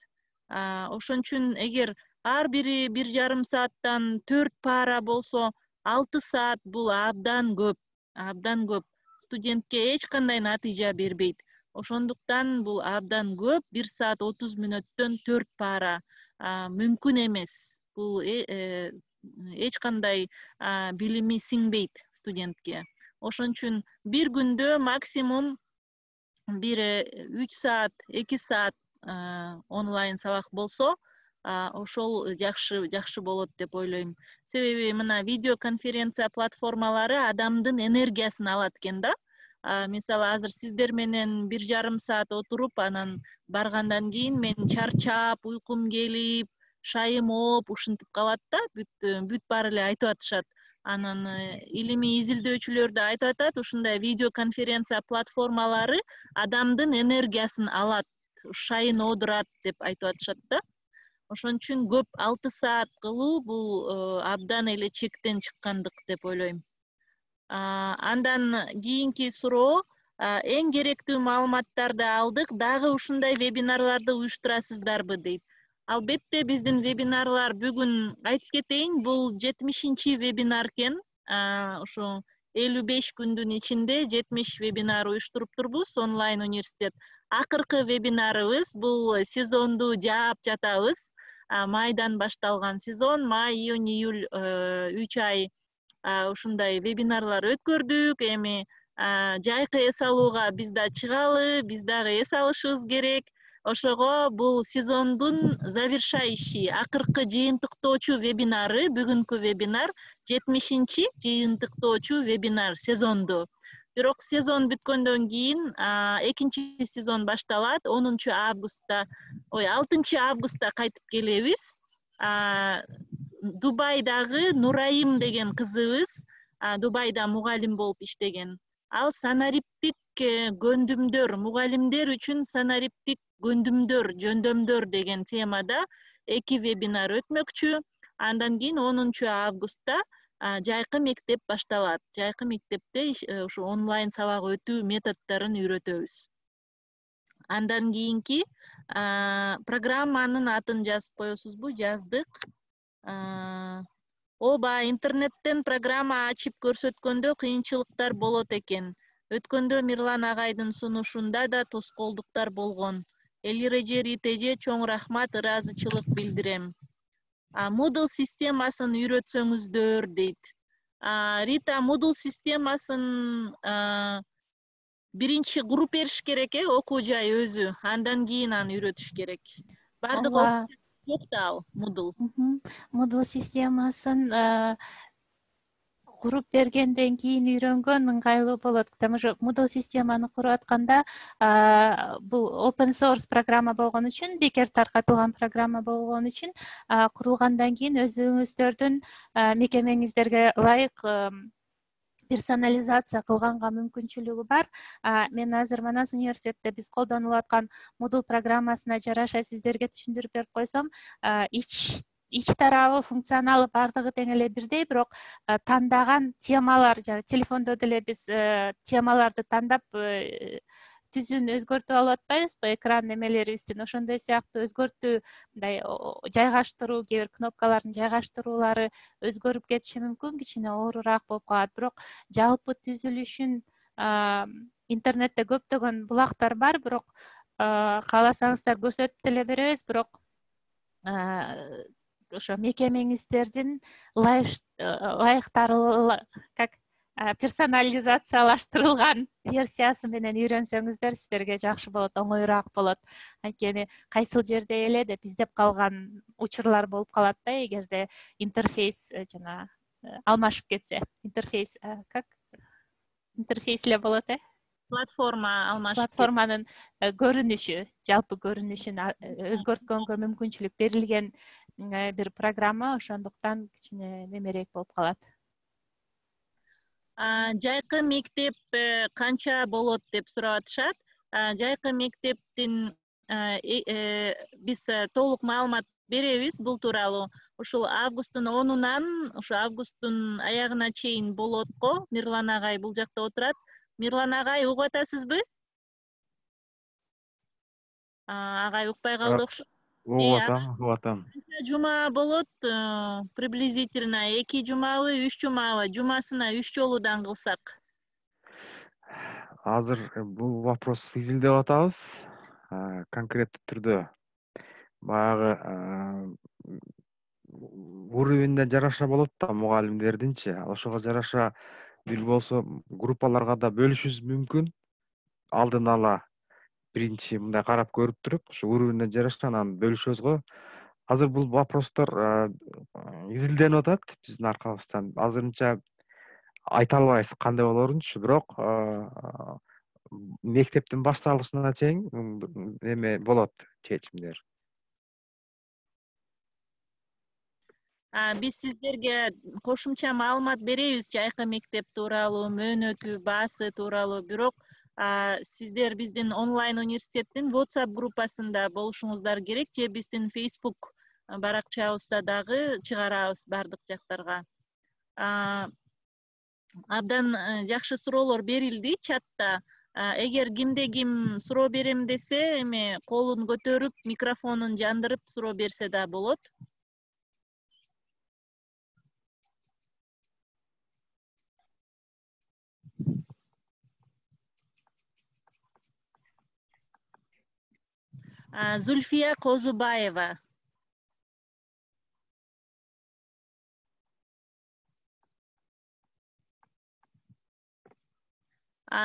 Ошон үчүн эгер ар бири бир жарым сааттан төрт пара болсо алты саат бул абдан көп. Абдан көп. Студентке эч кандай натыйжа бербейт. Ошондуктан бул абдан көп. бир саат отуз мүнөттөн төрт пара мүмкүн эмес. Бул эч кандай билими сиңбейт студентке. Ошон үчүн бир күндө максимум бир үч саат, эки саат онлайн сабак болсо, ошол жакшы жакшы болот деп ойлойм. Себеби мына видеоконференция платформалары адамдын энергиясын алат экен да. Мисалы азыр сиздер менен бир жарым саат отуруп, анан баргандан кийин мен чарчап, уйкум келип, шайым ооп ушинтип калат да, бүт бүт баары эле айтып атышат. Анан илимий изилдөөчүлөр да айтып атат, ушундай видеоконференция платформалары адамдын энергиясын алат, шайын оодурат деп айтып атышат да. Ошон үчүн көп алты саат кылуу бул абдан эле чектен чыккандык деп ойлойм. Андан кийинки суроо, эң керектүү маалыматтарды алдык, дагы ушундай вебинарларды уюштурасыздарбы дейт. Албетте биздин вебинарлар бүгүн айтып кетейин, бул жетимишинчи вебинар экен. Ошо элүү беш күндүн ичинде жетимиш вебинар уюштуруп турбуз, онлайн университет. Акыркы вебинарыбыз бул сезонду жаап жатабыз. Майдан башталган сезон, май, июнь, июль үч ай ушундай вебинарлар өткөрдүк. Эми жайкы эс алууга биз да чыгалы, биз дагы эс алышыбыз керек. Ошого бул сезондун завершающий, акыркы жыйынтыктоочу вебинары, бүгүнкү вебинар жетимишинчи жыйынтыктоочу вебинар сезонду. Бирок сезон бүткөндөн кийин экинчи сезон башталат. онунчу августта, ой, алтынчы августта кайтып келебиз. Дубайдагы Нурайым деген кызыбыз, Дубайда мугалим болуп иштеген. Ал санариптик көндүмдөр, мугалимдер үчүн санариптик көндүмдөр, жөндөмдөр деген темада эки вебинар өтмөкчү. Андан кийин онунчу августта жайкы мектеп башталат. Жайкы мектепте ушу онлайн сабак өтүү методдорун үйрөтөбүз. Андан кийинки программанын атын жазып коесузбу? Жаздык. Ооба, интернеттен программа ачып көрсөткөндө кыйынчылыктар болот экен. Өткөндө Мирлан агайдын сунушунда да тоскоолдуктар болгон. Эл эреже Ритеже чоң рахмат, ыраазычылык билдирем. Moodle системасын үйрөтсөңүздөр дейт. Рита, Moodle системасын биринчи куруп бериш керек э, окуу жай өзү. Андан кийин аны үйрөтүш керек. Бардыгы ооба, жок да ал Moodle. Moodle системасын куруп бергенден кийин үйрөнгөн ыңгайлуу болот. Потому что Moodle системаны куруп атканда бул open source программа болгон үчүн, бекер таркатылган программа болгон үчүн курулгандан кийин өзүңүздөрдүн мекемеңиздерге ылайык персонализация кылганга мүмкүнчүлүгү бар. Мен азыр Манас университетте биз колдонуп аткан Moodle программасына жараша сиздерге түшүндүрүп берип койсом, ич ич тарабы, функционалы бардыгы тең эле бирдей, бирок тандаган темалар, жана телефондо деле биз темаларды тандап түзүн өзгөртүп алып атпайбызбы, экран немелерибиздин ошондой сыяктуу өзгөртүү, мындай жайгаштыруу, кээ бир кнопкалардын жайгаштыруулары өзгөрүп кетиши мүмкүн, кичине оорураак болуп калат. Бирок жалпы түзүлүшүн интернетте көптөгөн булактар бар, бирок кааласаңыздар көрсөтүп деле беребиз, бирок ошо мекемеңиздердин ылайыктары как персонализациялаштырылган версиясы менен үйрөнсөңүздөр сиздерге жакшы болот, оңоюраак болот. Анткени кайсыл жерде эле деп издеп калган учурлар болуп калат да, эгерде интерфейс жана алмашып кетсе. Интерфейс как интерфейс эле болот э? Платформа алмашып кетсе. Платформанын көрүнүшү, жалпы көрүнүшүн өзгөрткөнгө мүмкүнчүлүк берилген бир программа, ошондуктан кичине немерээк болуп калат. Жайкы мектеп канча болот деп сурап атышат. Жайкы мектептин биз толук маалымат беребиз бул тууралуу. Ушул августтун онунан ушу августтун аягына чейин болот го. Мирлан агай бул жакта отурат. Мирлан агай, угуп атасызбы? Агай укпай калды окшойт. Угуп атам, угуп атам. Жума болот, приблизительно эки жумабы, үч жумабы, жумасына үч жолудан кылсак. Азыр бул вопрос изилдеп атабыз. Конкреттүү түрдө баягы уровеньне жараша болот да, мугалимдердинчи. Ошого жараша бир болсо группаларга да бөлүшүбүз мүмкүн. Алдын ала биринчи мындай карап көрүп туруп, ушу уровеньне жараша анан бөлүшөбүз го. Азыр бул вопростор изилденип атат биздин аркабыздан. Азырынча айта албайбыз кандай болорунчу, бирок мектептин башталышына чейин эме болот чечимдер. Биз сиздерге кошумча маалымат беребиз жайкы мектеп тууралуу, мөөнөтү, баасы тууралуу, бирок сиздер биздин онлайн университеттин WhatsApp группасында болушуңуздар керек, же биздин Facebook баракчабызда дагы чыгарабыз бардык жактарга. Абдан жакшы суроолор берилди чатта. Эгер кимде ким суроо берем десе, эме колун көтөрүп, микрофонун жандырып суроо берсе да болот. Зульфия Козубаева.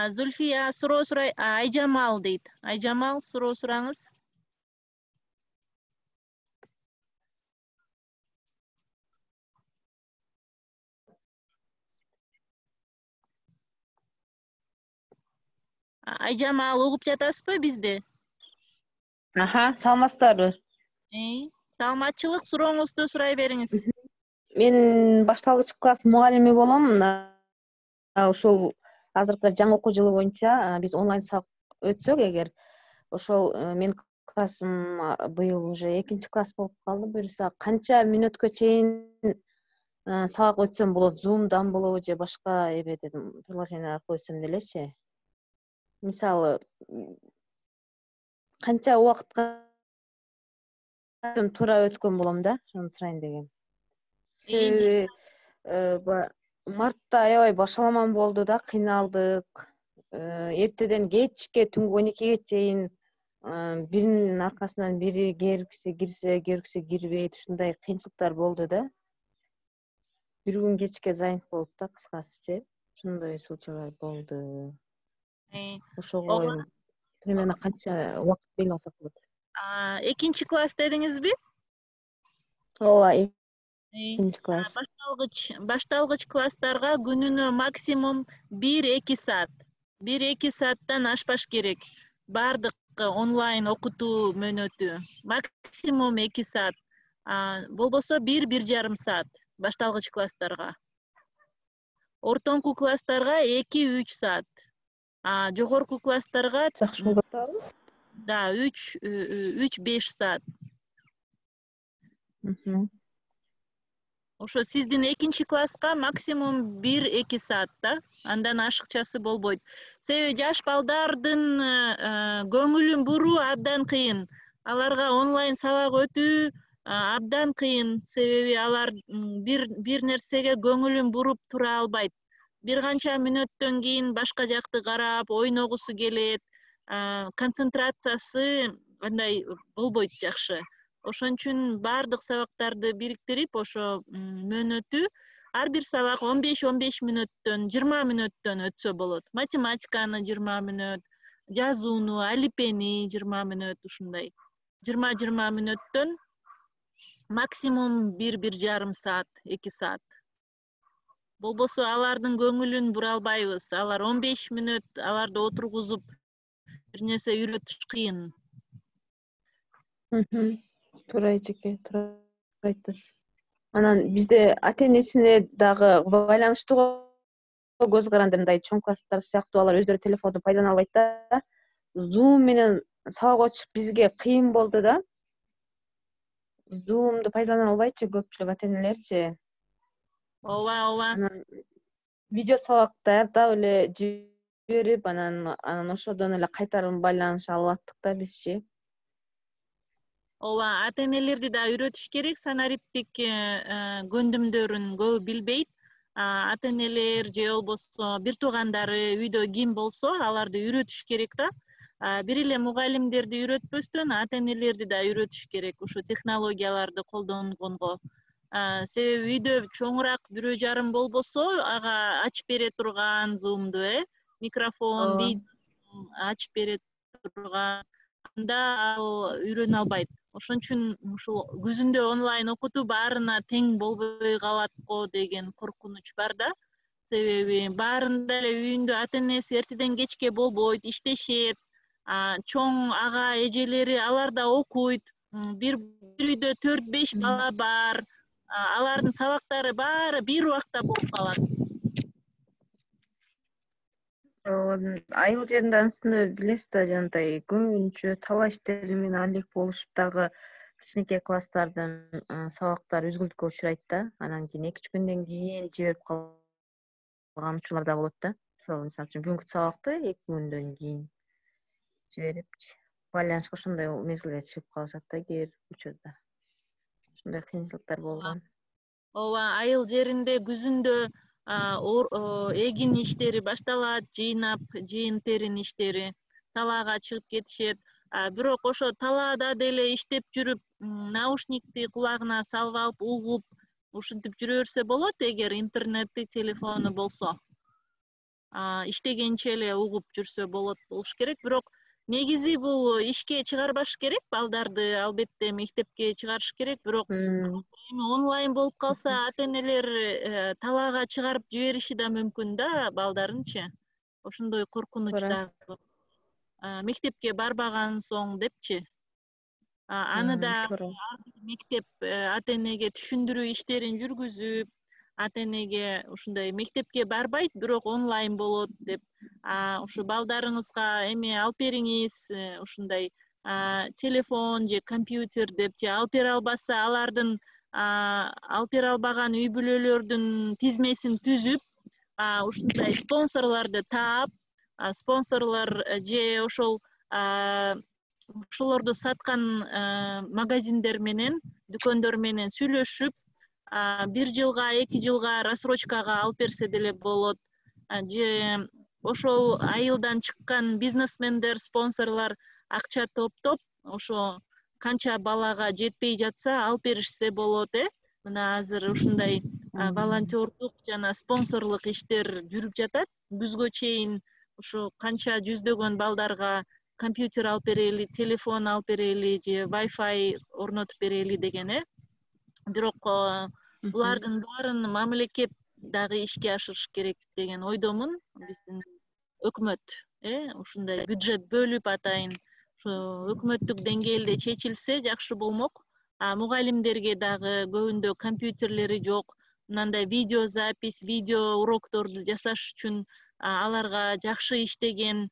Зульфия суроо сурай, Айжамал дейт. Айжамал, суроо сураңыз. Айжамал, угуп жатасызбы бизди? Аха, саламатсыздарбы? Саламатчылык, сурооңузду сурай бериңиз. Мен башталгыч класс мугалими болом. Ошол азыркы жаңы окуу жылы боюнча биз онлайн сабак өтсөк, эгер ошол мен классым быйыл уже экинчи класс болуп калды. Буюрса канча мүнөткө чейин сабак өтсөм болот? Zoom'дан болобу же башка эбеден приложение аркылуу өтсөм делечи? Мисалы, канча убакытка туура өткөн болом да, ошону сурайын дегем. себеби мартта аябай башаламан болду да, кыйналдык. Эртеден кечке, түнкү он экиге чейин биринин аркасынан бири кергиси кирсе, кергиси кирбейт, ушундай кыйынчылыктар болду да. Бир күн кечке занят болуп да, кыскасычы, ошондой случайлар болду. Ошого примерно канча убакыт беле алсак болот? Экинчи класс дедиңизби? Ооба, экинчи класс. Башталгыч башталгыч класстарга күнүнө максимум бир-эки саат. бир-эки сааттан ашпаш керек. Бардык онлайн окутуу мөөнөтү. Максимум эки саат. Болбосо бир-бир жарым саат башталгыч класстарга. Ортоңку класстарга эки-үч саат. А жогорку класстарга жакшы болуп атабы? Да, үч-беш саат. Ошо сиздин экинчи класска максимум бир-эки саат да, андан ашыкчасы болбойт. Себеби жаш балдардын көңүлүн буруу абдан кыйын. Аларга онлайн сабак өтүү абдан кыйын, себеби алар бир бир нерсеге көңүлүн буруп тура албайт. Бир канча мүнөттөн кийин башка жакты карап, ойногусу келет, концентрациясы андай болбойт жакшы. Ошон үчүн бардык сабактарды бириктирип, ошо мөөнөтү ар бир сабак он беш он беш мүнөттөн, жыйырма мүнөттөн өтсө болот. Математиканы жыйырма мүнөт, жазууну, алипени жыйырма мүнөт, ушундай. жыйырма-жыйырма мүнөттөн максимум бир-бир жарым саат, эки саат. Болбосо алардын көңүлүн бура албайбыз. Алар он беш мүнөт аларды отургузуп бир нерсе үйрөтүш кыйын. Туура эжеке, туура айтасыз. Анан бизде ата-энесине дагы байланыштуу көз каранды, мындай чоң класстар сыяктуу алар өздөрү телефонду пайдалана албайт да. Zoom менен сабак өтүш бизге кыйын болду да. Zoom'ду пайдалана албайчы көпчүлүк ата-энелерчи. Ооба, ооба. Анан видео сабак даярдап эле жиберип, анан анан ошодон эле кайтарым байланыша алып аттык да бизчи. Ооба, ата-энелерди да үйрөтүш керек, санариптик көндүмдөрүн көбү билбейт. Ата-энелер же болбосо бир туугандары үйдө ким болсо, аларды үйрөтүш керек да. Бир эле мугалимдерди үйрөтпөстөн, ата-энелерди да үйрөтүш керек ушу технологияларды колдонгонго. Себеби үйдө чоңураак бирөө жарым болбосо, ага ачып бере турган Zoom'ду, э, микрофон, видео ачып бере турган, анда ал үйрөнө албайт. Ошон үчүн ушул күзүндө онлайн окутуу баарына тең болбой калат го деген коркунуч бар да. Себеби баарында эле үйүндө ата-энеси эртеден кечке болбойт, иштешет. Чоң ага эжелери алар да окуйт. Бир үйдө төрт беш бала бар. Алардын сабактары баары бир убакта болуп калат. Айыл жеринде анысыны билесиз да, жанагындай көбүнчө талаа иштери менен алек болушуп дагы кичинекей класстардын сабактары үзгүлтүккө учурайт да. Анан кийин эки үч күндөн кийин жиберип калган учурлар да болот да. Ошол мисалы үчүн бүгүнкү сабакты эки күндөн кийин жиберипчи, байланышка ошондой мезгилде түшүп калышат да кээ бир учурда. Ушундай кыйынчылыктар болгон. Ооба, айыл жеринде күзүндө эгин иштери башталат, жыйнап, жыйын терин иштери, талаага чыгып кетишет. Бирок ошо талаада деле иштеп жүрүп, наушникти кулагына салып алып, угуп, ушинтип жүрө берсе болот, эгер интернети, телефону болсо. Иштегенче эле угуп жүрсө болот болуш керек. Бирок негизи бул ишке чыгарбаш керек, балдарды албетте мектепке чыгарыш керек. Бирок онлайн болуп калса, ата-энелер талаага чыгарып жибериши да мүмкүн да балдарынчы. Ошондой коркунуч дагы. Мектепке барбаган соң депчи. Аны да мектеп ата-энеге түшүндүрүү иштерин жүргүзүп, ата-энеге ушундай мектепке барбайт, бирок онлайн болот деп, ушу балдарыңызга эме алып бериңиз, ушундай телефон же компьютер депчи алып бере албаса, алардын алып бере албаган үй бүлөлөрдүн тизмесин түзүп, ушундай спонсорлорду таап, спонсорлор же ошол ошолорду саткан магазиндер менен, дүкөндөр менен сүйлөшүп, бир жылга эки жылга рассрочкага алып берсе деле болот. Же ошол айылдан чыккан бизнесмендер, спонсорлор акча топтоп ошо канча балага жетпей жатса алып беришсе болот. Э мына азыр ушундай волонтердук жана спонсорлук иштер жүрүп жатат. Күзгө чейин ушу канча жүздөгөн балдарга компьютер алып берели, телефон алып берели же Wi-Fi орнотуп берели деген. Э бирок булардын баарын мамлекет дагы ишке ашырыш керек деген ойдомун. Биздин өкмөт э ушундай бюджет бөлүп атайын ушу өкмөттүк деңгээлде чечилсе жакшы болмок. А мугалимдерге дагы көбүндө компьютерлери жок. Мындай видео запись, видео урокторду жасаш үчүн аларга жакшы иштеген,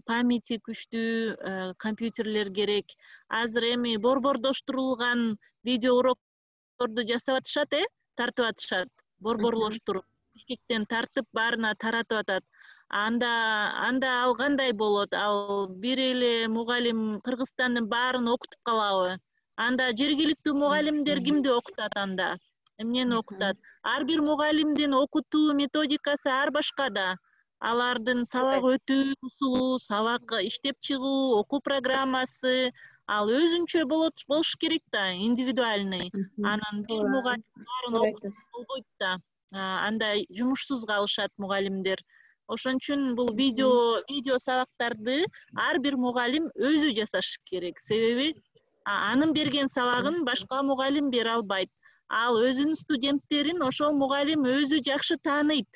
памяти күчтүү компьютерлер керек. Азыр эми борбордоштурулган видео урокторду жасап атышат, э тартып атышат. Борборлоштуруп, Бишкектен тартып баарына таратып атат. Анда анда ал кандай болот? Ал бир эле мугалим Кыргызстандын баарын окутуп калабы? Анда жергиликтүү мугалимдер кимди окутат анда? Эмнени окутат? Ар бир мугалимдин окутуу методикасы ар башка да. Алардын сабак өтүү усулу, сабак иштеп чыгуу, окуу программасы ал өзүнчө болот болуш керек да, индивидуальный. Анан бир мугалим баарын окутса болбойт да. Андай жумушсуз калышат мугалимдер. Ошон үчүн бул видео видео сабактарды ар бир мугалим өзү жасаш керек. Себеби анын берген сабагын башка мугалим бере албайт. Ал өзүнүн студенттерин ошол мугалим өзү жакшы тааныйт.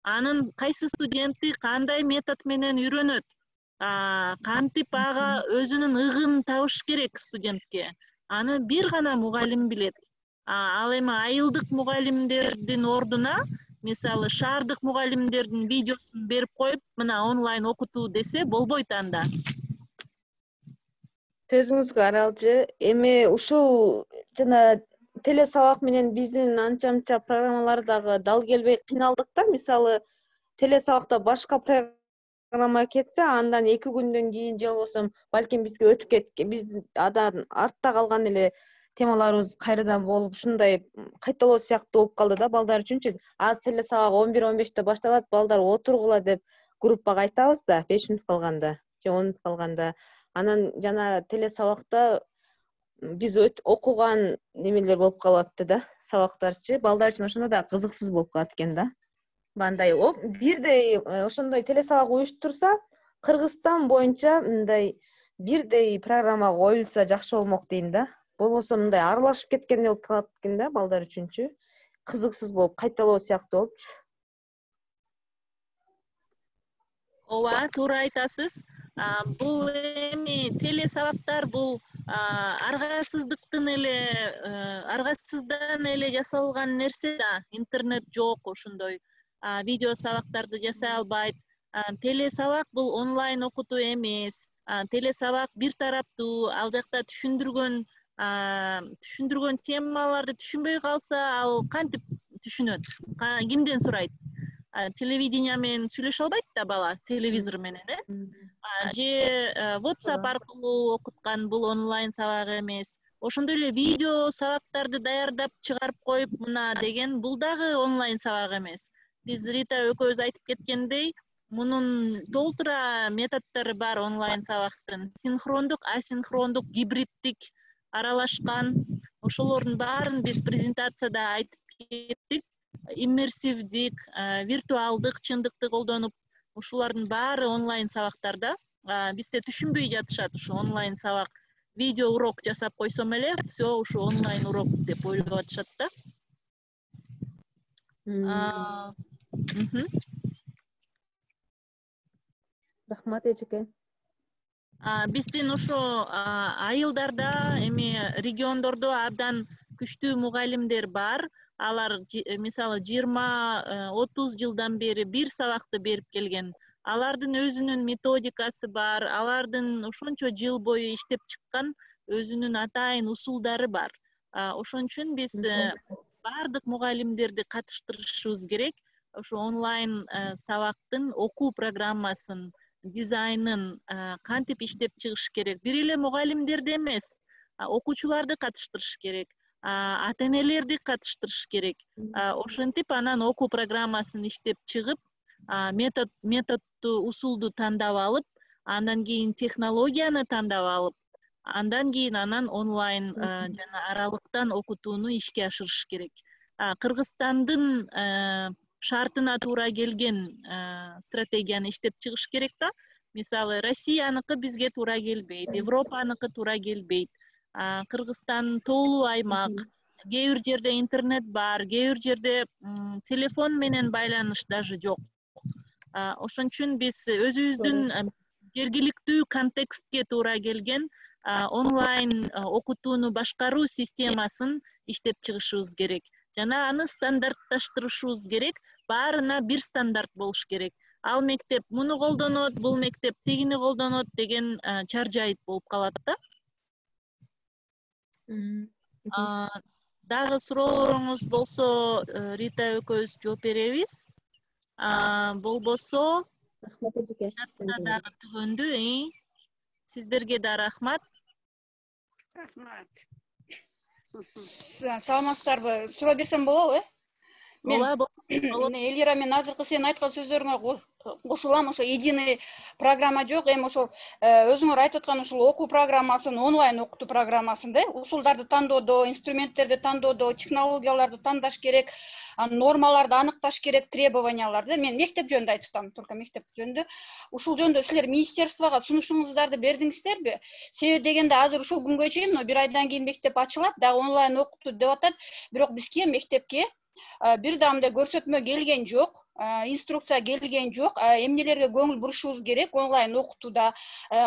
Анын кайсы студенти кандай метод менен үйрөнөт, кантип ага өзүнүн ыгын табыш керек студентке. Аны бир гана мугалим билет. Ал эми айылдык мугалимдердин ордуна, мисалы, шаардык мугалимдердин видеосун берип коюп, мына онлайн окутуу десе болбойт анда. Сөзүңүзгө аралжы. Эми ушул жана теле сабак менен биздин анча-мынча программалар дагы дал келбей кыйналдык да. Мисалы, теле сабакта башка программа кетсе, андан эки күндөн кийин же болбосо балким бизге өтүп кеткен, биз адан артта калган эле темаларыбыз кайрадан болуп, ушундай кайталоо сыяктуу болуп калды да балдар үчүнчү. Азыр теле сабак он бир он беште башталат, балдар отургула деп группага айтабыз да, беш мүнөт калганда же он мүнөт калганда. Анан жана теле сабакта биз окуган немелер болуп калатты да, сабактарчы. Балдар үчүн ошондо да кызыксыз болуп калат экен да. Мындай бирдей ошондой теле сабак уюштурса, Кыргызстан боюнча мындай бирдей программа коюлса жакшы болмок дейм да. Болбосо мындай аралашып кеткендей болуп калат экен да балдар үчүнчү. Кызыксыз болуп, кайталоо сыяктуу болупчу. Ооба, туура айтасыз. Бул эми теле сабактар бул аргасыздыктын эле, аргасыздан эле жасалган нерсе да. Интернет жок, ошондой видео сабактарды жасай албайт. Теле сабак бул онлайн окутуу эмес. Теле сабак бир тараптуу, ал жакта түшүндүргөн түшүндүргөн темаларды түшүнбөй калса, ал кантип түшүнөт? Кимден сурайт? Телевидение менен сүйлөшө албайт да бала, телевизор менен, э? Же WhatsApp аркылуу окуткан бул онлайн сабак эмес. Ошондой эле видео сабактарды даярдап чыгарып коюп, мына деген бул дагы онлайн сабак эмес. Биз Рита экөөбүз айтып кеткендей, мунун толтура методдору бар онлайн сабактын. Синхрондук, асинхрондук, гибриддик аралашкан. Ошолордун баарын биз презентацияда айтып кеттик. Иммерсивдик, виртуалдык чындыкты колдонуп, ушулардын баары онлайн сабактарда. Бизде түшүнбөй жатышат ушу онлайн сабак. Видео урок жасап койсом эле, всё ушу онлайн урок деп ойлоп атышат да. Рахмат эжеке. Биздин ошо айылдарда, эми региондордо абдан күчтүү мугалимдер бар. Алар мисалы жыйырма отуз жылдан бери бир сабакты берип келген. Алардын өзүнүн методикасы бар, алардын ошончо жыл бою иштеп чыккан өзүнүн атайын усулдары бар. Ошон үчүн биз баардык мугалимдерди катыштырышыбыз керек. Ошо онлайн сабактын окуу программасын, дизайнын кантип иштеп чыгыш керек. Бир эле мугалимдерди эмес, окуучуларды катыштырыш керек. ата энелерди катыштырыш керек. Ошентип анан окуу программасын иштеп чыгып, метод методду усулду тандап алып, андан кийин технологияны тандап алып, андан кийин анан онлайн жана аралыктан окутууну ишке ашырыш керек. Кыргызстандын шартына туура келген стратегияны иштеп чыгыш керек да. Мисалы, Россияныкы бизге туура келбейт, Европаныкы туура келбейт. Кыргызстан тоолуу аймак, кээ бир жерде интернет бар, кээ бир жерде телефон менен байланыш даже жок. Ошон үчүн биз өзүбүздүн жергиликтүү контекстке туура келген онлайн окутууну башкаруу системасын иштеп чыгышыбыз керек. Жана аны стандартташтырышыбыз керек. Баарына бир стандарт болуш керек. Ал мектеп муну колдонот, бул мектеп тигини колдонот деген чаржайыт болуп калат да. Дагы суроолоруңуз болсо, Рита экөөбүз жооп беребиз. Болбосо, дагы түгөндү. Сиздерге да рахмат. Рахмат. Саламатсыздарбы? Суроо берсем болобу, э? Болобу. Эльвира, мен азыркы сенин айткан сөздөрүңө кошулам. Ошо единый программа жок. Эми ошол өзүңөр айтып аткан ушул окуу программасын, онлайн окутуу программасын да, усулдарды тандоодо, инструменттерди тандоодо, технологияларды тандаш керек, нормаларды аныкташ керек, требованияларды. Мен мектеп жөнүндө айтып атам, только мектеп жөнүндө. Ушул жөнүндө силер министерствого сунушуңуздарды бердиңиздерби? Себеби дегенде азыр ушул күнгө чейин бир айдан кийин мектеп ачылат, дагы онлайн окутуу деп атат. Бирок бизге мектепке бир да мындай көрсөтмө келген жок, инструкция келген жок. Эмнелерге көңүл бурушубуз керек онлайн окутууда,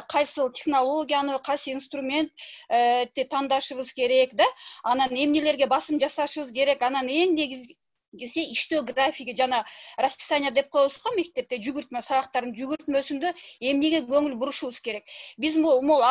кайсыл технологияны, кайсы инструментти тандашыбыз керек да, анан эмнелерге басым жасашыбыз керек, анан эң негизгиси иштөө графиги жана расписание деп коебуз го мектепте, жүгүртмө, сабактардын жүгүртмөсүндө эмнеге көңүл бурушубуз керек. Биз могул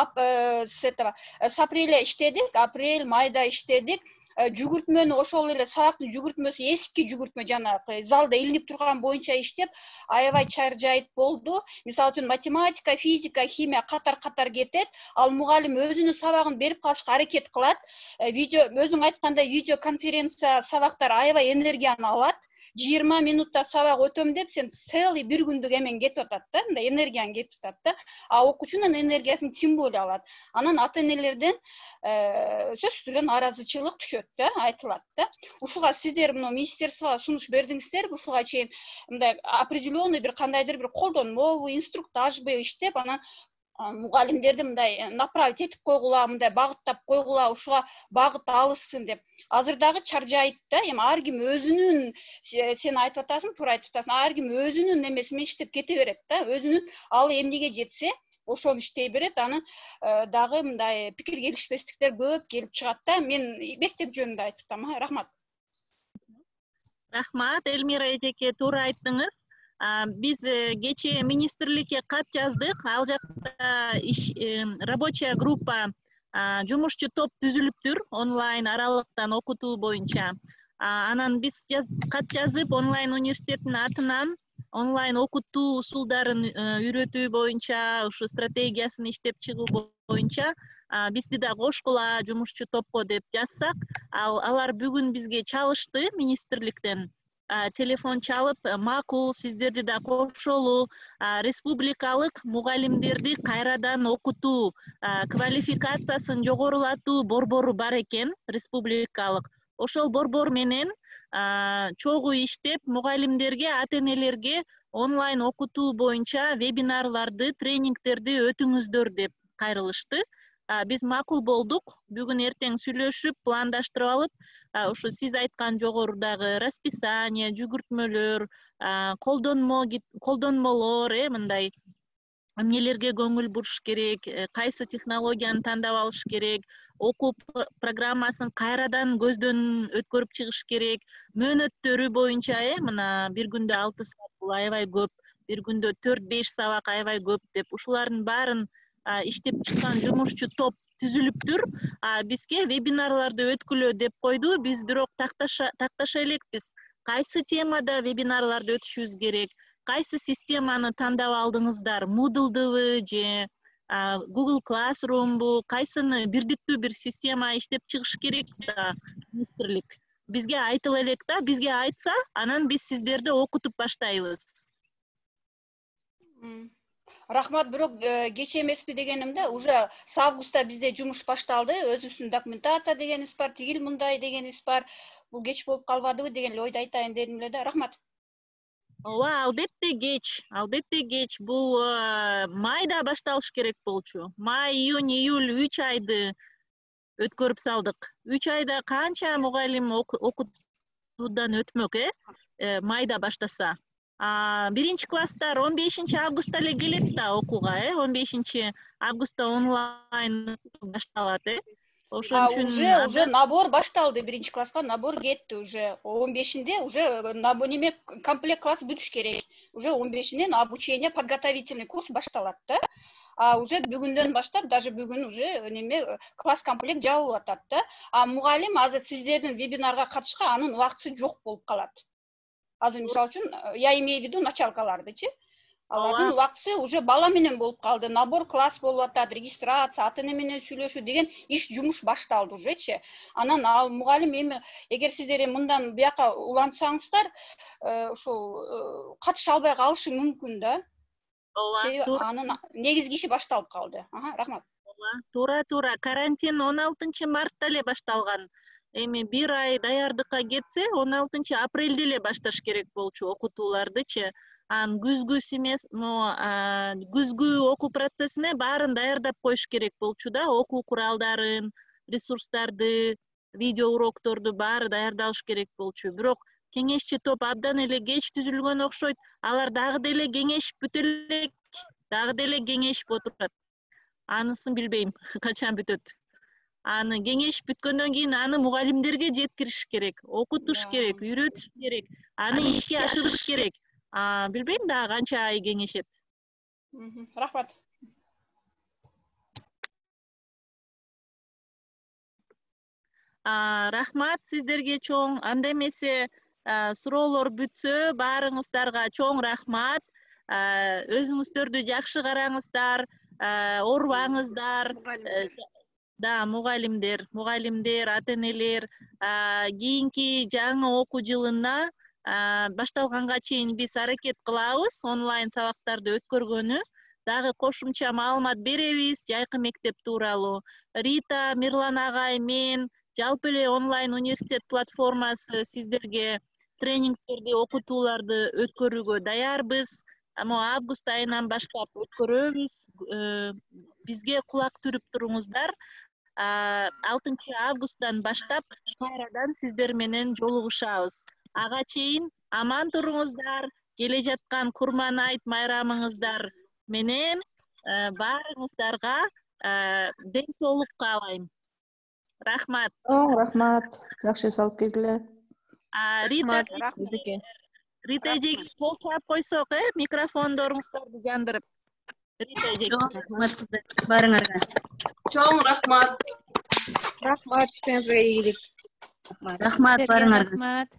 с апреля иштедик, апрель, майда иштедик. Жүгүртмөнү ошол эле сабактын жүгүртмөсү эски жүгүртмө жанагы залда илинип турган боюнча иштеп, аябай чаржайт болду. Мисалы үчүн математика, физика, химия катар-катар кетет. Ал мугалим өзүнүн сабагын берип калышка аракет кылат. Видео, өзүң айткандай, видео конференция сабактар аябай энергияны алат. жыйырма минутта сабак өтөм деп, сен целый бир күндүк эмен кетип атат да, мындай энергияң кетип атат да. А окуучунун энергиясын тем более алат. Анан ата энелерден сөзсүз түрдө нааразычылык түшөт да, айтылат да. Ушуга сиздер мына министерствого сунуш бердиңиздерби? Ушуга чейин мындай определенный бир кандайдыр бир колдонмобу, инструктажбы иштеп, анан мугалимдерди мындай направить этип койгула, мындай багыттап койгула, ушуга багыт алышсын деп. Азыр дагы чаржайт да. Эми ар ким өзүнүн, сен айтып атасың, туура айтып атасың, ар ким өзүнүн эмеси менен иштеп кете берет да. Өзүнүн алы эмнеге жетсе, ошону иштей берет. Аны дагы мындай пикир келишпестиктер көп келип чыгат да. Мен мектеп жөнүндө айтып атам. Рахмат. Рахмат, Эльмира эжеке, туура айттыңыз. Биз кечээ министрликке кат жаздык. Ал жакта рабочая группа, жумушчу топ түзүлүптүр онлайн аралыктан окутуу боюнча. Анан биз кат жазып, онлайн университеттин атынан онлайн окутуу усулдарын үйрөтүү боюнча, ушу стратегиясын иштеп чыгуу боюнча бизди да кошкула жумушчу топко деп жазсак, алар бүгүн бизге чалышты министрликтен. Телефон чалып, макул, сиздерди да кошолу, республикалык мугалимдерди кайрадан окутуу, квалификациясын жогорулатуу борбору бар экен, республикалык. Ошол борбор менен чогуу иштеп, мугалимдерге, ата энелерге онлайн окутуу боюнча вебинарларды, тренингтерди өтүңүздөр деп кайрылышты. Биз макул болдук. Бүгүн эртең сүйлөшүп, пландаштырып алып, ушу сиз айткан жогорудагы расписание, жүгүртмөлөр, колдонмо, колдонмолор, э, мындай эмнелерге көңүл буруш керек, кайсы технологияны тандап алыш керек, окуу программасын кайрадан көздөн өткөрүп чыгыш керек, мөөнөттөрү боюнча, э, мына бир күндө алты саат бул аябай көп, бир күндө төрт беш сабак аябай көп деп, ушулардын баарын иштеп чыккан жумушчу топ түзүлүптүр. Бизге вебинарларды өткүлө деп койду. Биз бирок такташа такташа элекпиз. Кайсы темада вебинарларды өтүшүбүз керек? Кайсы системаны тандап алдыңыздар? Moodle'дыбы же Google Classroomбу, кайсыны бирдиктүү бир система иштеп чыгыш керек да министрлик. Бизге айтыла элек да, бизге айтса, анан биз сиздерди окутуп баштайбыз. Рахмат, бирок кеч эмеспи дегенимде, уже с августта бизде жумуш башталды, өзүбүздүн документация дегенибиз бар, тигил мындай дегенибиз бар. Бул кеч болуп калбадыбы деген эле ойду айтайын дедим эле да. Рахмат. Ооба, албетте кеч, албетте кеч. Бул майда башталыш керек болчу. Май, июнь, июль үч айды өткөрүп салдык. үч айда канча мугалим окутуудан өтмөк, э? Майда баштаса. Биринчи класстар он бешинчи августта эле келет да окууга, э? он бешинчи августта онлайн башталат, э? Ошон үчүн уже уже набор башталды, биринчи класска набор кетти уже. он бешинде уже неме комплект класс бүтүш керек. Уже он бешинен обучение, подготовительный курс башталат да. А уже бүгүндөн баштап, даже бүгүн уже неме класс комплект жабылып атат да. А мугалим азыр сиздердин вебинарга катышка анын убактысы жок болуп калат. Азыр мисалы үчүн, я имею в виду началкалардычы. Алардын убактысы уже бала менен болуп калды. Набор класс болуп атат, регистрация, ата эне менен сүйлөшүү деген иш жумуш башталды ужечи. Анан ал мугалим эми эгер сиздер мындан бияка улантсаңыздар, ошол катыша албай калышы мүмкүн да. Ооба. Анын негизги иши башталып калды. Ага, рахмат. Ооба, туура, туура. Карантин он алтынчы мартта эле башталган. Эми бир ай даярдыкка кетсе, он алтынчы апрелде эле башташ керек болчу окутуулардычы. Ан күзгү семестр, күзгү окуу процессине баарын даярдап коюш керек болчу да, окуу куралдарын, ресурстарды, видео урокторду баары даярдалыш керек болчу. Бирок кеңешчи топ абдан эле кеч түзүлгөн окшойт. Алар дагы деле кеңешип бүтө элек, дагы деле кеңешип отурат. Анысын билбейм, качан бүтөт. Аны кеңешип бүткөндөн кийин аны мугалимдерге жеткириш керек, окутуш керек, үйрөтүш керек, аны ишке ашырыш керек. Билбейм да канча ай кеңешет. Рахмат. Рахмат сиздерге чоң. Анда эмесе суроолор бүтсө, баарыңыздарга чоң рахмат. Өзүңүздөрдү жакшы караңыздар, оорубаңыздар. Да, мугалимдер, мугалимдер, ата энелер, кийинки жаңы окуу жылына башталганга чейин биз аракет кылабыз онлайн сабактарды өткөргөнү. Дагы кошумча маалымат беребиз жайкы мектеп тууралуу. Рита, Мирлан агай, мен жалпы эле онлайн университет платформасы сиздерге тренингтерди, окутууларды өткөрүүгө даярбыз. Ама август айынан баштап өткөрөбүз. Бизге кулак түрүп туруңуздар. алтынчы августтан баштап кайрадан сиздер менен жолугушабыз. Ага чейин аман туруңуздар. Келе жаткан Курман айт майрамыңыздар менен баарыңыздарга ден соолук каалайм. Рахмат. Рахмат. Жакшы салып келгиле. Рита, Рита эже кол чаап койсок, э, микрофондоруңуздарды жандырып. Рита эже. Рахмат баарыңарга. Чоң рахмат. Рахмат, сиңерге ийгилик. Рахмат баарыңарга. Рахмат.